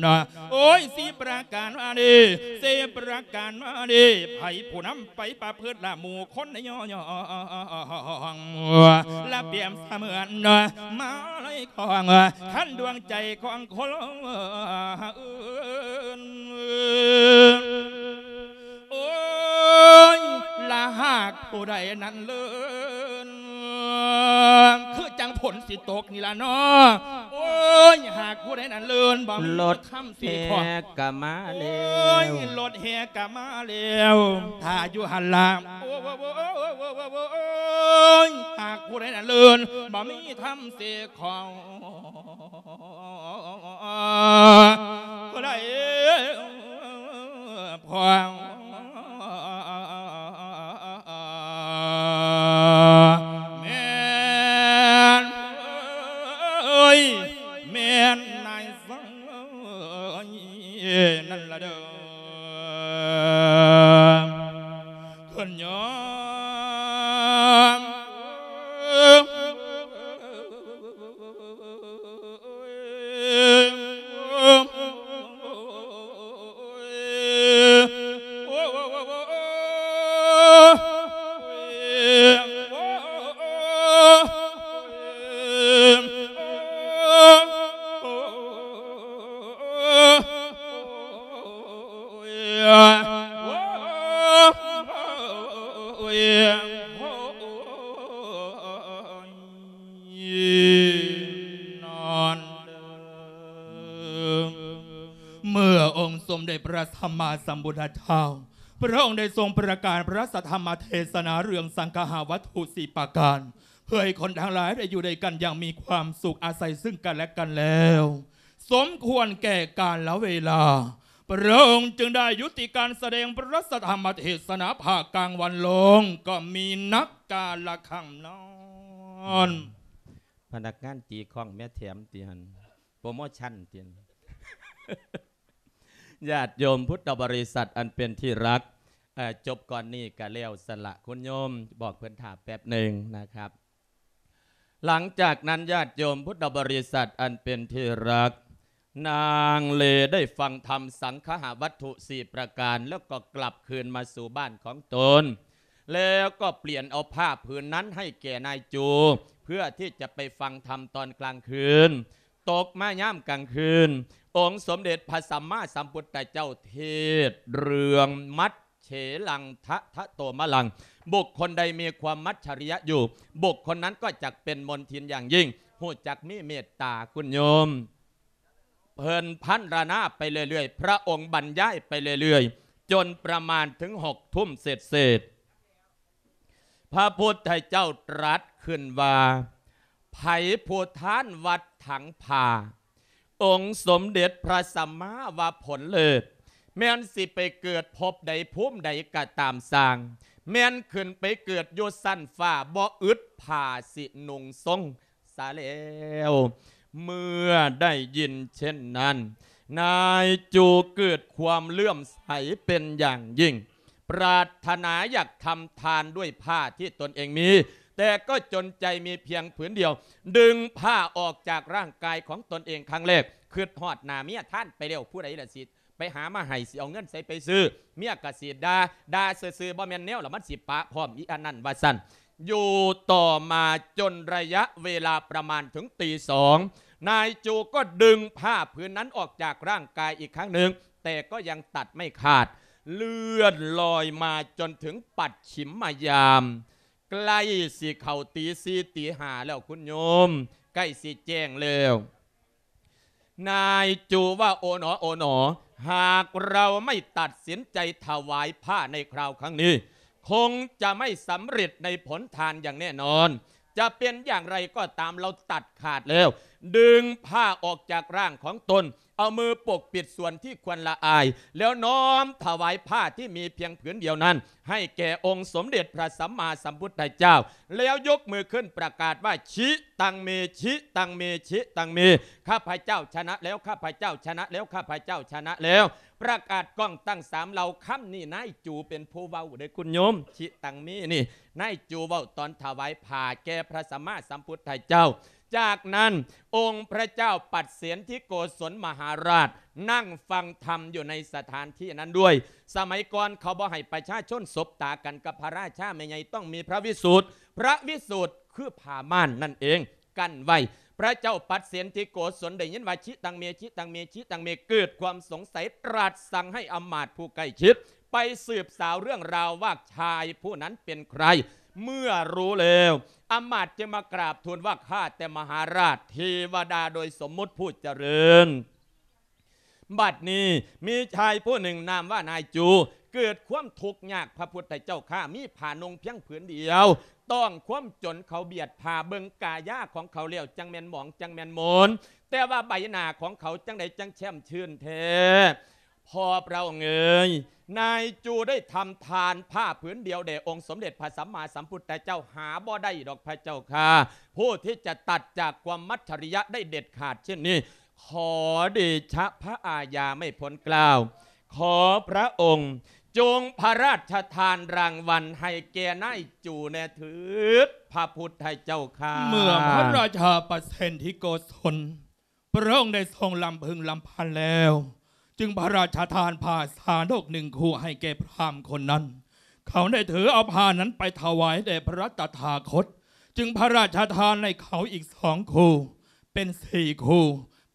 ນະ. ໂອ້ຍ ສີ່ປະການວ່ານີ້ ສີ່ປະການວ່ານີ້ ໃຜຜູ້ນຳໄປປະພຶດລະ ໝູ່ຄົນຍ້ອງ ລະປຽບສະເໝືອນມາໄລຂອງ ຄັນດວງໃຈຂອງຄົນອື່ນ. ໂອ້ຍ ລະຫາກຜູ້ໃດນັ້ນເລີນ ຄືຈັ່ງຝົນຊິຕົກນີ້ລະເນາະ. ໂອ້ຍ ຫາກຜູ້ໃດນັ້ນເລີນ ບໍ່ມີ ລົດ ຄຳຊິຂໍ ແຫ່ກະມາແລ້ວ ໂອ້ຍ ລົດແຫ່ກະມາແລ້ວ ຖ້າຢູ່ຫັ້ນລະ. ໂອ້ຍ ຫາກຜູ້ໃດນັ້ນເລີນ ບໍ່ມີທຳເສຂອງ ຜູ້ໃດພອງ ແມ່ນ ເອີຍ ແມ່ນນາຍຊາຍນັ້ນລະເດີ ເພິ່ນຍອມ. ເມື່ອອົງສົມເດັດພະ ພະສຳມາສຳພຸດທະເຈົ້າ ພະອົງໄດ້ຊົງປະກາດພະສັດທຳມະເທສະນາເລື່ອງສັງຄະຫະວັດຖຸສີ່ປະການ ເພື່ອໃຫ້ຄົນທັງຫຼາຍໄດ້ຢູ່ດ້ວຍກັນຢ່າງມີຄວາມສຸກ ອາໄສຊຶ່ງກັນແລະກັນແລ້ວ ສົມຄວນແກ່ການລະເວລາ ພະອົງຈຶ່ງໄດ້ຢຸດຕິການສະແດງພະສັດທຳມະເທສະນາພາກກາງວັນລົງ ກໍມີນັກກາລະຄັງນັ້ນ. ພະນັກງານຕີຄ້ອງແມ່ແຖມຕິຫັ້ນ ໂປຣໂມຊັນຕິຫັ້ນ. ຍາດໂຍມພຸດທະບໍລິສັດອັນເປັນທີ່ຮັກ ເອີ ຈົບກ່ອນນີ້ກະແລ້ວຊັ້ນລະ ຄຸນໂຍມບອກເພິ່ນຖ້າແປັບໜຶ່ງນະຄັບ. ຫຼັງຈາກນັ້ນ ຍາດໂຍມພຸດທະບໍລິສັດອັນເປັນທີ່ຮັກ ນາງເລໄດ້ຟັງທຳສັງຄະຫະວັດຖຸສີ່ປະການ ແລ້ວກໍກັບຄືນມາສູ່ບ້ານຂອງຕົນ ແລ້ວກໍປ່ຽນເອົາຜ້າຜືນນັ້ນໃຫ້ແກ່ນາຍຈູ ເພື່ອທີ່ຈະໄປຟັງທຳຕອນກາງຄືນ. ຕົກມາຍາມກາງຄືນ ອົງສົມເດັດພະສຳມາສຳພຸດທະເຈົ້າເທດເລື່ອງມັດເສລັງ ທະທະໂຕມະລັງ ບຸກຄົນໃດມີຄວາມມັດສະລິຍະຢູ່ ບຸກຄົນນັ້ນກໍຈັກເປັນມົນທິນຢ່າງຍິ່ງ ຮູ້ຈັກມີເມດຕາ ຄຸນໂຍມ. ເພິ່ນພັນລະນາໄປເລື້ອຍໆ ພະອົງບັນຍາຍໄປເລື້ອຍໆ ຈົນປະມານເຖິງຫົກທຸ່ມເສດໆ ພະພຸດທະເຈົ້າຕລັດຂຶ້ນວ່າ ໃຜຜູ້ທານວັດຖັງຜ້າ ອົງສົມເດັດພະສຳມາວ່າຜົນເລີດ ແມ່ນຊິໄປເກີດພົບໃດພູມໃດກໍຕາມຊ່າງ ແມ່ນຂຶ້ນໄປເກີດຢູ່ຊັ້ນຟ້າ ບໍ່ອຶດຜ້າຊິນຸ່ງຊົງ ສາແລ້ວ. ເມື່ອໄດ້ຍິນເຊັ່ນນັ້ນ ນາຍຈູເກີດຄວາມເຫຼື້ອມໃສເປັນຢ່າງຍິ່ງ ປາດຖະໜາຢາກທຳທານດ້ວຍຜ້າທີ່ຕົນເອງມີ ແຕ່ກໍຈົນໃຈມີພຽງຜືນດຽວ ດຶງຜ້າອອກຈາກຮ່າງກາຍຂອງຕົນເອງຄັ້ງແລກ ຄິດຮອດໜ້າເມຍ ທານໄປແລ້ວ ຜູ້ໃດລະຊິ ໄປຫາມາໃຫ້ ຊິເອົາເງິນໃສໄປຊື້ ເມຍກະຊິດ່າ ດ່າຊື່ໆ ບໍ່ແມ່ນແນວລະມັນຊິປະພ້ອມອີອັນນັ້ນວ່າຊັ້ນ. ຢູ່ຕໍ່ມາຈົນໄລຍະເວລາປະມານເຖິງຕີສອງ ນາຍຈູກໍດຶງຜ້າຜືນນັ້ນອອກຈາກຮ່າງກາຍອີກຄັ້ງໜຶ່ງ ແຕ່ກໍຍັງຕັດໄມ່ຂາດ ເລື່ອນລອຍມາຈົນເຖິງປັດຂິມມະຍາມ ໃກ້ຊິເຂົ້າຕີສີ່ຕີຫ້າແລ້ວ ຄຸນໂຍມ ໃກ້ຊິແຈ້ງແລ້ວ. ນາຍຈູວ່າ ໂອໜໍ ໂອໜໍ ຫາກເຮົາໄມ່ຕັດສິນໃຈຖວາຍຜ້າໃນຄາວຄັ້ງນີ້ ຄົງຈະໄມ່ສຳເລັດໃນຜົນທານຢ່າງແນ່ນອນ ຈະເປັນຢ່າງໃດກໍຕາມ ເຮົາຕັດຂາດແລ້ວ ດຶງຜ້າອອກຈາກຮ່າງຂອງຕົນ ເອົາມືປົກປິດສ່ວນທີ່ຄວນລະອາຍ ແລ້ວນ້ອມຖວາຍຜ້າທີ່ມີພຽງຜືນດຽວນັ້ນ ໃຫ້ແກ່ອົງສົມເດັດພະສຳມາສຳພຸດທະເຈົ້າ ແລ້ວຍົກມືຂຶ້ນປະກາດວ່າ ຊິຕັງເມ ຊິຕັງເມ ຊິຕັງເມ ຂ້າພະເຈົ້າຊະນະແລ້ວ ຂ້າພະເຈົ້າຊະນະແລ້ວ ຂ້າພະເຈົ້າຊະນະແລ້ວ ປະກາດກ້ອງຕັ້ງສາມເຫຼົ່າ ຄຳນີ້ນາຍຈູເປັນຜູ້ເວົ້າເດີ້ ຄຸນໂຍມ ຊິຕັງເມນີ້ ນາຍຈູເວົ້າຕອນຖວາຍຜ້າແກ່ພະສຳມາສຳພຸດທະເຈົ້າ. ຈາກນັ້ນ ອົງພະເຈົ້າປັດເສນທິໂກສົນມະຫາລາດ ນັ່ງຟັງທຳຢູ່ໃນສະຖານທີ່ນັ້ນດ້ວຍ. ສະໄໝກ່ອນເຂົາບໍ່ໃຫ້ປະຊາຊົນສົບຕາກັນກັບພະລາຊາແມ່ໃຫຍ່ ຕ້ອງມີພະວິສຸດ ພະວິສຸດຄືຜ້າມ່ານນັ້ນເອງ ກັ້ນໄວ້. ພະເຈົ້າປັດເສນທິໂກສົນໄດ້ຍິນວ່າ ຊິຕັງເມ ຊິຕັງເມ ຊິຕັງເມ ເກີດຄວາມສົງໄສ ຕລັດສັ່ງໃຫ້ອຳມາດຜູ້ໃກ້ຊິດ ໄປສືບສາວເລື່ອງລາວວ່າຊາຍຜູ້ນັ້ນເປັນໃຄ. ເມື່ອຮູ້ແລ້ວ ອຳມາດຈຶ່ງມາກາບທູນວ່າ ຂ້າແຕ່ມະຫາລາດ ເທວະດາໂດຍສົມມຸດຜູ້ຈະເລີນ. ບັດນີ້ມີຊາຍຜູ້ໜຶ່ງນາມວ່ານາຍຈູ ເກີດຄວາມທຸກຍາກ ພະພຸດທະເຈົ້າຂ້າ ມີຜ້ານຸ່ງພຽງຜືນດຽວ ຕ້ອງຄວາມຈົນ ເຂົາບຽດຜ້າ ເບິ່ງກາຍາຂອງເຂົາແລ້ວ ຈັ່ງແມ່ນໝອງ ຈັ່ງແມ່ນໂໝນ ແຕ່ວ່າໃບໜ້າຂອງເຂົາຈັ່ງໃດຈັ່ງແຊ່ມຊື່ນແທ້. ພໍ່ພະອົງເອີຍ ນາຍຈູໄດ້ທຳທານຜ້າຜືນດຽວແດ່ອົງສົມເດັດພະສຳມາສຳພຸດທະເຈົ້າ ຫາບໍ່ໄດ້ດອກພະເຈົ້າຂ້າ ຜູ້ທີ່ຈະຕັດຈາກຄວາມມັດສະລິຍະໄດ້ເດັດຂາດເຊັ່ນນີ້ ຂໍເດຊະພະອາຍາໄມ້ພົນກ່າວ ຂໍພະອົງຈົ່ງພະລາຊະທານລາງວັນໃຫ້ແກ່ນາຍຈູແດ່ເທີດ ພະພຸດທະເຈົ້າຂ້າ. ເມື່ອພະລາຊາປະເສນທິໂກສົນ ພະອົງໄດ້ຊົງລຳເພິ່ງລຳພັນແລ້ວ ຈຶ່ງພະລາຊະທານຜ້າຊາດົກໜຶ່ງຄູ່ໃຫ້ແກ່ພຣາມຄົນນັ້ນ. ເຂົາໄດ້ຖືເອົາຜ້ານັ້ນໄປຖວາຍແດ່ພະຕະຖາຄົດ ຈຶ່ງພະລາຊະທານໃຫ້ເຂົາອີກສອງຄູ່ ເປັນສີ່ຄູ່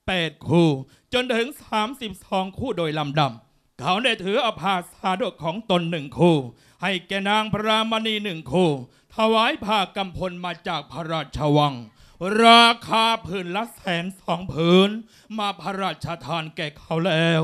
ແປດຄູ່ ຈົນເຖິງສາມສິບສອງຄູ່ໂດຍລຳດັບ. ເຂົາໄດ້ຖືເອົາຜ້າຊາດົກຂອງຕົນໜຶ່ງຄູ່ ໃຫ້ແກ່ນາງພະລາມະນີໜຶ່ງຄູ່ ຖວາຍຜ້າກຳພົນມາຈາກພະລາຊະວັງ ລາຄາຜືນລະແສນສອງຜືນ ມາພະລາຊະທານແກ່ເຂົາແລ້ວ.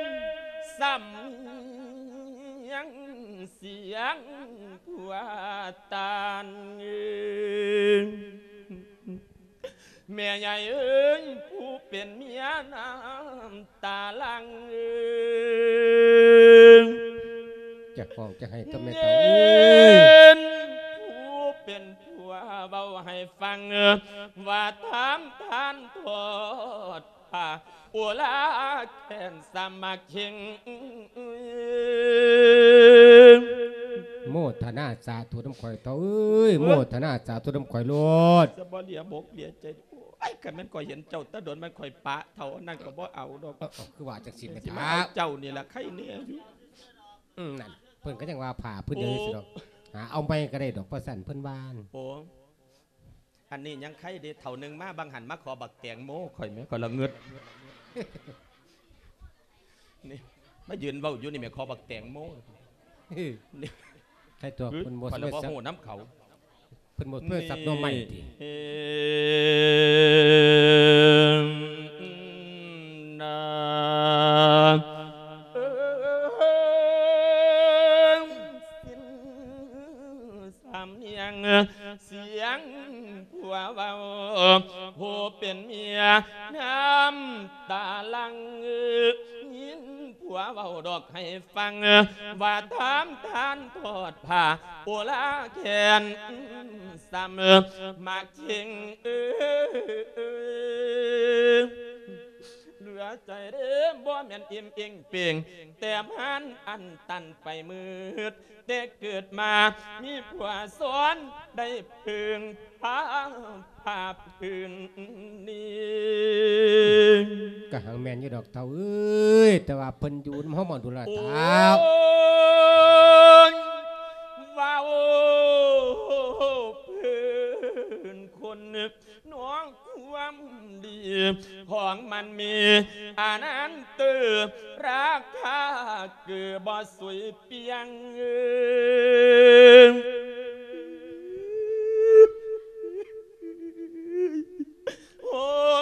ສຳນຽງສຽງຜູ້ວ່າຕານ. ເປັນເມຍນ້ຳຕາຫຼັ່ງ ຈະຮ້ອງຈະໄຫ້ຕົວແມ່ເຖົ້າເອີຍ ເປັນຜູ້ເປັນຜົວເວົ້າໃຫ້ຟັງ ວ່າຖາມທ່ານທອດຜ້າ ໂອລາແຂນສາມັກເຄັງ ໂມທະນາສາທຸນຳຂ້ອຍເຖົ້າເອີຍ ໂມທະນາສາທຸນຳຂ້ອຍໂລດ ຈະບໍ່ເຫຼືອບົກເຫຼືອໃຈ ໂອ້ຍ ຄັນແມ່ນຂ້ອຍເຫັນເຈົ້າແຕ່ດົນ ມັນຂ້ອຍປະເຖົ້າ ອັນນັ້ນກໍບໍ່ເອົາດອກ ເອີ ເອີ ຄືວ່າຈັ່ງຊີ້ແມ່ ຊິມາເອົາເຈົ້ານີ້ລະໄຄແນ່ຢູ່ ອືມ ນັ້ນ ເພິ່ນກໍຍັງວ່າຜ້າພື້ນດຽວນີ້ຊິດອກ ໂອ້ ຫາເອົາໃໝ່ກໍໄດ້ດອກ ວ່າຊັ້ນເພິ່ນວ່າ ໂອ້ ອັນນີ້ຍັງໄຄເດ ເຖົ້າໜຶ່ງມາບາງຫັ້ນ ມາຂໍບັກແຕງໂມຂ້ອຍແໝ່ ຂ້ອຍລະງຶດ ນີ້ ມາຢືນເວົ້າຢູ່ນີ້ແໝ່ ຂໍບັກແຕງໂມ ນີ້ ໃຄຕົວະ ເພິ່ນບໍ່ ຂ້ອຍລະບໍ່ຮູ້ນຳເຂົາ ເພິ່ນບໍ່ເປີດສັບໜໍ່ໄມ້ຕິ ສຳນຽງ ສຽງຜົວເວົ້າ ຜູ້ເປັນເມຍນ້ຳຕາຫຼັ່ງ ຍິນຜົວເວົ້າດອກໃຫ້ຟັງ ວ່າຖາມທ່ານທອດຜ້າ ໂອລາແຂນສາມັກເຄັງ ເອີ ເຫຼືອໃຈເດ້ ບໍ່ແມ່ນອີ່ມເອີງເປ່ງ ແຕ້ມຫັນອັນຕັນໄປໝົດ ແຕ່ເກີດມາມີຜົວຊ້ອນ ໄດ້ເພິ່ງພາຜ້າຜືນນີ້ ກະຫັງແມ່ນຢູ່ດອກເຖົ້າເອີຍ ແຕ່ວ່າເພິ່ນຢູ່ນຳເຮົາມາດົນລະເຖົ້າ ໂອ້ຍ ເວົ້າເພິ່ນຄົນ ນ້ອງຄວາມດີຂອງມັນມີອານັນເຕີ ລາຄາເກີບໍ່ສຸຍປ່ຽງ ໂຮ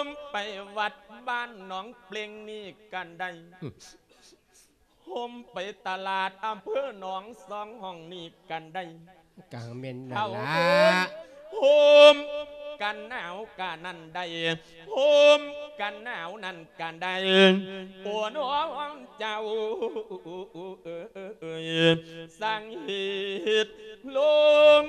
ມໄປວັດບ້ານໜອງເປ່ງນີ້ກັນໄດ້ ໂຮມໄປຕະຫຼາດອຳເພີໜອງສອງຫ້ອງນີ້ກັນໄດ້ ກະແມ່ນນັ້ນລະ ໂຮມກັນໜາວກະນັ້ນໄດ້ ໂຮມກັນໜາວນັ້ນກະໄດ້ ໂອ້ນ້ອງເຈົ້າ ສັ່ງເຮັດລົງ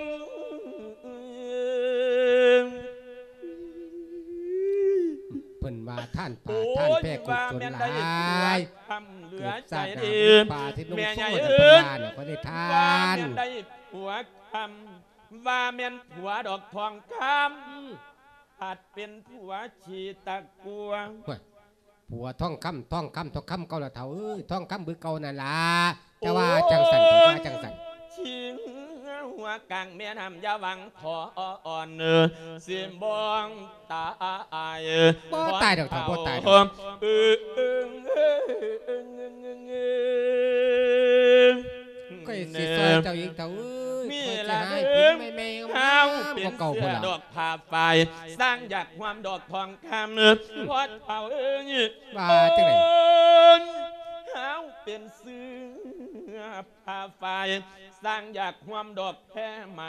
ເພິ່ນວ່າທ່ານປ່າ ໂອ້ຍ ທ່ານແພກກຸສົນຫຼາຍ ວ່າແມ່ນໄດ້ຜົວຄຳເຫຼືອໃຈເດ້ ເກີດຊາດໜ້າເປັນປ່າທີ່ໜຸ່ມໂຊນ ເພິ່ນວ່ານະ ຂໍໄດ້ທ່ານ ວ່າແມ່ນໄດ້ຜົວຄຳ ວ່າແມ່ນຜົວດອກທອງຄຳ ອືມ ພັດເປັນຜົວຂີ້ຕະກົວ ໂອ້ຍ ຜົວທອງຄຳ ທອງຄຳ ທອງຄຳເກົ່າລະເຖົ້າເອີຍ ທອງຄຳຄືເກົ່ານັ້ນລະ ຈະວ່າຈັ່ງຊັ້ນ ໂອ້ຍ ຈະວ່າຈັ່ງຊັ້ນ ຊິງຫົວກາງແມ່ນ້ຳຢ່າຫວັງຂໍອ່ອນ ຊິບໍ່ຕາຍ ບໍ່ຕາຍດອກເຖົ້າ ບໍ່ຕາຍດອກ ເອີ ຂ້ອຍຊິຊ່ອຍເຈົ້າອີກເຖົ້າເອີຍ ຂ້ອຍຊິຫາໃຫ້ຜູ້ໃໝ່ໆງາມໆ ກວ່າເກົ່າພຸ້ນລະ ດອກຜ້າຝ້າຍ ສ້າງຢາກຮ່ວມດອກທອງຄຳ ພໍ່ເຖົ້າເອີຍ ວ່າຈັ່ງໃດ ເຮົາເປັນເສືອ ຜ້າຝ້າຍ ສ້າງຢາກຮ່ວມດອກແພໄໝ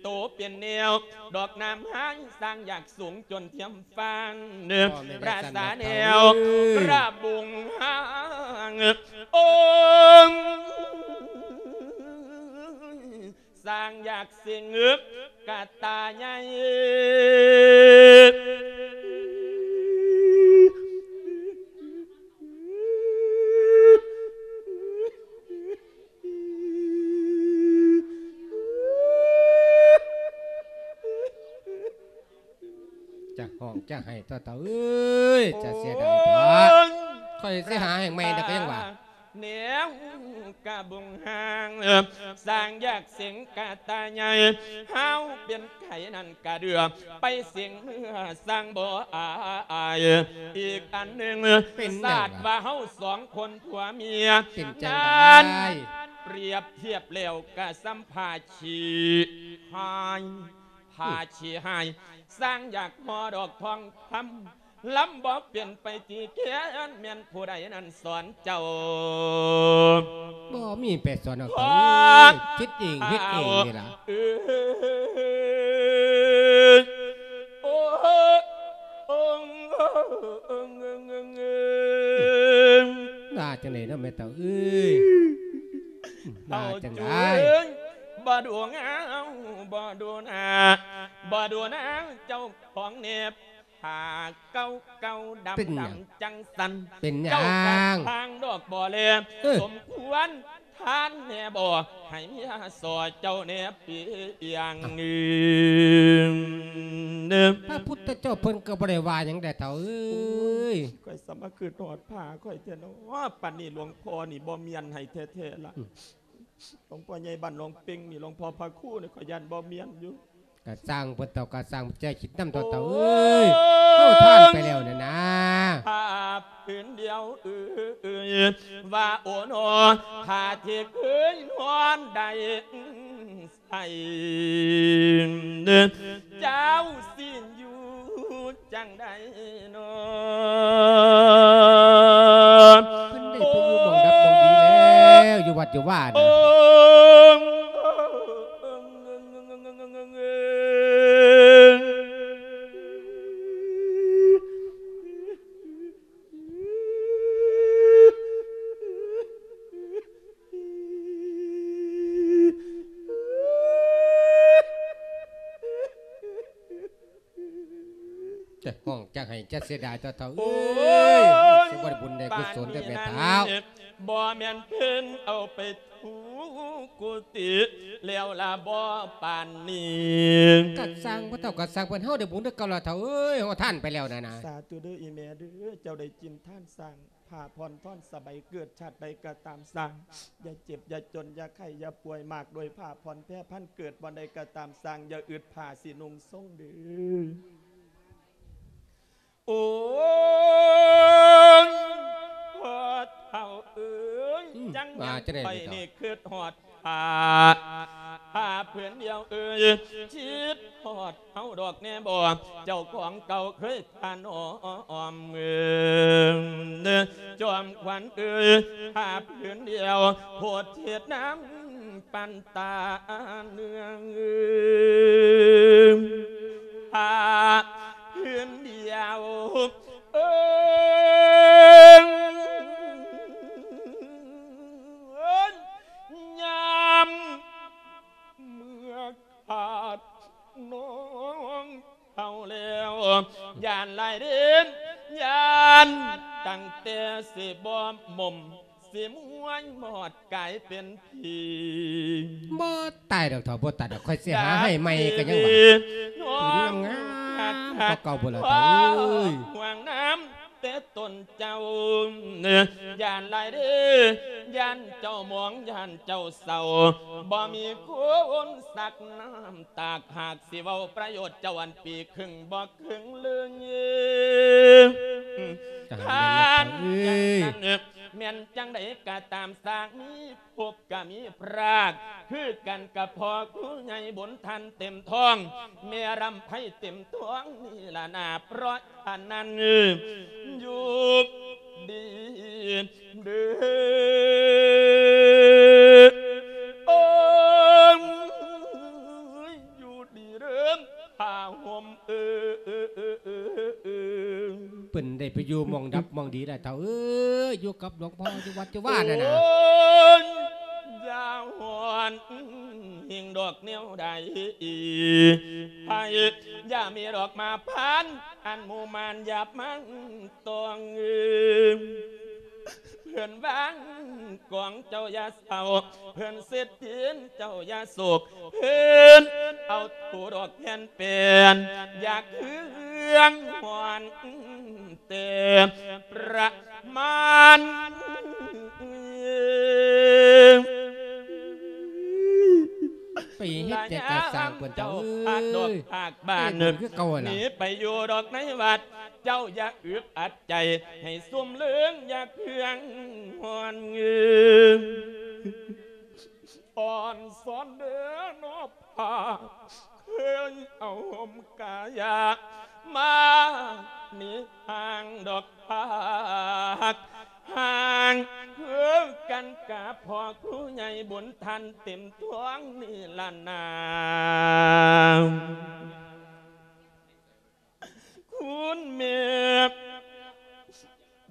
ໂຕເປັນແນວດອກນ້ຳຫາຍ ສ້າງຢາກສູງຈົນທຽມຟ້າ ບໍ່ແມ່ນ ພະສາແນວ ກະສັ່ນດອກເຖົ້າເອີຍ ກະບຸງຫາງ ໂອ້ຍ ສ້າງຢາກສິງກະຕ່າໃຫຍ່ ຈະຮ້ອງຈະໄຫ້ຕົວະເຖົ້າເອີຍ ຈະເສຍດາຍຕົວະ ໂອ້ຍ ຂ້ອຍຊິຫາໃຫ້ໃໝ່ດອກ ກະຍັງວ່າ ແນວກະບົງຫາງ ສ້າງຢາກສິງກະຕ່າໃຫຍ່ ເຮົາເປັນໄຂ້ນັ້ນກະເດືອ ໄປສິງເມືອສ້າງບໍ່ອາຍ ອີກອັນໜຶ່ງ ເປັນຫຍັງ ຊາດວ່າເຮົາສອງຄົນຜົວເມຍ ເປັນຈັ່ງໃດ ນັ້ນ ປຽບທຽບແລ້ວກະສ່ຳຜ້າຂີ້ຫາຍ ຜ້າຂີ້ຫາຍ ສ້າງຢາກຫໍ່ດອກທອງຄຳ ລຳບໍ່ເປັນໄປຕີແຄນ ແມ່ນຜູ້ໃດນັ້ນສອນເຈົ້າ ບໍ່ມີໃຜສອນດອກ ເອີຍ ຄິດເອງເຮັດເອງນີ້ລະ ເອີຍ ໂອ້ ວ່າຈັ່ງໃດເນາະແມ່ເຖົ້າເອີຍ ວ່າຈັ່ງໃດ? ເຖົ້າຈູເອີຍ ບໍ່ດູນາວ ບໍ່ດູນາ ບໍ່ດູນາວເຈົ້າຂອງແນບ ຜ້າເກົ່າໆດຳ ເປັນຫຍັງ? ດຳຈັ່ງຊັ້ນ ເປັນຫຍັງ? ເຈົ້າກະທາງດອກບໍ່ແລ ເອີ ສົມຄວນ ທ່ານແນ່ບໍ່ ໃຫ້ເມຍສໍເຈົ້າແນ່ປີອຽງ. ພະພຸດທະເຈົ້າເພິ່ນກໍບໍ່ໄດ້ວ່າຫຍັງໃດເຖົ້າເອີຍ. ໂອ້ຍ ຂ້ອຍສະມາຄຶດຮອດພະຂ້ອຍແທ້ເນາະ ປານນີ້ຫຼວງພໍ່ນີ້ບໍ່ມ້ຽນໃຫ້ແທ້ໆລະ. ອືມ ຫຼວງພໍ່ໃຫຍ່ບ້ານໜອງເປັງນີ້ ຫຼວງພໍ່ພະຄູນີ້ ຂ້ອຍຢ້ານບໍ່ມ້ຽນຢູ່. ກະຊ່າງເພິ່ນເຖົ້າ ກະຊ່າງ ແຈຄິດນຳເຖົ້າ ເຖົ້າເອີຍ ໂອ້ຍ ເຮົາທານໄປແລ້ວນັ້ນນາ. ຜ້າຜືນດຽວເອີຍ ວ່າໂອນໍ ຜ້າທີ່ເຄີຍນອນໄດ້ໃສ່ ເຈົ້າຊິຢູ່ຈັ່ງໃດນໍ? ເພິ່ນໄດ້ໄປຢູ່ໝ່ອງດັບໝ່ອງດີແລ້ວ ຢູ່ວັດຢູ່ວານະ. ໂອ້ ຈະຮ້ອງຈະໄຫ້ຈະເສຍດາຍເຖົ້າເອີຍ. ໂອ້ຍ ຊິບໍ່ໄດ້ບຸນໄດ້ກຸສົນເດີແມ່ເຖົ້າ. ບໍ່ແມ່ນເພິ່ນເອົາໄປ ທຸກກຸຕິແລ້ວລະບໍ່ປານນີ້? ກະຊ່າງ ພໍ່ເຖົ້າກະຊ່າງ ເພິ່ນເຮົາໄດ້ບຸນຄືເກົ່າລະເຖົ້າເອີຍ ເຮົາທານໄປແລ້ວນັ້ນນາ. ສາທຸເດີອີ່ແມ່ເດີ ເຈົ້າໄດ້ກິນທານສ້າງ ຜ້າຜ່ອນທ່ອນສະໄບ ເກີດຊາດໃດກະຕາມຊ່າງ ຢ່າເຈັບຢ່າຈົນ ຢ່າໄຂ້ຢ່າປ່ວຍ ມາກດ້ວຍຜ້າຜ່ອນແພພັນ ເກີດບ່ອນໃດກະຕາມຊ່າງ ຢ່າອຶດຜ້າຊິນຸ່ງຊົງເດີ. ໂອ້ຍ ພໍ່ເຖົ້າເອີຍ ອືມ ຈັ່ງ ວ່າຈັ່ງໃດ ຂ້ອຍນີ້ຄຶດຮອດຜ້າ ຜ້າຜືນດຽວເອີຍ ຄິດຮອດເຮົາດອກແນ່ບໍ່ ເຈົ້າຂອງເກົ່າເຄີຍຖະໜອມ ເອີ ຈອມຂວັນເອີຍ ຜ້າຜືນດຽວ ໂພດເທດນຳ ປັນຕາເນືອງ ຜ້າຜືນດຽວ ເອີຍ ຍາມເມື່ອຂາດນ້ອງເຖົ້າແລ້ວ ຢ້ານຫຼາຍເດ ຢ້ານຕັ້ງແຕ່ຊິບໍ່ໝົມ ຊິມວຍມອດກາຍເປັນຜີ. ບໍ່ຕາຍດອກເຖົ້າ ບໍ່ຕາຍດອກ ຂ້ອຍຊິຫາໃຫ້ໃໝ່ກໍຍັງວ່າ ຜືນງາມໆກວ່າເກົ່າພຸ້ນລະເຖົ້າເອີຍ. ຫ່ວງນຳແຕ່ຕົນເຈົ້າ ຢ້ານຫຼາຍເດ້ ຢ້ານເຈົ້າໝອງ ຢ້ານເຈົ້າເສົ້າ ບໍ່ມີຄົນຊັກນ້ຳຕາກ ຫາກຊິເວົ້າປະໂຫຍດເຈົ້າອັນປີຄຶ່ງບໍ່ ເຄິ່ງເລີຍ ທ່ານ ເອີຍ ແມ່ນຈັ່ງໃດກໍຕາມ ສ້າງມີພົບກໍມີພຣາກ ຄືກັນກັບພໍ່ຄູໃຫຍ່ບຸນທັນເຕັມທ້ອງ ແມ່ລຳໄພເຕັມທ້ອງນີ້ລະນາ ເພາະອັນນັ້ນ ຢູ່ດີເດີ ໂອ້ຍ ຢູ່ດີເດີ ຜ້າຫົ່ມເອີຍ. ເພິ່ນໄດ້ໄປຢູ່ໝ່ອງດັບໝ່ອງດີແລ້ວເຖົ້າເອີຍ ຢູ່ກັບຫຼວງພໍ່ຢູ່ວັດຢູ່ວານັ້ນນະ. ໂອ້ຍ ຢ່າຮ້ອນຫິງດອກແນວໃດ ໃຫ້ຢ່າມີດອກມາຜ່ານ ອັນໝູ່ມານຢາບມັງ ຕ້ອງເອີຍ ເພື່ອນວາງກອງເຈົ້າຢ່າເສົ້າ ເພື່ອນເສດຕີນເຈົ້າຢ່າໂສກ ເພື່ອນເອົາໂທດອກແທນແປນ ຢາກເຄື່ອງຮ້ອນແຕ່ປະມານ. ໄປເຮັດແຕ່ກະສ້າງເພິ່ນເຈົ້າເອີຍ ພາກດອກພາກບ້ານ ເອີຍ ຄືເກົ່າຫັ້ນລະ ໜີໄປຢູ່ດອກໃນວັດ ເຈົ້າຢ່າອຶດອັດໃຈໃຫ້ຊຸ່ມເລິງ ຢ່າເຄືອງຮ້ອນເງືອ ອ່ອນສອນເດີເນາະ ພາກເຄີຍເອົາຫົ່ມກາຍາ ມານີ້ຫ່າງດອກ ພາກຫ່າງເຮີກັນກະພໍ່ຄູໃຫຍ່ບຸນທັນເຕັມທ້ອງນີ້ລະນາ. ຄຸນແມ່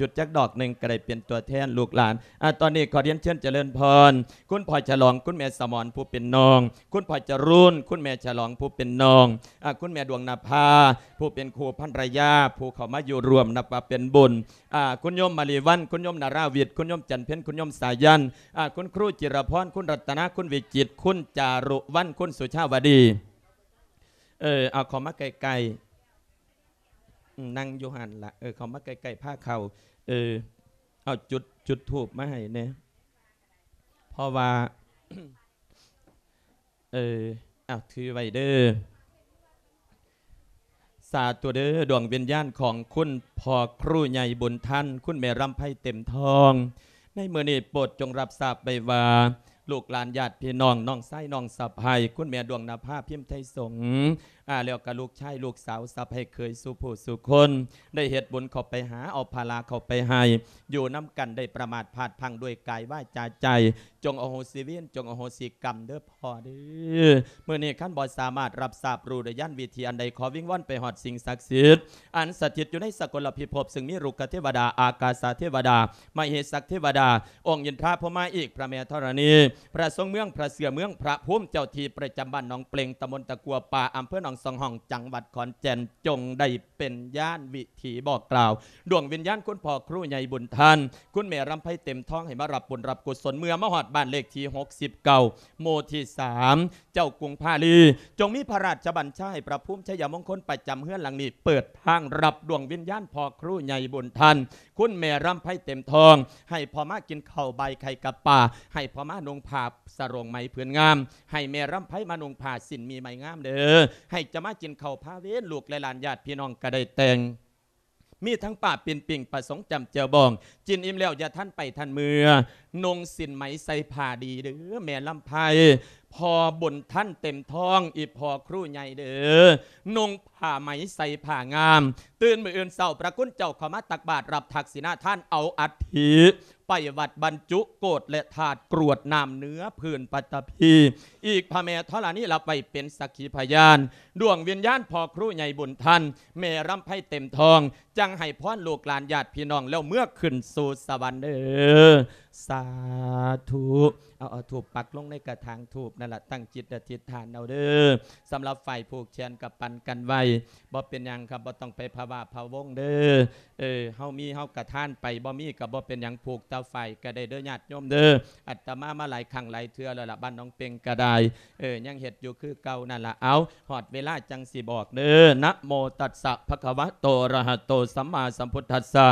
ຈຸດຈັກດອກໜຶ່ງກໍໄດ້ເປັນຕົວແທນລູກຫຼານ. ອາ ຕອນນີ້ຂໍຮຽນເຊີນຈະເລີນພອນ ຄຸນພໍ່ສະຫຼອງ ຄຸນແມ່ສະໝອນຜູ້ເປັນນ້ອງ, ຄຸນພໍ່ຈະລຸນ ຄຸນແມ່ສະຫຼອງຜູ້ເປັນນ້ອງ, ອາ ຄຸນແມ່ດວງນະພາຜູ້ເປັນຄູ່ພັນລະຍາ ຜູ້ເຂົ້າມາຢູ່ຮ່ວມນັບວ່າເປັນບຸນ, ອາ ຄຸນໂຍມມະລີວັນ ຄຸນໂຍມນາລາວິດ ຄຸນໂຍມຈັນເພັນ ຄຸນໂຍມສາຍັນ, ອາ ຄຸນຄຣູຈິລະພອນ ຄຸນລັດຕະນາ ຄຸນວິຈິດ ຄຸນຈາລຸວັນ ຄຸນສຸຊາວະດີ. ເອີ ເອົາເຂົ້າມາໃກ້ໆ ອືມ ນັ່ງຢູ່ຫັ້ນລະ ເອີ ເຂົ້າມາໃກ້ໆ ພາເຂົ້າ ເອີ ເອົາຈຸດ ຈຸດທູບມາໃຫ້ແດ່ ເພາະວ່າ ເອີ ເອົາ ຖືໄວ້ເດີ. ສາທຸເດີ ດວງວິນຍານຂອງຄຸນພໍ່ຄຣູໃຫຍ່ບຸນທັນ ຄຸນແມ່ລຳໄພເຕັມທອງ ໃນມື້ນີ້ໂປດຈົ່ງຮັບຊາບໄວ້ວ່າ ລູກຫຼານຍາດພີ່ນ້ອງ ນ້ອງຊາຍນ້ອງສະໃພ້ ຄຸນແມ່ດວງນະພາ ພິມໄທສົງ ອາ ແລ້ວກະລູກຊາຍລູກສາວ ສະໃພ້ເຂີຍສູ່ຜູ້ສູ່ຄົນ ໄດ້ເຮັດບຸນເຂົ້າໄປຫາ ເອົາພາລາເຂົ້າໄປໃຫ້ ຢູ່ນຳກັນໄດ້ປະໝາດພາດພລັ້ງດ້ວຍກາຍວາຈາໃຈ ຈົ່ງອະໂຫສິເວນ ຈົ່ງອະໂຫສິກຳເດີພໍ່ເດີ. ມື້ນີ້ຄັນບໍ່ສາມາດຮັບຊາບຮູ້ໄດ້ຍານວິທີອັນໃດ ຂໍວິງວອນໄປຮອດສິ່ງສັກສິດ ອັນສະຖິດຢູ່ໃນສະກົນລະພິພົບ ຊຶ່ງມີລຸກກະເທວະດາ ອາກາສະເທວະດາ ມະເຫສັກເທວະດາ ອົງອິນທາພົມມາອີກ ພະແມ່ທໍລະນີ ພະຊົງເມືອງ ພະເສືອເມືອງ ພະພູມເຈົ້າທີ່ປະຈຳບ້ານໜອງເປງ ຕຳບົນຕະກົ່ວປ່າ ອຳເພີໜອງສອງຫ້ອງ ຈັງຫວັດຂອນແກ່ນ ຈົ່ງໄດ້ເປັນຍານວິທີບອກກ່າວ ດວງວິນຍານຄຸນພໍ່ຄຣູໃຫຍ່ບຸນທັນ ຄຸນແມ່ລຳໄພເຕັມທອງ ໃຫ້ມາຮັບບຸນຮັບກຸສົນ ເມື່ອມາຮອດບ້ານເລກທີຫົກສິບເກົ້າ ໝູ່ທີສາມ ເຈົ້າກຸງພາລີ ຈົ່ງມີພະລາຊະບັນຊາໃຫ້ພະພູມໄຊຍະມົງຄົນປະຈຳເຮືອນຫຼັງນີ້ ເປີດທາງຮັບດວງວິນຍານພໍ່ຄຣູໃຫຍ່ບຸນທັນ ຄຸນແມ່ລຳໄພເຕັມທອງ ໃຫ້ພໍ່ມາກິນເຂົ້າບາຍໄຂ່ກັບປາ ໃຫ້ພໍ່ມານຸ່ງຜ້າສະໂຫຼງໄໝຜືນງາມ ໃຫ້ແມ່ລຳໄພມານຸ່ງຜ້າສິ້ນມີໄໝງາມເດີ ໃຫ້ຈະມາກິນເຂົ້າພາເວນ ລູກແລະຫຼານຍາດພີ່ນ້ອງກະໄດ້ແຕ່ງ ມີທັງປ້າປີ້ນປີ້ງ ປາສົງຈ້ຳແຈ່ວບອງ ກິນອີ່ມແລ້ວຢ່າທັນໄປທັນເມືອ ນຸ່ງສິ້ນໄໝໃສ່ຜ້າດີເດີແມ່ລຳໄພ ພໍ່ບຸນທັນເຕັມທອງ ອີ່ພໍ່ຄຣູໃຫຍ່ເດີ ນຸ່ງຜ້າໄໝໃສ່ຜ້າງາມ ຕື່ນມື້ອື່ນເຊົ້າ ພະຄຸນເຈົ້າເຂົ້າມາຕັກບາດ ຮັບທັກສິນາທານ ເອົາອັດຖິໄປວັດບັນຈຸໂກດ ແລະທາດກຣວດນ້ຳເໜືອພື້ນປັດຕະພີ ອີກພະແມ່ທໍລະນີຮັບໄວ້ເປັນສັກຂີພະຍານ ດວງວິນຍານພໍ່ຄຣູໃຫຍ່ບຸນທັນ ແມ່ລຳໄພເຕັມທອງ ຈັ່ງໃຫ້ພອນລູກຫຼານຍາດພີ່ນ້ອງ ແລ້ວເມືອຂຶ້ນສູ່ສະຫວັນເດີ ສາທຸ. ເອົາ ເອົາທູບປັກລົງໃນກະຖາງທູບນັ້ນລະ ຕັ້ງຈິດອະທິດຖານເອົາເດີ ສຳລັບຝ່າຍຜູກແຂນກະປັ່ນກັນໄວ້ ບໍ່ເປັນຫຍັງຄັບ ບໍ່ຕ້ອງໄປພະວາພະວົງເດີ ເອີ ເຮົາມີເຮົາກະທານໄປ ບໍ່ມີກະບໍ່ເປັນຫຍັງ ຜູກຕາຝ້າຍກະໄດ້ເດີຍາດໂຍມເດີ ອາດຕະມາມາຫຼາຍຄັ້ງຫຼາຍເທື່ອແລ້ວລະ ບ້ານໜອງເປັງກະໄດ້ ເອີ ຍັງເຮັດຢູ່ຄືເກົ່ານັ້ນລະ ເອົາ ຮອດເວລາຈັ່ງຊິບອກເດີ ນະໂມຕັດສະ ພະຄະວະໂຕ ອະລະຫະໂຕ ສຳມາສຳພຸດທັດສະ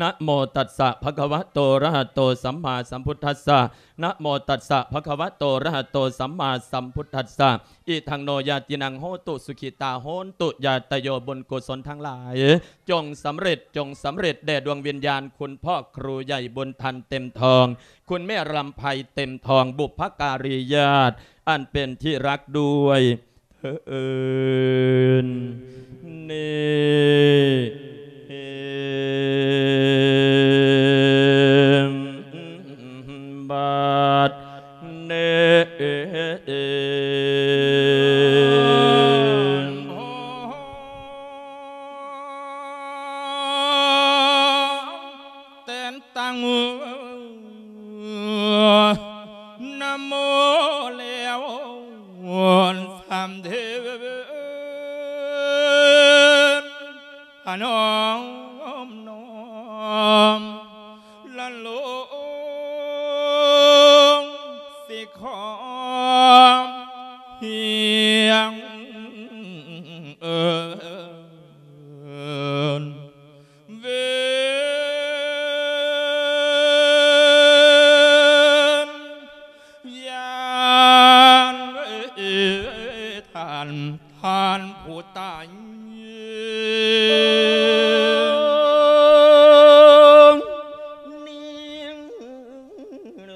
ນະໂມຕັດສະ ພະຄະວະໂຕ ອະລະຫະໂຕ ສຳມາສຳພຸດທັດສະ ນະໂມຕັດສະ ພະຄະວະໂຕ ອະລະຫະໂຕ ສຳມາສຳພຸດທັດສະ ອີທັງໂນ ຍາຕິນັງ ໂຫຕຸ ສຸຂີຕາ ໂຫນຕຸ ຍາດຕະໂຍ ບຸນກຸສົນທັງຫຼາຍ ຈົ່ງສຳເລັດ ຈົ່ງສຳເລັດແດ່ດວງວິນຍານ ຄຸນພໍ່ຄຣູໃຫຍ່ບຸນທັນເຕັມທອງ ຄຸນແມ່ລຳໄພເຕັມທອງ ບຸບພະກາລີຍາດ ອັນເປັນທີ່ຮັກດ້ວຍເທີ້ນ ນີ້ບັດນີ້ ແຕ່ນຕັ້ງນະໂມແລ້ວສາມເທີ້ນ ພະນ້ອມນ້ອມລະລົງ ສິຂໍຮຽງເອີ້ນ ເວນຍານ ທ່ານ ທ່ານຜູ້ຕາຍ ນີ້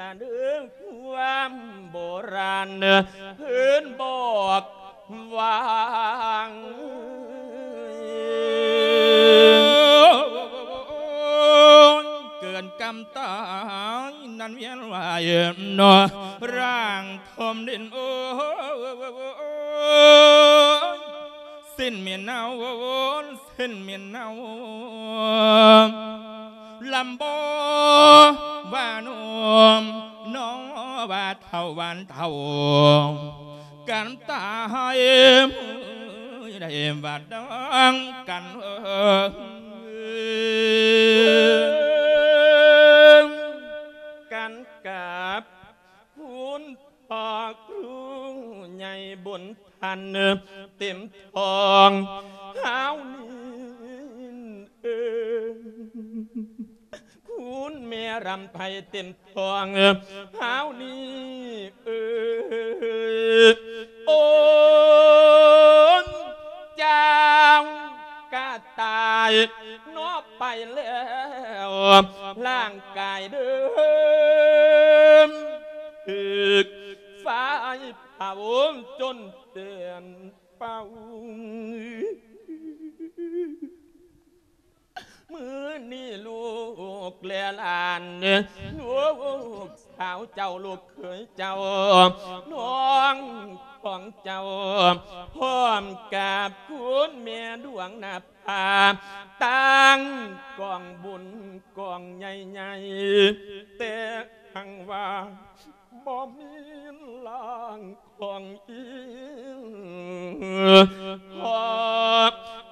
ລະເດີ ຄວາມໂບລານເພິ່ນບອກວ່າ ເກີນກຳຕາຍນັ້ນວຽນວາຍເນາະ ຮ່າງຖົມດິນ ໂອ້ຍ ສິ້ນເໝັນເນົ່າ ສິ້ນເໝັນເນົ່າ ລຳບໍ່ວ່າໜຸ່ມ ໜໍວ່າເຖົ້າ ຫວານເທົ່າກັນຕາຍ ໄດ້ບາດດອງກັນ ເອີ ກັນກັບ ຄຸນພໍ່ຄູໃຫຍ່ບຸນທັນ ເຕັມທ້ອງຫາວນີ້ເອີ ຄຸນແມ່ລຳໄພເຕັມທ້ອງຫາວນີ້ເອີ ໂອນເຈົ້າກະຕາຍ ເນາະ ໄປແລ້ວ ຮ່າງກາຍເດີມ ຖືກໄຟເຜົາຈົນເປັນເປົ່າ. ມື້ນີ້ລູກແລະຫຼານ ລູກສາວເຈົ້າ ລູກເຂີຍເຈົ້າ ນ້ອງຂອງເຈົ້າ ພ້ອມກັບຄຸນແມ່ດວງນະ ພາຕັ້ງກອງບຸນກອງໃຫຍ່ໆ ແຕ່ຫາກວ່າບໍ່ມີຮ່າງຂອງອີ່ພໍ່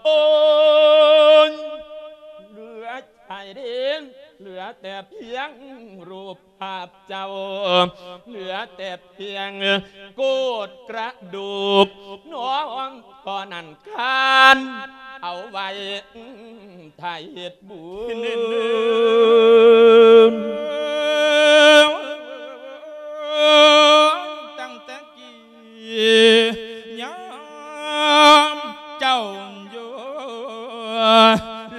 ໂອ້ຍ ເຫຼືອຊາຍເດນ ເຫຼືອແຕ່ພຽງຮູບພາບເຈົ້າ ເຫຼືອແຕ່ພຽງໂກດກະດູກ ນ້ອງພໍ່ນັ້ນຄານເອົາໄວ້ ຖ້າເຮັດບຸນ ຕັ້ງແຕ່ກີ້ຍາມເຈົ້າຢູ່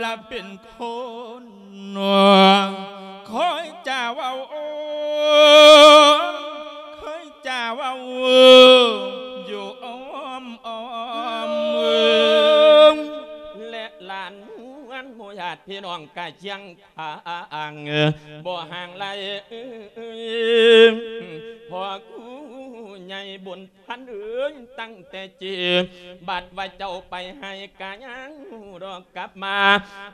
ລະເປັນຄົນ ຄອຍຈາເວົ້າ ຄອຍຈາເວົ້າຢູ່ອ້ອມໆ ແລະຫຼານມວນໝູ່ຍາດພີ່ນ້ອງກະຍັງ ທາງບໍ່ຫ່າງໄກ ພໍ່ຄູໃຫຍ່ບຸນທັນເອີຍ ຕັ້ງແຕ່ຈີບ ບັດວ່າເຈົ້າໄປໄຮ່ກະຍັງດອກກັບມາ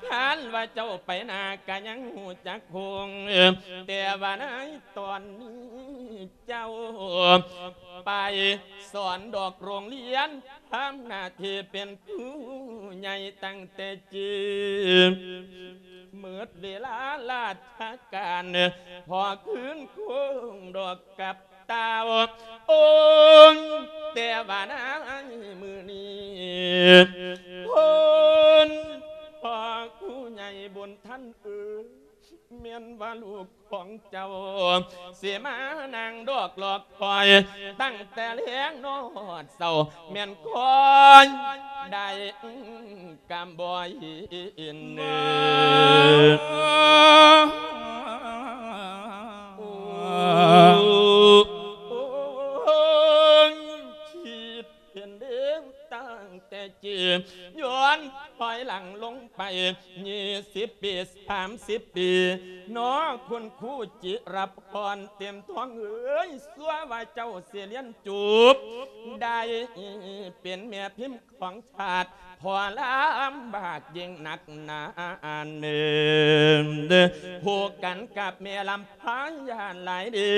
ຄັນວ່າເຈົ້າໄປນາກະຍັງຮູ້ຈັກຄົງ ແຕ່ວ່າໃນຕອນນີ້ ເຈົ້າໄປສອນດອກໂຮງຮຽນ ທຳໜ້າທີ່ເປັນຄູໃຫຍ່ຕັ້ງແຕ່ຈີບ ໝົດເວລາລາຊະການ ພໍຄືນຄົງດອກກັບຕ່າວ ໂອ້ຍ ແຕ່ວ່າໃນມື້ນີ້ ໂອ້ນ ພໍ່ຄູໃຫຍ່ບຸນທັນເອີຍ ແມ່ນວ່າລູກຂອງເຈົ້າ ຊິມານັ່ງດອກລອກຄອຍ ຕັ້ງແຕ່ແລງຮອດເຊົ້າ ແມ່ນຄອຍໄດ້ກຳບໍ່ເຫັນ ໂອ້ ຄິດ ເຫັນເດ້ ຕັ້ງແຕ່ຈີບ ຍ້ອນຖອຍຫຼັງລົງໄປ ຊາວປີ ສາມສິບປີ ເນາະ ຄຸນຄູຈິລະພອນ ເຕັມທອງເອີຍ ຊົ່ວວ່າເຈົ້າຊິລຽນຈົບ ໄດ້ເປັນແມ່ພິມຂອງຊາດ ພໍລຳບາກຍິ່ງໜັກໜາເນີນ ຄູ່ກັນກັບແມ່ລຳພາ ຢ້ານຫຼາຍເດີ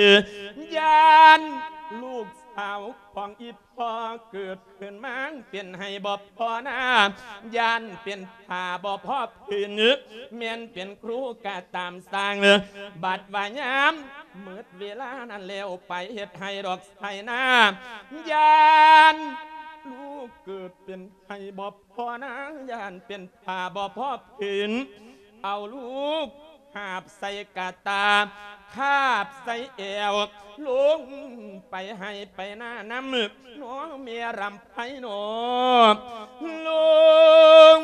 ຢ້ານລູກສາວຂອງອີ່ ພໍເກີດຂຶ້ນມາເປັນໄຮ່ບໍ່ພໍນາ ຢ້ານເປັນຜ້າບໍ່ພໍຜືນ ແມ່ນເປັນຄູກະຕາມຊ່າງ ບັດວ່າຍາມໝົດເວລານັ້ນແລ້ວ ໄປເຮັດໄຮ່ດອກໄຖນາ ຢ້ານລູກເກີດເປັນໄຮ່ບໍ່ພໍນາ ຢ້ານເປັນຜ້າບໍ່ພໍຜືນ ເອົາລູກ ຫາບໃສ່ກະຕ່າ ຄາບໃສ່ແອວ ລົງໄປໄຮ່ໄປນານຳ ນ້ອງແມ່ລຳໄພນ້ອງ ລູກ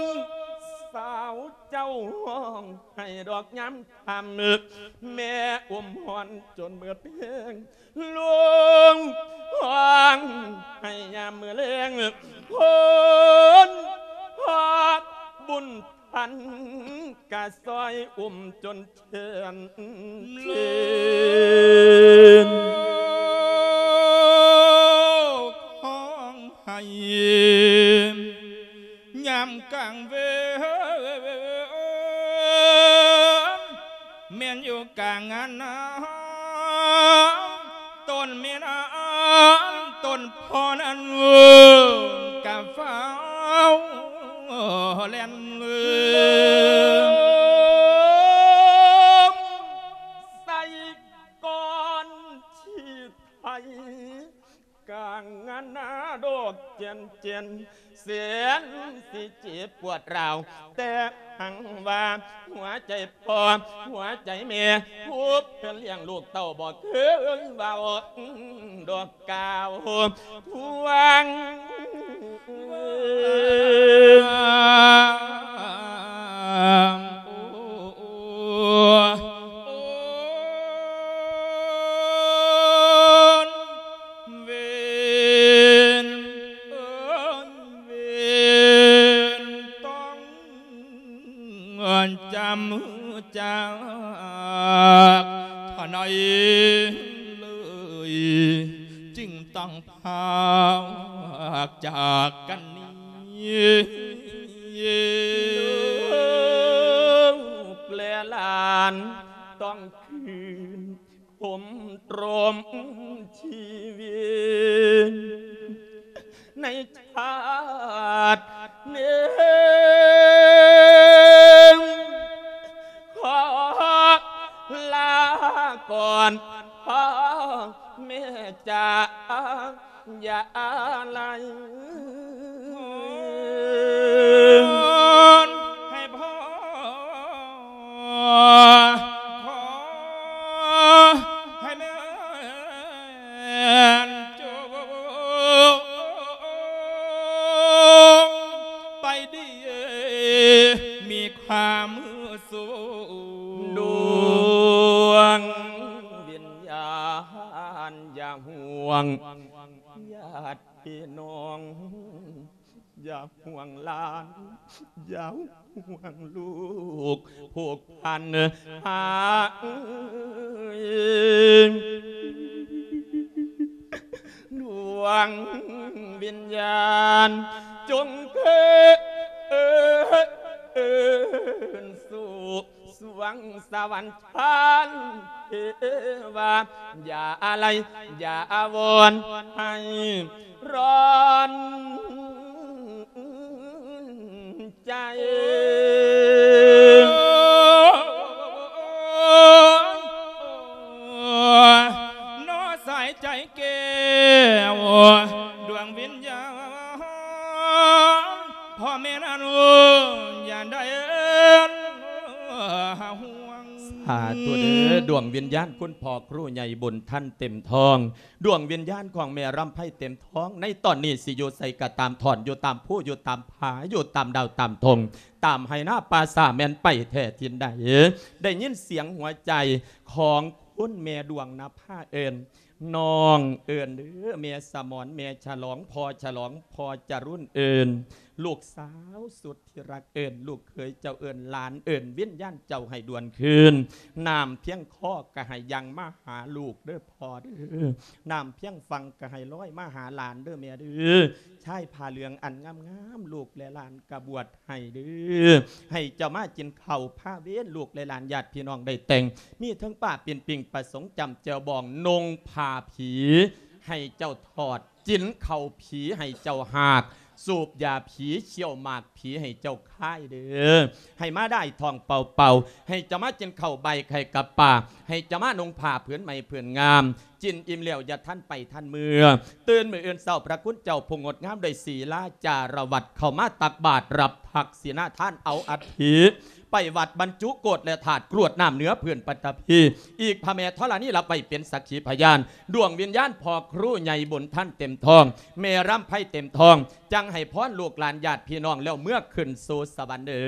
ສາວເຈົ້າຮ້ອງໄຫ້ດອກຍາມຄ່ຳ ແມ່ອົມຮ້ອນຈົນເໝິດແຮງ ລູກຮ້ອງໄຫ້ຍາມມື້ແລງ ໂພນພໍ່ບຸນ ພັນກະຊ່ອຍອຸ້ມຈົນແຂນເຊນ ຮ້ອງໄຫ້ຍາມກາງເວັນ ແມ່ນຢູ່ກາງງານນາ ຕົ້ນແມ່ນາ ຕົ້ນພໍ່ນັ້ນກະຟ້າວແລ່ນ ໃສ່ກ່ອນທີ່ໄທ ກາງງານນາດອກແຈນແຈນ ແສນຊິເຈັບປວດຮ້າວ ແຕ່ຫັງວ່າຫົວໃຈພໍ່ ຫົວໃຈແມ່ ຜູ້ເປັນລ້ຽງລູກເຕົ້າ ບໍ່ເຄີຍເວົ້າດອກກ່າວທວງ ເວນ ເອີຍ ເວນຕ້ອງຈຳຈາກເທົ່າໃດເລີຍ ຈຶ່ງຕ້ອງພາກຈາກກັນນີ້ ລູກແລະຫຼານຕ້ອງຄືນ ຄົມຕຣມຊີວິດໃນຊາດນີ້ ຂໍລາກ່ອນພໍ່ແມ່ຈາ ຢ່າໄລ ໃຫ້ພໍ່ ຂໍໃຫ້ແມ່ນຈົ່ງໄປດີ ມີຄວາມສຸກ ດວງວິນຍານຢ່າຫ່ວງ ຍາດ ພີ່ນ້ອງ ຢ່າຫ່ວງຫຼານ ຢ່າຫ່ວງລູກ ຜູກພັນຫາ ດວງວິນຍານ ຈົ່ງເທີນສູ່ ສວງສະຫວັນ ທ່ານເທວາ ຢ່າອາໄລ ຢ່າອາວອນໃຫ້ຮ້ອນໃຈ ເນາະສາຍໃຈແກ້ວ ດວງວິນຍານ ພໍ່ແມ່ນັ້ນ ຢ່າໄດ້ຫວງ ສາທຸເດີ ດວງວິນຍານຄຸນພໍ່ຄູໃຫຍ່ບຸນທັນເຕັມທອງ ດວງວິນຍານຂອງແມ່ລຳໄພເຕັມທອງ ໃນຕອນນີ້ຊິຢູ່ໃສກໍຕາມ ທ່ອນຢູ່ຕາມພູ ຢູ່ຕາມຜາ ຢູ່ຕາມດາວຕາມທົ່ງ ຕາມໄຮ່ນາປ່າສາ ແມ່ນໄປແທ້ຖິ່ນໃດ ໄດ້ຍິນສຽງຫົວໃຈຂອງຄຸນແມ່ດວງນະພາເອີ້ນ ນ້ອງເອີ້ນເດີ ແມ່ສະໝອນ ແມ່ສະຫຼອງ ພໍ່ສະຫຼອງ ພໍ່ຈະລຸນເອີ້ນ ລູກສາວສຸດທີ່ຮັກເອີ້ນ ລູກເຂີຍເຈົ້າເອີ້ນ ຫຼານເອີ້ນ ວິນຍານເຈົ້າໃຫ້ດວນຄືນ ນ້ຳພຽງຄໍກໍໃຫ້ຍັ່ງມາຫາລູກເດີພໍ່ເດີ ນ້ຳພຽງຝັ່ງກໍໃຫ້ລອຍມາຫາຫຼານເດີແມ່ເດີ ຊາຍຜ້າເຫຼືອງອັນງາມໆ ລູກແລະຫຼານກໍບວດ ໃຫ້ເດີ ໃຫ້ເຈົ້າມາກິນເຂົ້າພາເວນ ລູກແລະຫຼານຍາດພີ່ນ້ອງໄດ້ແຕ່ງ ມີເຖິງປ້າປິ່ນປີ້ງປາສົງຈ້ຳແຈ່ວບອງ ນຸ່ງຜ້າຜີໃຫ້ເຈົ້າຖອດ ກິນເຂົ້າຜີໃຫ້ເຈົ້າຫາກ ສູບຢາຜີ ຄ້ຽວໝາກຜີໃຫ້ເຈົ້າຄາຍເດີ ໃຫ້ມາໄດ້ທ້ອງເປົ່າໆ ໃຫ້ເຈົ້າມາກິນເຂົ້າໃບໄຂ່ກັບປາ ໃຫ້ເຈົ້າມານຸ່ງຜ້າຜືນໃໝ່ຜືນງາມ ກິນອີ່ມແລ້ວຢ່າທັນໄປທັນເມືອ ຕື່ນມື້ອື່ນເຊົ້າ ພະຄຸນເຈົ້າຜູ້ງົດງາມດ້ວຍສີລາຈາລະວັດ ເຂົ້າມາຕັກບາດ ຮັບທັກສິນາທານ ເອົາອັດຖິໄປວັດບັນຈຸໂກດ ແລະ ທາດກຣວດນ້ຳເໜືອພື້ນປັດຖະພີ ອີກພະແມ່ທໍລະນີ ຮັບໄວ້ເປັນສັກຂີພະຍານ ດວງວິນຍານພໍ່ຄູໃຫຍ່ບຸນທັນເຕັມທອງ ແມ່ລຳໄພເຕັມທອງ ຈັ່ງໃຫ້ພອນລູກຫຼານຍາດພີ່ນ້ອງ ແລ້ວເມືອຂຶ້ນສູ່ສະຫວັນເດີ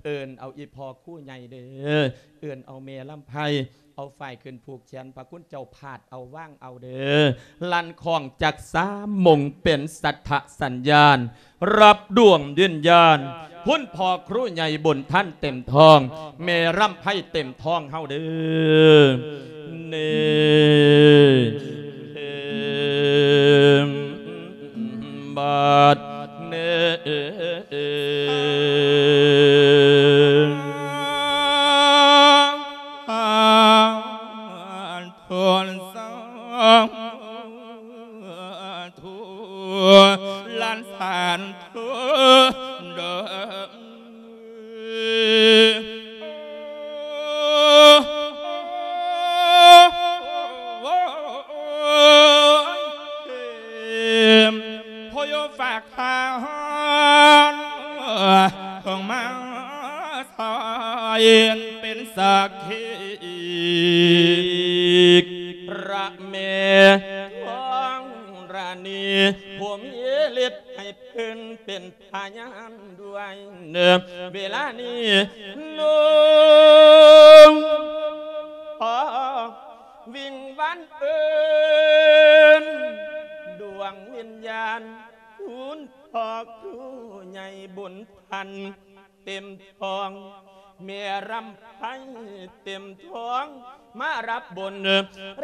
ເອີ້ນເອົາອີ່ພໍ່ຄູໃຫຍ່ເດີ ເອີ້ນເອົາແມ່ລຳໄພ ເອົາຝ້າຍຂຶ້ນຜູກແຂນ ພະຄຸນເຈົ້າພາດເອົາວາງເອົາເດີ ລັ່ນຄ້ອງຈັກສາມມົງເປັນສັດທະສັນຍານ ຮັບດວງວິນຍານ ຄຸນພໍ່ຄູໃຫຍ່ບຸນທັນເຕັມທອງ ແມ່ລຳໄພເຕັມທອງເຮົາເດີ ເນ ເອີມ ບັດເນ. ກ ພະແມ່ທອງລານີ ຜູ້ມີລິດໃຫ້ເພິ່ນເປັນພະຍານດ້ວຍເດີ ເວລານີ້ ລຸງຂໍວິງວານເອີ້ນ ດວງວິນຍານ ຄຸນພໍ່ຄູໃຫຍ່ບຸນທັນ ເຕັມທ້ອງ ແມ່ລຳໄພເຕັມທ້ອງ ມາຮັບບຸນ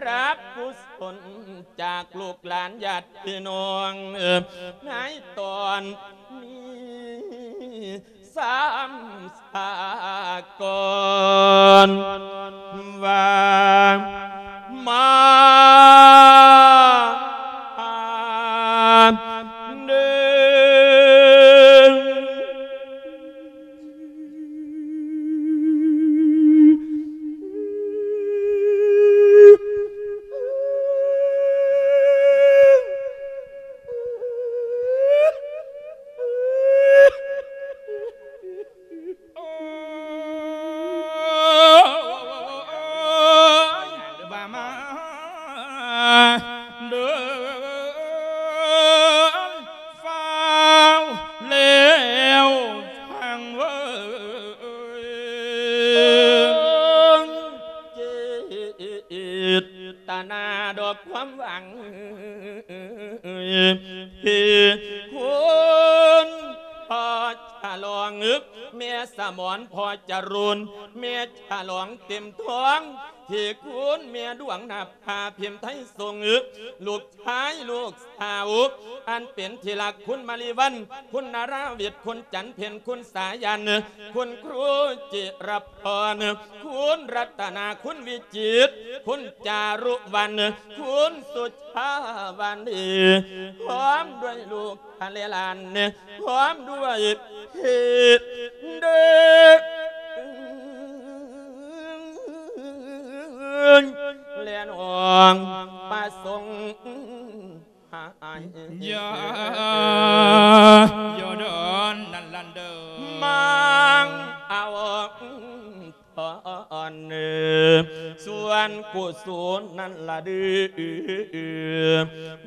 ຮັບກຸສົນ ຈາກລູກຫຼານຍາດພີ່ນ້ອງ ໃນຕອນນີ້ ສາມສາກອນ ວ່າມາເດີ. ວ່າມາເດີ ຟ້າວແລ້ວຟັງເວີຍ ເຈດຕະນາດອກຄວາມຫວັງ ທີ່ຄຸນພໍ່ສະຫຼອງ ແມ່ສະໝອນ ພໍ່ຈະລຸນ ແມ່ສະຫຼອງເຕັມທ້ອງ ທີ່ຄຸນແມ່ດວງນະພາ ພິມໄທສົງ ລູກຊາຍລູກສາວ ອັນເປັນທີ່ຮັກ ຄຸນມະລິວັນ ຄຸນນາລາວິດ ຄຸນຈັນເພັນ ຄຸນສາຍັນ ຄຸນຄູຈິລະພອນ ຄຸນລັດຕະນາ ຄຸນວິຈິດ ຄຸນຈາລຸວັນ ຄຸນສຸຊາວານີ ພ້ອມດ້ວຍລູກ ທ່ານແລະຫຼານ ພ້ອມດ້ວຍພີ່ເດີ ແລະນ້ອງປະສົງ ຢ່າ ຢ່າດອນນັ້ນລະເດີ ມັງເອົາ ອນ ສ່ວນກຸສົນນັ້ນລະເດີ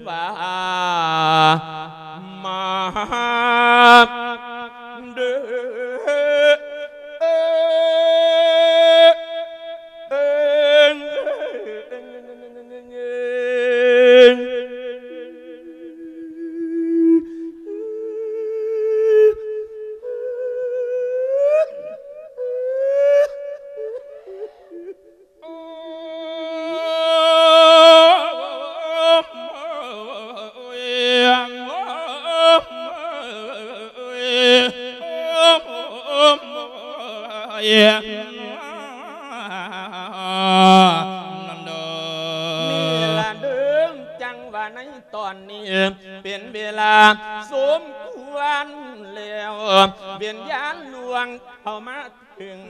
ວ່າມາເດີ.ເປັນເວລາສົມຄວນແລ້ວ ວິນຍານລ່ວງເຂົ້າມາເຖິງ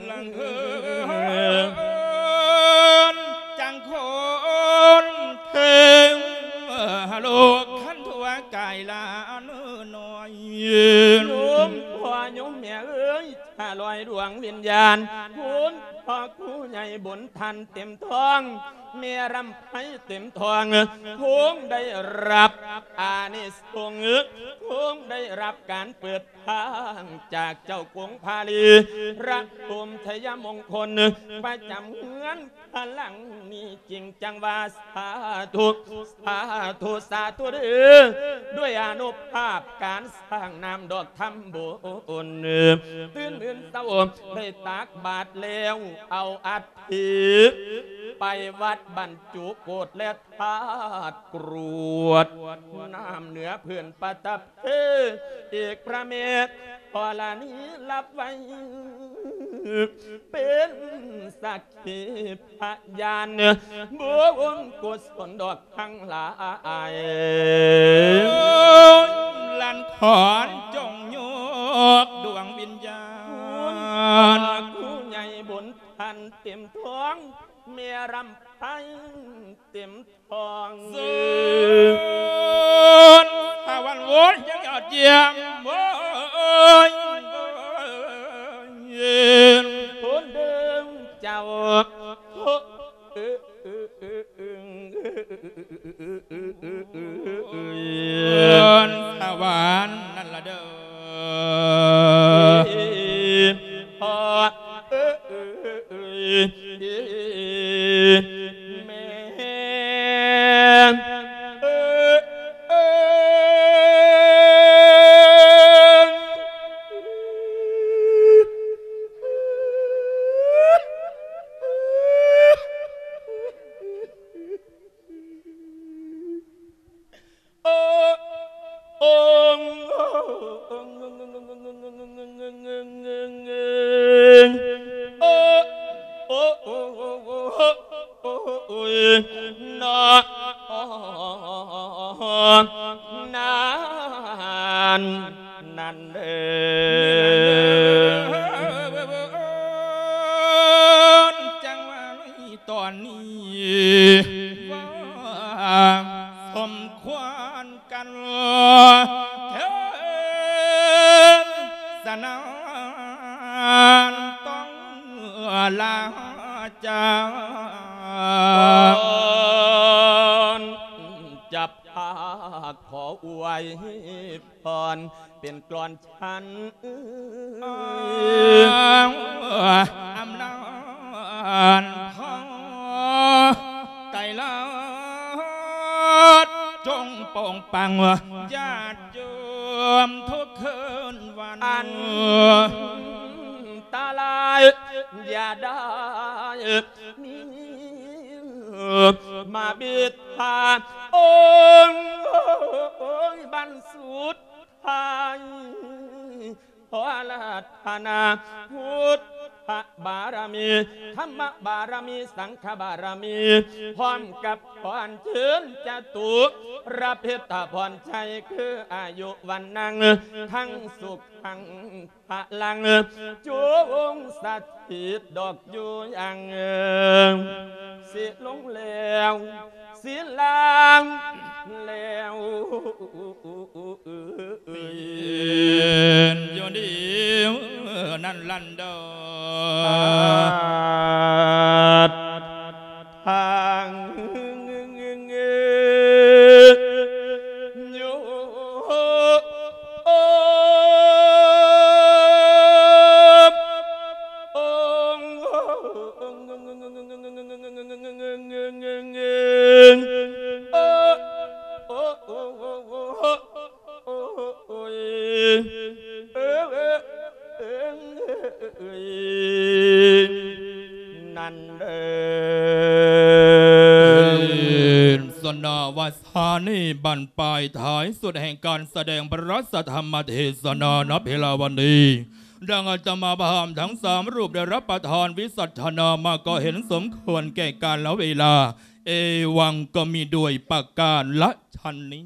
ຈັງຄົນເຖິງໂລກຄັນທົ່ວກາຍລານ້ອຍ ໂຍມພໍ່ໂຍມແມ່ເອີຍ ຂ້າລອຍດວງວິນຍານ ຄຸນພໍ່ຄູໃຫຍ່ບຸນທັນເຕັມທ້ອງ ແມ່ລຳໄພເຕັມທ້ອງ ຄົງໄດ້ຮັບອານິສົງ ຄົງໄດ້ຮັບການເປີດທາງຈາກເຈົ້າກົງພາລີ ພະພົມໄຊຍະມົງຄົນ ປະຈຳເຮືອນພະຫຼັງນີ້ ຈຶ່ງຈັ່ງວ່າ ສາທຸ ສາທຸ ສາທຸເດີ ດ້ວຍອານຸພາບການ ສ້າງນ້ຳດອກທຳບຸນ ຕື່ນມື່ນເຊົ້າໄດ້ຕັກບາດແລ້ວ ເອົາອັດຖິໄປວັດບັນຈຸໂກດ ແລະທາດກຣວດນ້ຳເໜືອພື້ນປະດັບເທ ອີກພະແມ່ທໍລະນີຮັບໄວ້ ເປັນສັກຂີພະຍານ ບຸນກຸສົນດອກທັງຫຼາຍ ຫຼັນຂອນຈົ່ງຍົກດວງວິນຍານ ຄູໃຫຍ່ບຸນທັນເຕັມທ້ອງ ແມ່ລຳໄພເຕັມທ້ອງ ເຊີນພະວັນວົນຍັງຍອດຢ້ຽມ ໂອ້ຍ ໂອ້ຍ ໂອ້ຍ ໂອ້ຍ ເດີເຈົ້າ ສະຫວານນັ້ນລະເດີ. ຈັ່ງວ່າໃນຕອນນີ້ ວ່າສົມຄວນກັນເທີນສະນັ້ນ ຕ້ອງລາຈາ ກ່ອນຈະພາຂໍອວຍພອນ ເປັນກລອນ ອັນອຳນາດຂອງໄຕລະ ຈົ່ງປົງປັງຍາດໂຍມທຸກຄືນວັນ ອັນຕະລາຍຢ່າໄດ້ມີມາບິດພາ ໂອ້ຍ ບັນສຸດ ພາຍ ຂໍອາລາທະນາພຸດທະບາລະມີ ທຳມະບາລະມີ ສັງຄະບາລະມີ ພ້ອມກັບພອນເຊີນຈະຕຸລະພິດຕະພອນໄຊ ຄືອາຍຸວັນນັງ ທັງສຸກ ທັງພະລັງ ຈົ່ງສະຖິດດອກຢູ່ຢ່າງ ຊິລົງແລ້ວ ຊິລາງແລ້ວ ເປັນຢູ່ດີນັ້ນລັນດອນ ສາທຸ ທາງໂຍ ໂອ້ຍ ເອີ ເອີ ເອີ ເອີ ນັ້ນເດີ ເປັນສະນະ ວາສານີ້ບັ້ນປາຍທ້າຍສຸດແຫ່ງການສະແດງພະລາຊະທຳມະເທສະນານະເພລາວັນນີ້ ດັ່ງອາດຕະມາພາບທັງສາມຮູບໄດ້ຮັບປະທານວິສັດທະນາມາ ກໍເຫັນສົມຄວນແກ່ການລະເວລາ ເອວັງ ກໍມີດ້ວຍປະການລະຊັ້ນນີ້.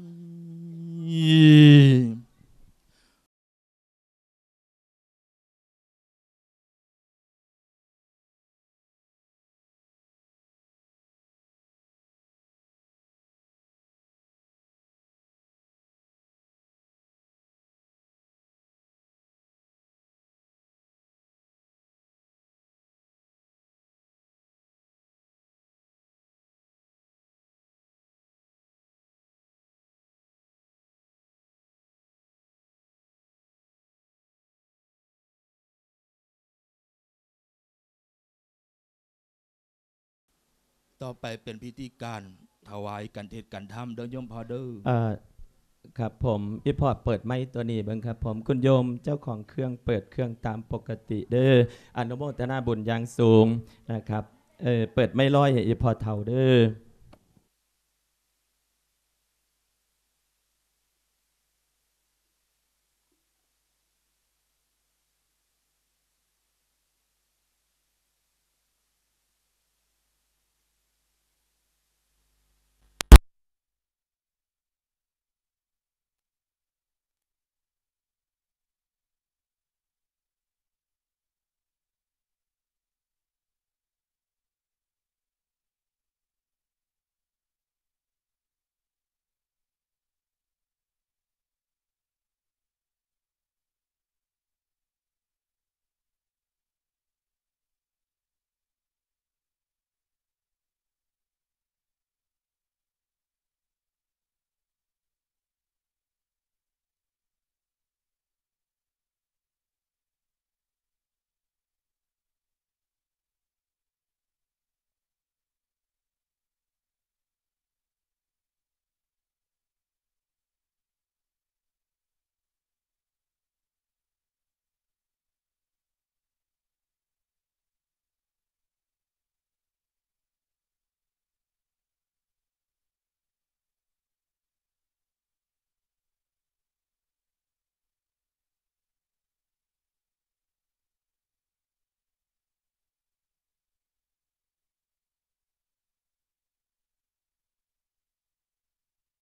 ຕໍ່ໄປເປັນພິທີການຖວາຍການເທດການທຳເດີໂຍມພໍ່ເດີ. ເອີ ຄັບຜົມ ອີ່ພໍ່ເປີດໄມໂຕນີ້ເບິ່ງຄັບຜົມ ຄຸນໂຍມເຈົ້າຂອງເຄື່ອງເປີດເຄື່ອງຕາມປົກກະຕິເດີ ອະນຸໂມທະນາບຸນຢ່າງສູງນະຄັບ. ເອີ ເປີດໄມລອຍໃຫ້ອີ່ພໍ່ເຖົ້າເດີ.